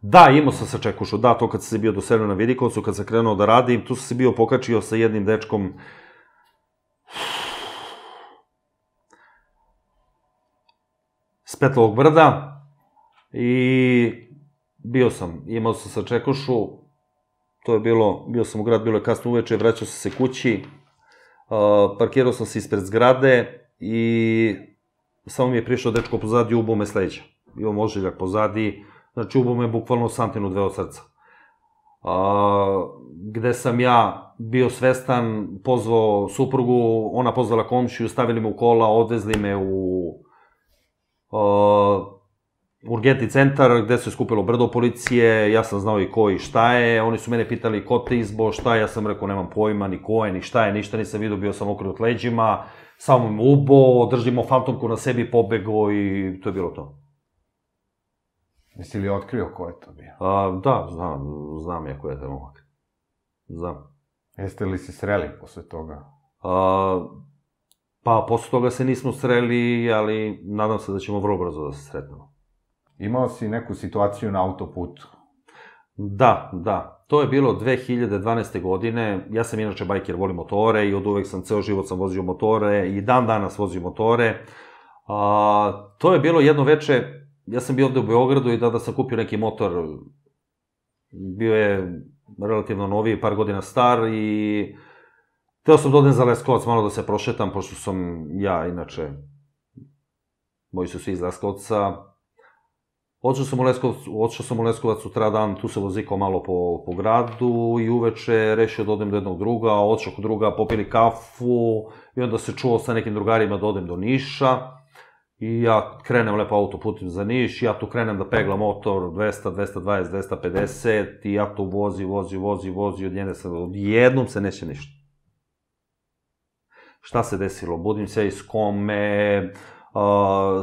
Da, imao sam sačekušu, da, to kad sam se bio doselio na Vidikovcu, kad sam krenuo da radim, tu sam se bio pokačio sa jednim dečkom s Petlovog brda. I bio sam, imao sam sačekušu, to je bilo, bio sam u grad, bilo je kasno uveče, vraćao sam se kući, uh, parkirao sam se ispred zgrade i samo mi je prišao dečko pozadi i ubo me s leđa. Imam ožiljak pozadi, znači ubo me bukvalno santinu dve od srca. Uh, gde sam ja bio svestan, pozvao suprugu, ona pozvala komšiju, stavili me u kola, odvezli me u... Uh, urgentni centar, gde se skupilo brdo policije, ja sam znao i ko i šta je, oni su mene pitali ko te izbo, šta je, ja sam rekao nemam pojma, ni ko je, ni šta je, ništa nisam vidio, bio sam okrenut leđima, samo me ubo, držimo fantomku na sebi, pobego i to je bilo to. Jesi li otkrio ko je to bio? A, da, znam, znam ja ko je to momak. Znam. Jeste li se sreli posle toga? A, pa, posle toga se nismo sreli, ali nadam se da ćemo vrlo brzo da se sretnemo. Imao si neku situaciju na autoputu? Da, da. To je bilo dve hiljade dvanaeste. godine. Ja sam inače bajker, volim motore i od uvek sam, ceo život sam vozio motore i dan danas vozim motore. A, to je bilo jedno veče, ja sam bio ovde u Beogradu i tada sam kupio neki motor. Bio je relativno noviji, par godina star i teo sam da odem za Leskovac, malo da se prošetam, pošto sam ja, inače, moji su svi iz Leskovca. Odšao sam u Leskovac, odšao sam u Leskovac sutra dan, tu se vozikao malo po, po gradu i uveče rešio da odem do jednog druga, odšao kod druga, popili kafu i onda se čuo sa nekim drugarima da odem do Niša i ja krenem lepo autoputem za Niš, ja tu krenem da peglam motor dvesta, dvesta dvadeset, dvesta pedeset i ja tu vozi, vozi, vozi, vozi, odjednom se neće ništa. Šta se desilo? Budim se iz kome... Uh,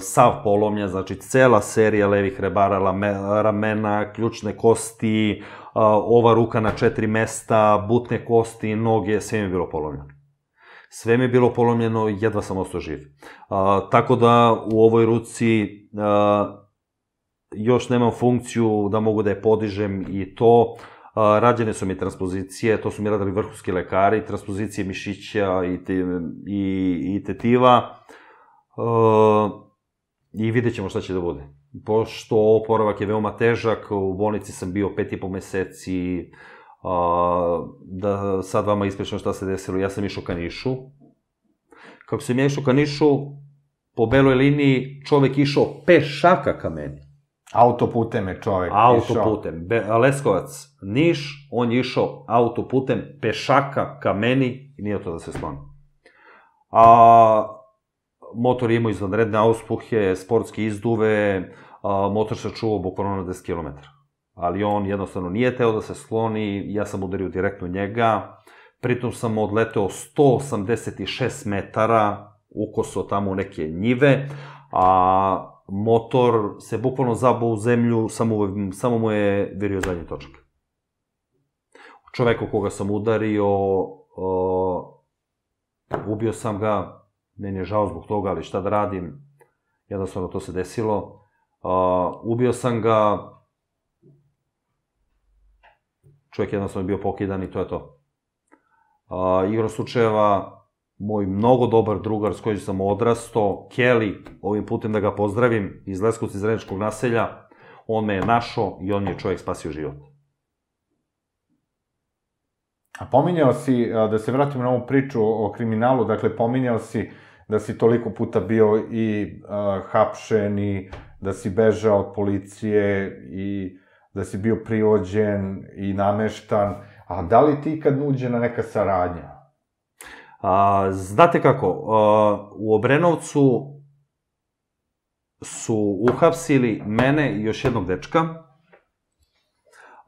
sav polomljen, znači cela serija levih rebara, lame, ramena, ključne kosti, uh, ova ruka na četiri mesta, butne kosti, noge, sve mi je bilo polomljeno. Sve mi je bilo polomljeno, jedva sam ostao živ. Uh, tako da u ovoj ruci uh, još nemam funkciju da mogu da je podižem i to. Uh, rađene su mi transpozicije, to su mi radili vrhunski lekari, transpozicije mišića i, te, i, i tetiva. Uh, i vidjet ćemo šta će da bude. Pošto oporavak je veoma težak, u bolnici sam bio pet i po meseci, uh, da sad vama ispričam šta se desilo, ja sam išao ka Nišu. Kako sam ja išao ka Nišu, po beloj liniji čovek išao pešaka ka meni. Autoputem je čovek išao? Autoputem. Leskovac, Niš, on je išao autoputem pešaka ka meni i nije to da se sloni. A... Motor je imao izvanredne auspuhe, sportske izduve, motor se čuvao bukvalno na deset kilometara. Ali on jednostavno nije teo da se skloni, ja sam udario direktno njega, pritom sam odleteo sto osamdeset šest metara, ukosao tamo u neke njive, a motor se bukvalno zabao u zemlju, samo, samo mu je virio zadnji točak. Čoveka koga sam udario, uh, ubio sam ga, meni je žao zbog toga, ali šta da radim, jednostavno to se desilo. Uh, ubio sam ga, čovjek jednostavno je bio pokidan i to je to. Uh, igrom slučajeva, moj mnogo dobar drugar s kojim sam odrastao, Kelly, ovim putem da ga pozdravim, iz Leskovca, iz Zrenjačkog naselja, on me je našao i on mi je čovjek spasio život. A pominjao si, da se vratimo na ovu priču o kriminalu, dakle, pominjao si da si toliko puta bio i uh, hapšen i da si bežao od policije i da si bio privođen i nameštan, a da li ti kad nuđena neka saradnja? A, znate kako, a, u Obrenovcu su uhapsili mene i još jednog dečka.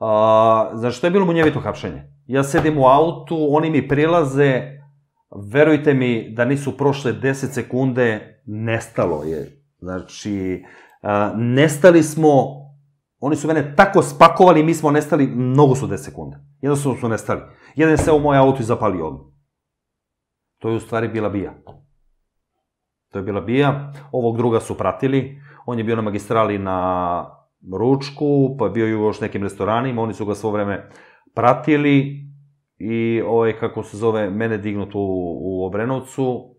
A, znači, to je bilo munjevito hapšenje. Ja sedim u autu, oni mi prilaze, verujte mi da nisu prošle deset sekunde, nestalo je. Znači, a, nestali smo, oni su mene tako spakovali, mi smo nestali, mnogo su deset sekunde. Jednostavno su nestali. Jedan je seo u moj auto i zapalio odmah. To je u stvari bila bija. To je bila bija, ovog druga su pratili, on je bio na magistrali na ručku, pa je bio još nekim restoranima, oni su ga svo vreme pratili i ovaj, kako se zove, mene dignut u, u Obrenovcu.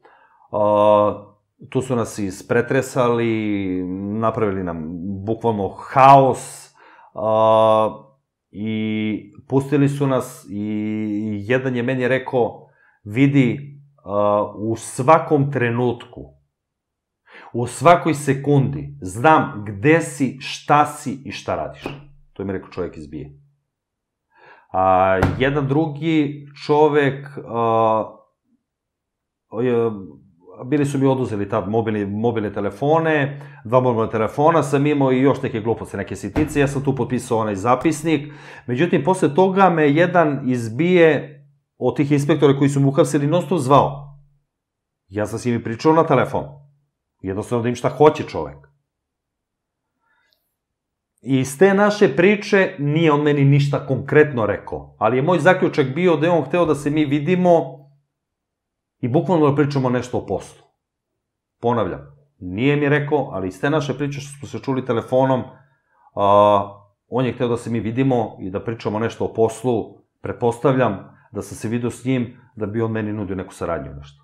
A, tu su nas ispretresali, napravili nam bukvalno haos a, i pustili su nas i jedan je meni rekao, vidi, u svakom trenutku, u svakoj sekundi, znam gde si, šta si i šta radiš. To je mi rekao čovjek iz bije. A, jedan drugi čovek, a, je, bili su mi oduzeli tad mobilne, mobilne telefone, dva mobilne telefona, sam imao i još neke gluposti, neke sitnice, ja sam tu potpisao onaj zapisnik. Međutim, posle toga me jedan iz bije, od tih inspektora koji su mu uhapsili, non stop zvao. Ja sam s njimi pričao na telefon. Jednostavno da im šta hoće čovek. I iz te naše priče nije on meni ništa konkretno rekao, ali je moj zaključak bio da je on hteo da se mi vidimo i bukvalno da pričamo nešto o poslu. Ponavljam, nije mi rekao, ali iz te naše priče što smo se čuli telefonom, a, on je hteo da se mi vidimo i da pričamo nešto o poslu, pretpostavljam da sam se vidio s njim, da bi on meni nudio neku saradnju nešto.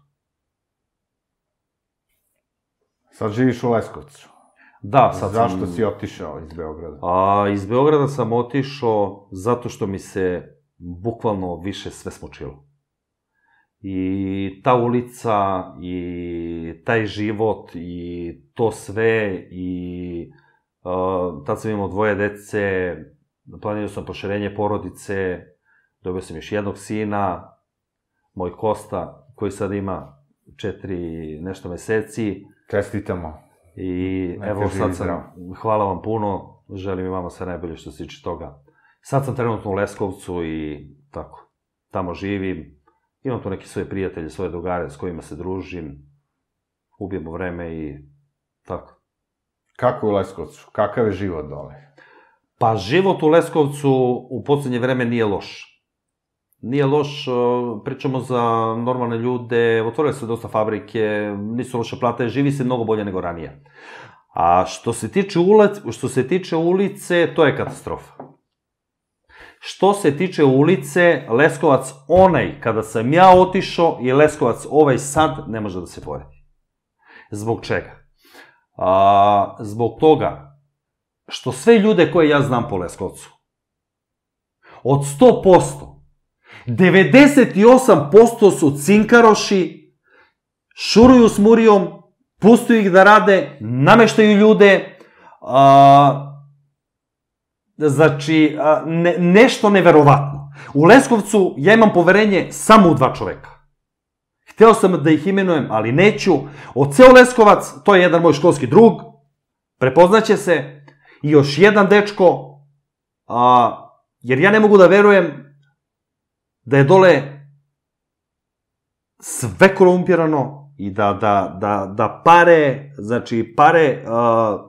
Sad živiš u Leskovcu. Da, sad sam... Zašto si otišao iz Beograda? A, iz Beograda sam otišao zato što mi se bukvalno više sve smučilo. I ta ulica, i taj život, i to sve, i uh, tad sam imao dvoje dece, planirao sam proširenje porodice, dobio sam još jednog sina, moj Kosta, koji sad ima četiri nešto meseci. Čestitamo. I evo sad sam, hvala vam puno, želim i vama sve najbolje što se tiče toga. Sad sam trenutno u Leskovcu i tako, tamo živim. Imam tu neke svoje prijatelje, svoje drugare s kojima se družim, ubijemo vreme i tako. Kako je u Leskovcu? Kakav je život dole? Pa život u Leskovcu u poslednje vreme nije loš. Nije loš, pričamo za normalne ljude, otvorile se dosta fabrike, nisu loše plate, živi se mnogo bolje nego ranije. A što se tiče ulice, što se tiče ulice, to je katastrofa. Što se tiče ulice, Leskovac onaj kada sam ja otišao i Leskovac ovaj sad ne može da se poredi. Zbog čega? A, zbog toga što sve ljude koje ja znam po Leskovcu, od sto posto, devedeset osam posto su cinkaroši, šuruju s murijom, pustuju ih da rade, nameštaju ljude, a, znači, a, ne, nešto neverovatno. U Leskovcu ja imam poverenje samo u dva čoveka. Hteo sam da ih imenujem, ali neću. Od ceo Leskovac, to je jedan moj školski drug, prepoznaće se, i još jedan dečko, a, jer ja ne mogu da verujem da je dole sve korumpirano i da, da, da, da pare, znači pare, uh,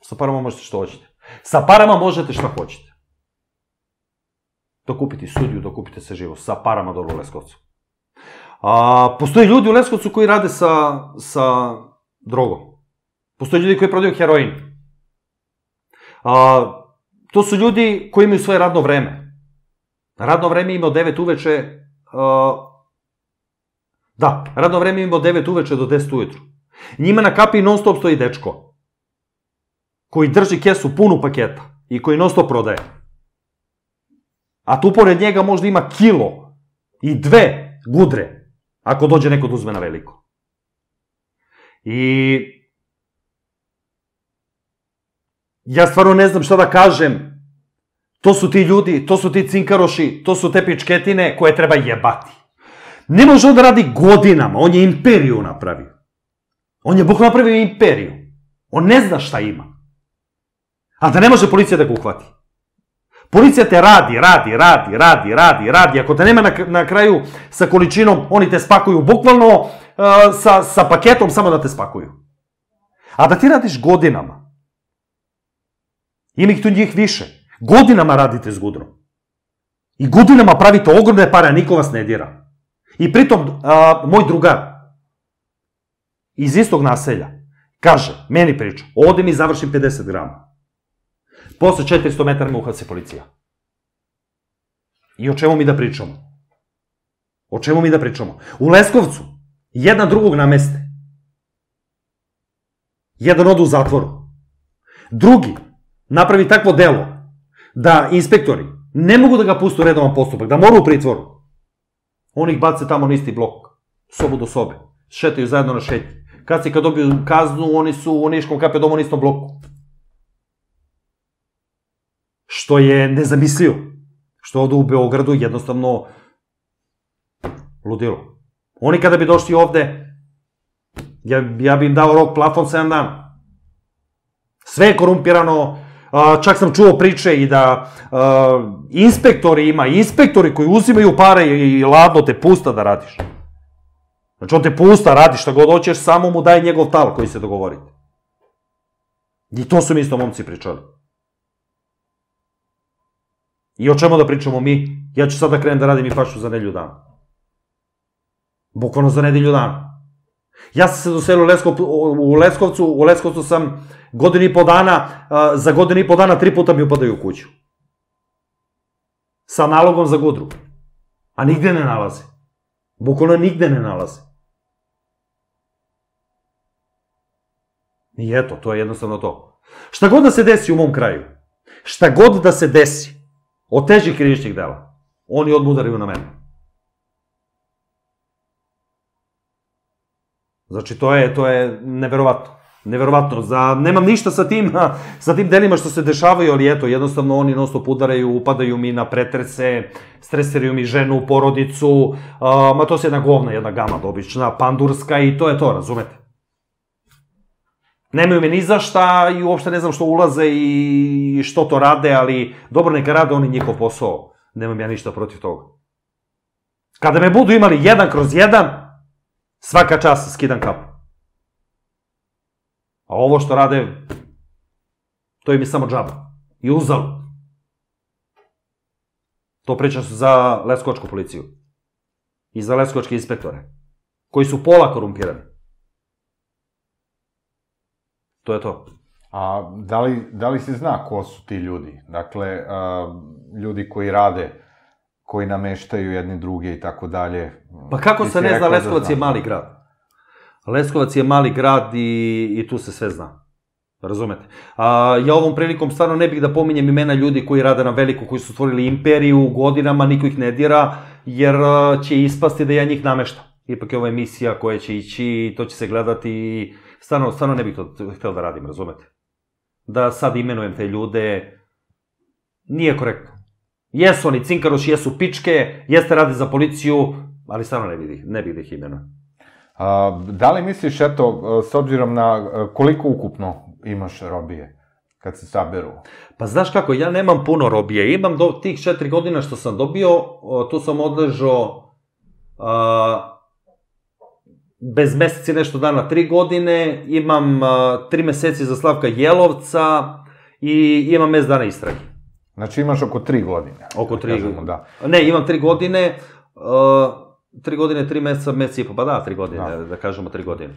Sa parama možete što hoćete. Sa parama možete šta hoćete. Dokupiti sudiju, dokupite se živo. Sa parama dole u Leskovcu. A, postoje ljudi u Leskovcu koji rade sa, sa drogom. Postoje ljudi koji prodaju heroin. A, to su ljudi koji imaju svoje radno vreme. Radno vreme ima od devet uveče... A, da, radno vreme ima od devet uveče do deset ujutru. Njima na kapi non stop stoji dečko koji drži kesu punu paketa i koji non stop prodaje. A tu pored njega možda ima kilo i dve gudre, ako dođe neko da uzme na veliko. I ja stvarno ne znam šta da kažem. To su ti ljudi, to su ti cinkaroši, to su te pičketine koje treba jebati. Ne može on da radi godinama, on je imperiju napravio. On je bukvalno napravio imperiju. On ne zna šta ima. A da ne može policija da ga uhvati. Policija te radi, radi, radi, radi, radi, radi. Ako te nema na, na kraju sa količinom, oni te spakuju bukvalno uh, sa, sa paketom samo da te spakuju. A da ti radiš godinama. Ima ih tu njih više. Godinama radite s gudrom. I godinama pravite ogromne pare, a niko vas ne dira. I pritom, uh, moj drugar iz istog naselja kaže, meni priča, ovde mi završim pedeset grama. Posle četiristo metara me uhapsi policija. I o čemu mi da pričamo? O čemu mi da pričamo? U Leskovcu jedan drugog nameste. Jedan ode u zatvoru. Drugi napravi takvo delo da inspektori ne mogu da ga puste u redovan postupak, da mora u pritvoru. Oni ih bace tamo na isti blok, sobu do sobe, šetaju zajedno na šetnji. Kad si kad dobiju kaznu, oni su u Niškom ka pe domu na istom bloku. Što je nezamislivo. Što ovde u Beogradu jednostavno ludilo. Oni kada bi došli ovde, ja, ja bi im dao rok plafon sedam dana. Sve je korumpirano, čak sam čuo priče i da inspektori ima, inspektori koji uzimaju pare i ladno te pusta da radiš. Znači on te pusta, radi šta god hoćeš, samo mu daje njegov tal koji se dogovorite. I to su mi isto momci pričali. I o čemu da pričamo mi? Ja ću sad da krenem da radim i fašu za nedelju dana. Bukvalno za nedelju dana. Ja sam se doselio u Leskovcu, u Leskovcu sam godinu i po dana, za godinu i po dana tri puta mi upadaju u kuću. Sa nalogom za gudru. A nigde ne nalaze. Bukvalno nigde ne nalaze. I eto, to je jednostavno to. Šta god da se desi u mom kraju, šta god da se desi od težih krivičnih dela, oni odmah udaraju na mene. Znači, to je, to je neverovatno. Neverovatno. Za, nemam ništa sa tim, sa tim delima što se dešavaju, ali eto, jednostavno oni non stop udaraju, upadaju mi na pretrese, stresiraju mi ženu, porodicu, a, ma to se jedna govna, jedna gama dobična, pandurska i to je to, razumete? Nemaju me ni za šta i uopšte ne znam što ulaze i što to rade, ali dobro neka rade oni njihov posao. Nemam ja ništa protiv toga. Kada me budu imali jedan kroz jedan, svaka čast skidam kapu. A ovo što rade, to im je samo džaba. I uzalud. To pričam za leskovačku policiju. I za leskovačke inspektore. Koji su pola korumpirani. To je to. A da li, da li se zna ko su ti ljudi? Dakle, a, ljudi koji rade, koji nameštaju jedni druge i tako dalje. Pa kako se ne zna, Leskovac je mali grad. Leskovac je mali grad i, i tu se sve zna. Razumete? A, ja ovom prilikom stvarno ne bih da pominjem imena ljudi koji rade na veliko, koji su stvorili imperiju godinama, niko ih ne dira, jer će ispasti da ja njih nameštam. Ipak je ova emisija koja će ići i to će se gledati i stvarno, stvarno ne bih to htio da radim, razumete? Da sad imenujem te ljude, nije korektno. Jesu oni cinkaroši, jesu pičke, jeste radi za policiju, ali stvarno ne bih, ne bih da ih imenujem. A, da li misliš, eto, s obzirom na koliko ukupno imaš robije, kad se saberu? Pa znaš kako, ja nemam puno robije, imam do tih četiri godina što sam dobio, tu sam odležao a, bez meseci nešto dana tri godine, imam tri meseci za Slavka Jelovca i imam mes dana istrage. Znači imaš oko tri godine. Oko tri godine. Ne, imam tri godine, tri godine, tri meseca, mesec i po, pa da, tri godine, da kažemo tri godine.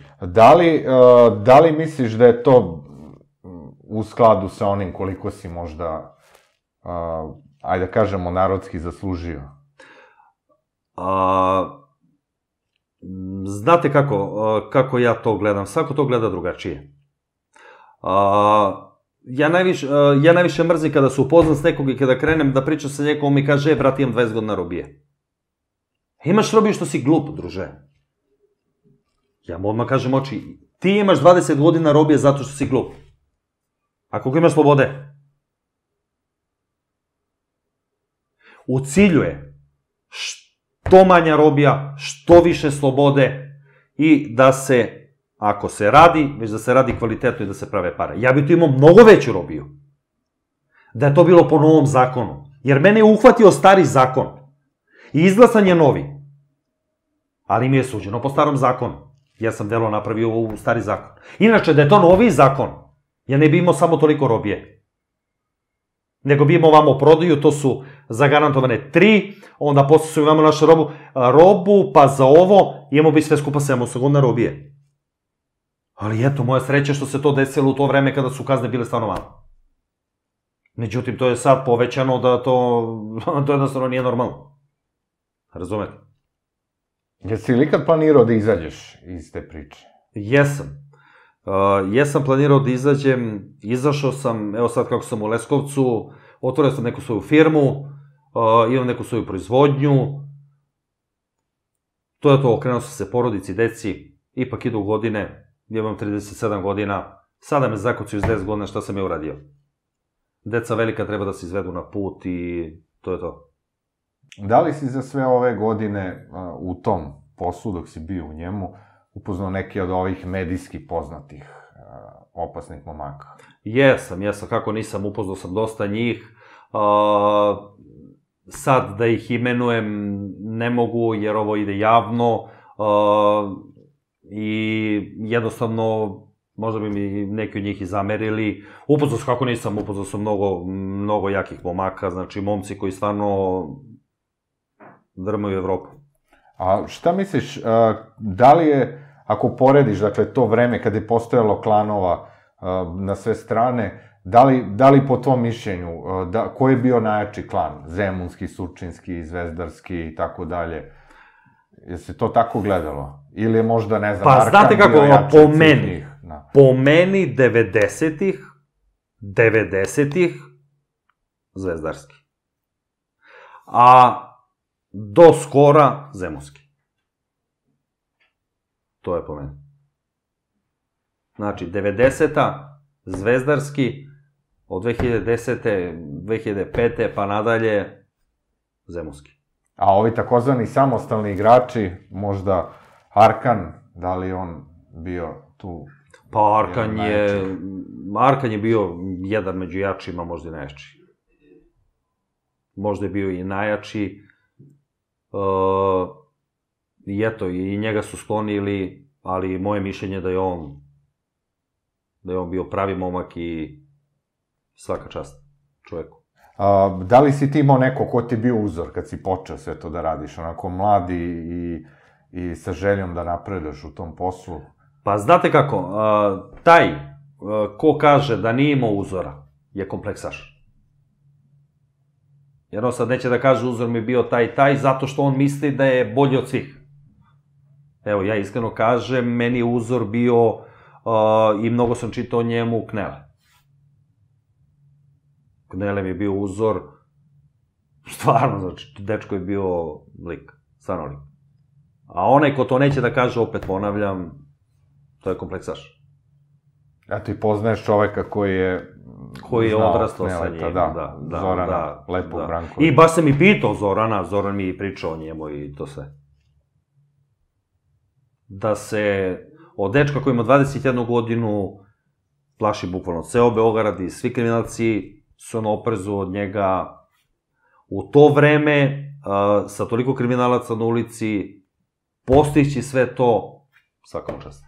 Da li misliš da je to u skladu sa onim koliko si možda, ajde da kažemo, narodski zaslužio? Znate kako, kako ja to gledam, svako to gleda drugačije. Ja najviše mrzim kada se upoznam s nekog i kada krenem da pričam sa nekom, mi kaže, e, brat, imam dvadeset godina robije. Imaš robiju što si glup, druže. Ja mu odmah kažem oči, ti imaš dvadeset godina robije zato što si glup. A koliko imaš slobode? U cilju je što manja robija, što više slobode i da se, ako se radi, već da se radi kvalitetno i da se prave pare. Ja bih tu imao mnogo veću robiju. Da je to bilo po novom zakonu. Jer mene je uhvatio stari zakon. I izglasan je novi. Ali mi je suđeno po starom zakonu. Ja sam delo napravio u stari zakon. Inače, da je to novi zakon, ja ne bi imao samo toliko robije. Nego bi imao vamo prodaju, to su zagarantovane tri, onda posle su imamo našu robu, robu, pa za ovo, imamo bi sve skupa sedamsto godina robije. Ali eto, moja sreća što se to desilo u to vreme kada su kazne bile stvarno malo. Međutim, to je sad povećano da to, to jednostavno nije normalno. Razumete? Jesi li ikad planirao da izađeš iz te priče? Jesam. Jesam planirao da izađem, izašao sam, evo sad kako sam u Leskovcu, otvorio sam neku svoju firmu, imam neku svoju proizvodnju. To je to, okrenuo sam se porodici, deci, ipak idu godine, imam trideset sedam godina, sada me zakucaju iz deset godina šta sam je uradio. Deca velika treba da se izvedu na put i to je to. Da li si za sve ove godine u tom poslu, dok si bio u njemu, upoznao neke od ovih medijski poznatih opasnih momaka? Jesam, jesam, kako nisam, upoznao sam dosta njih. Sad da ih imenujem ne mogu jer ovo ide javno i jednostavno možda bi mi neki od njih i zamerili. Upoznao sam, kako nisam, upoznao sam mnogo, mnogo jakih momaka, znači momci koji stvarno drmaju Evropu. A šta misliš, da li je, ako porediš, dakle, to vreme kada je postojalo klanova na sve strane, da li po tvom mišljenju, ko je bio najjači klan? Zemunski, Surčinski, Zvezdarski i tako dalje. Je se to tako gledalo? Ili je možda, ne znam, Arkan bio jači od svih njih? Po meni, devedesetih, devedesetih, Zvezdarski. A do skora, Zemunski. To je po meni. Znači, devedeseta, Zvezdarski, od dve hiljade desete, dve hiljade pete pa nadalje, Zemunski. A ovi takozvani samostalni igrači, možda Arkan, da li on bio tu? Pa Arkan je, Arkan je bio jedan među jačima, možda i najjači. Možda je bio i najjači. I eto, i njega su sklonili, ali moje mišljenje je da je on, da je on bio pravi momak i svaka čast čoveku. Da li si ti imao neko ko ti je bio uzor kad si počeo sve to da radiš, onako mladi i sa željom da napreduješ u tom poslu? Pa znate kako, taj ko kaže da nije imao uzora je kompleksaš. Jer on sad neće da kaže uzor mi je bio taj i taj zato što on misli da je bolji od svih. Evo, ja iskreno kažem, meni je uzor bio i mnogo sam čitao o njemu Knele. Knele mi je bio uzor, stvarno, znači, dečko je bio lik, stvarno lik. A onaj ko to neće da kaže, opet ponavljam, to je kompleksaš. Eto i poznaješ čoveka koji je koji je odrastao sa njim, da, Zorana, Lepog Brankovića. I baš sam i pitao Zorana, Zoran mi je pričao o njemu i to sve. Da se od dečka koji ima dvadeset jednu godinu plaši bukvalno ceo Beograd i svi kriminalci su na oprezu od njega. U to vreme, sa toliko kriminalaca na ulici, postići sve to, svaka mu čast.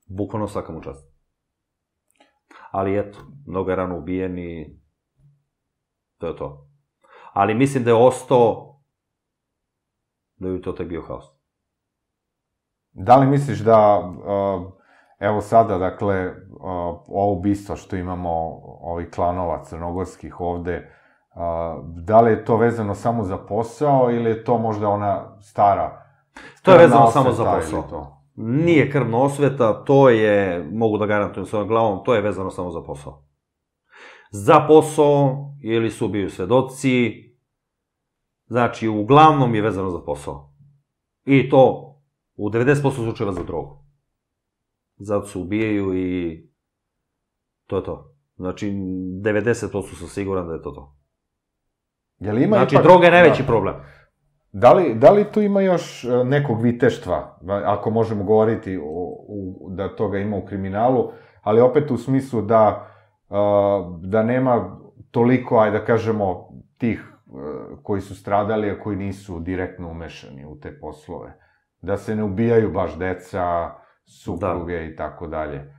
Bukvalno svaka mu čast. Ali eto, mnogo je rano ubijen i to je to. Ali mislim da je ostao, da bi to tek bio haos. Da li misliš da, evo sada, dakle, ovo ubistvo što imamo, ovih klanova crnogorskih ovde, da li je to vezano samo za posao ili je to možda ona stara... To je vezano samo za posao. Nije krvna osveta, to je, mogu da garantujem svojom glavom, to je vezano samo za posao. Za posao, ili su ubiju svedoci, znači, uglavnom je vezano za posao. I to u devedeset posto slučajeva za drogu. Zato se ubijaju i to je to. Znači, devedeset posto sam siguran da je to to. Znači, droga je najveći problem. Da li tu ima još nekog viteštva, ako možemo govoriti da toga ima u kriminalu, ali opet u smislu da nema toliko, ajde da kažemo, tih koji su stradali, a koji nisu direktno umešani u te poslove. Da se ne ubijaju baš deca, supruge i tako dalje.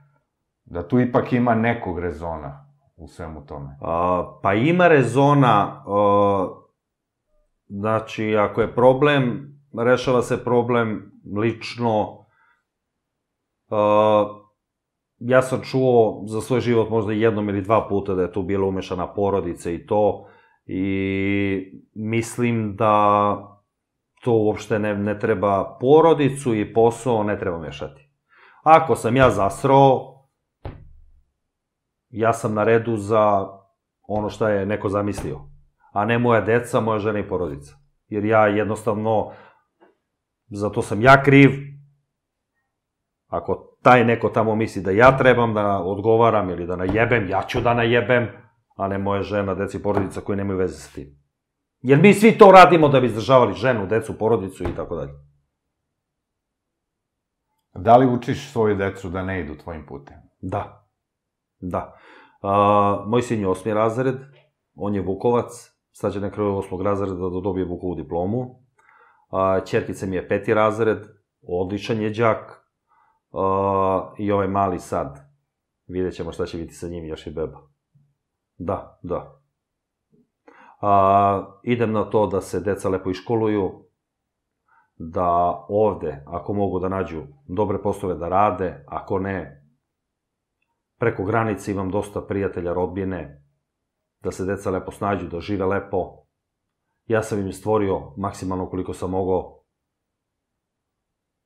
Da tu ipak ima nekog rezona u svemu tome. Pa ima rezona, znači, ako je problem, rešava se problem lično. Ja sam čuo za svoj život možda jednom ili dva puta da je tu bila umešana porodica i to, i mislim da to uopšte ne treba, porodicu i posao ne treba mešati. Ako sam ja zasrao, ja sam na redu za ono što je neko zamislio, a ne moja deca, moja žena i porodica. Jer ja jednostavno, za to sam ja kriv. Ako taj neko tamo misli da ja trebam da odgovaram ili da najebem, ja ću da najebem, a ne moja žena, deca i porodica koji nemaju veze sa tim. Jer mi svi to radimo da bi izdržavali ženu, decu, porodicu i tako dalje. Da li učiš svoju decu da ne idu tvojim putem? Da. Da. Moj sin je osmi razred, on je Vukovac, sad će na kraju osmog razreda da dobije Vukovu diplomu. Ćerkica mi je peti razred, odličan je đak, i ovaj mali sad, vidjet ćemo šta će biti sa njim, još i beba. Da, da. Idem na to da se deca lepo iškoluju, da ovde, ako mogu da nađu dobre poslove da rade, ako ne, preko granice imam dosta prijatelja, rodbine, da se deca lepo snađu, da žive lepo. Ja sam im stvorio maksimalno koliko sam mogao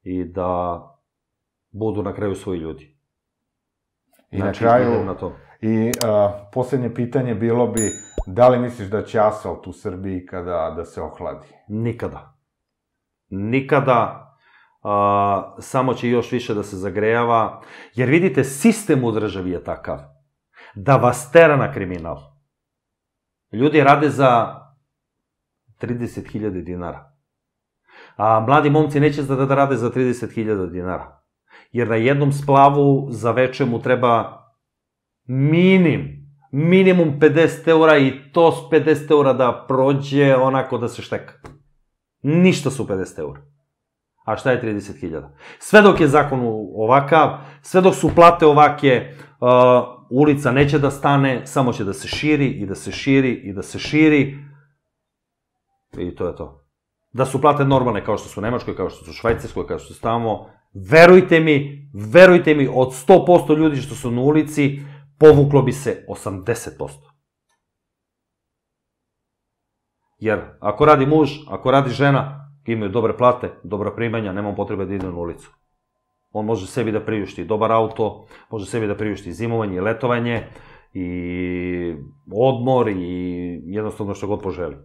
i da budu na kraju svoji ljudi. I na kraju, i poslednje pitanje bilo bi, da li misliš da će asfalt u Srbiji kada da se ohladi? Nikada. Nikada. Samo će još više da se zagrejava. Jer vidite, sistem u državi je takav da vas tera na kriminal. Ljudi rade za trideset hiljada dinara. A mladi momci neće da rade za trideset hiljada dinara. Jer na jednom splavu za veče mu treba minim, minimum pedeset eura i to s pedeset eura da prođe onako da se šteka. Ništa su pedeset eura. A šta je trideset hiljada? Sve dok je zakon ovakav, sve dok su plate ovake, ulica neće da stane, samo će da se širi i da se širi i da se širi. I to je to. Da su plate normalne kao što su u Nemačkoj, kao što su u Švajcarskoj, kao što su tamo, verujte mi, verujte mi, od sto posto ljudi što su na ulici, povuklo bi se osamdeset posto. Jer ako radi muž, ako radi žena, imaju dobre plate, dobra primanja, nemam potrebe da idem na ulicu. On može sebi da priušti dobar auto, može sebi da priušti zimovanje i letovanje, i odmor, i jednostavno što god poželi.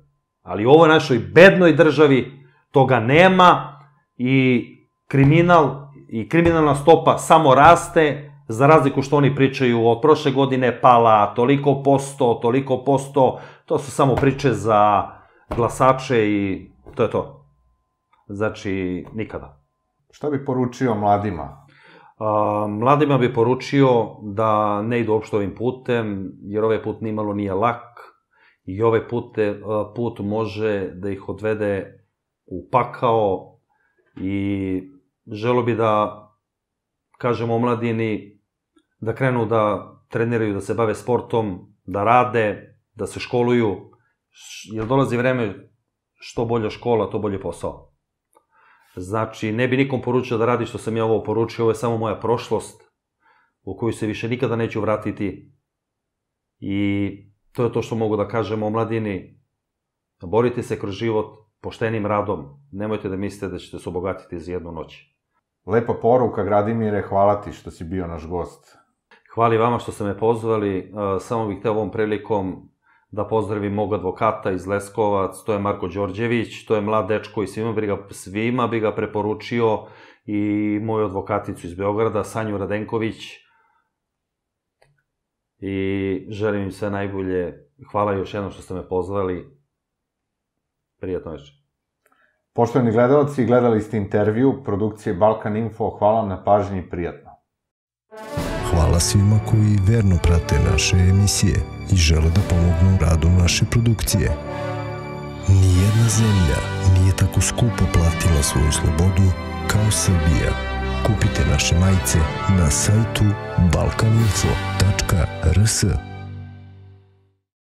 Ali u ovoj našoj bednoj državi toga nema i kriminal i kriminalna stopa samo raste, za razliku što oni pričaju od prošle godine pala toliko posto, toliko posto, to su samo priče za glasače i to je to. Znači, nikada. Šta bi poručio mladima? Mladima bi poručio da ne idu uopšte ovim putem, jer ovaj put nimalo nije lak i ovaj put može da ih odvede u pakao i želo bi da kažem omladini da krenu da treniraju, da se bave sportom, da rade, da se školuju, jer dolazi vreme što bolja škola, to bolje posao. Znači, ne bi nikom poručio da radi što sam ja ovo poručio, ovo je samo moja prošlost u koju se više nikada neću vratiti i to je to što mogu da kažem omladini. Borite se kroz život poštenim radom, nemojte da mislite da ćete se obogatiti za jednu noć. Lepa poruka, Gradimire, hvala ti što si bio naš gost. Hvala i vama što ste me pozvali, samo bih hteo ovom prilikom da pozdravim mog advokata iz Leskovac, to je Marko Đorđević, to je mlad dečko i svima bi ga, svima bi ga preporučio, i moju advokaticu iz Beograda, Sanju Radenković, i želim im sve najbolje. Hvala još jednom što ste me pozvali. Prijatno večer. Poštovani gledalci, gledali ste intervju produkcije Balkan Info, hvala vam na pažnji i prijatno. Hvala svima koji verno prate naše emisije i žele da pomognu u radu naše produkcije. Nijedna zemlja nije tako skupo platila svoju slobodu kao Srbija. Kupite naše majice na sajtu balkaninfo tačka r s.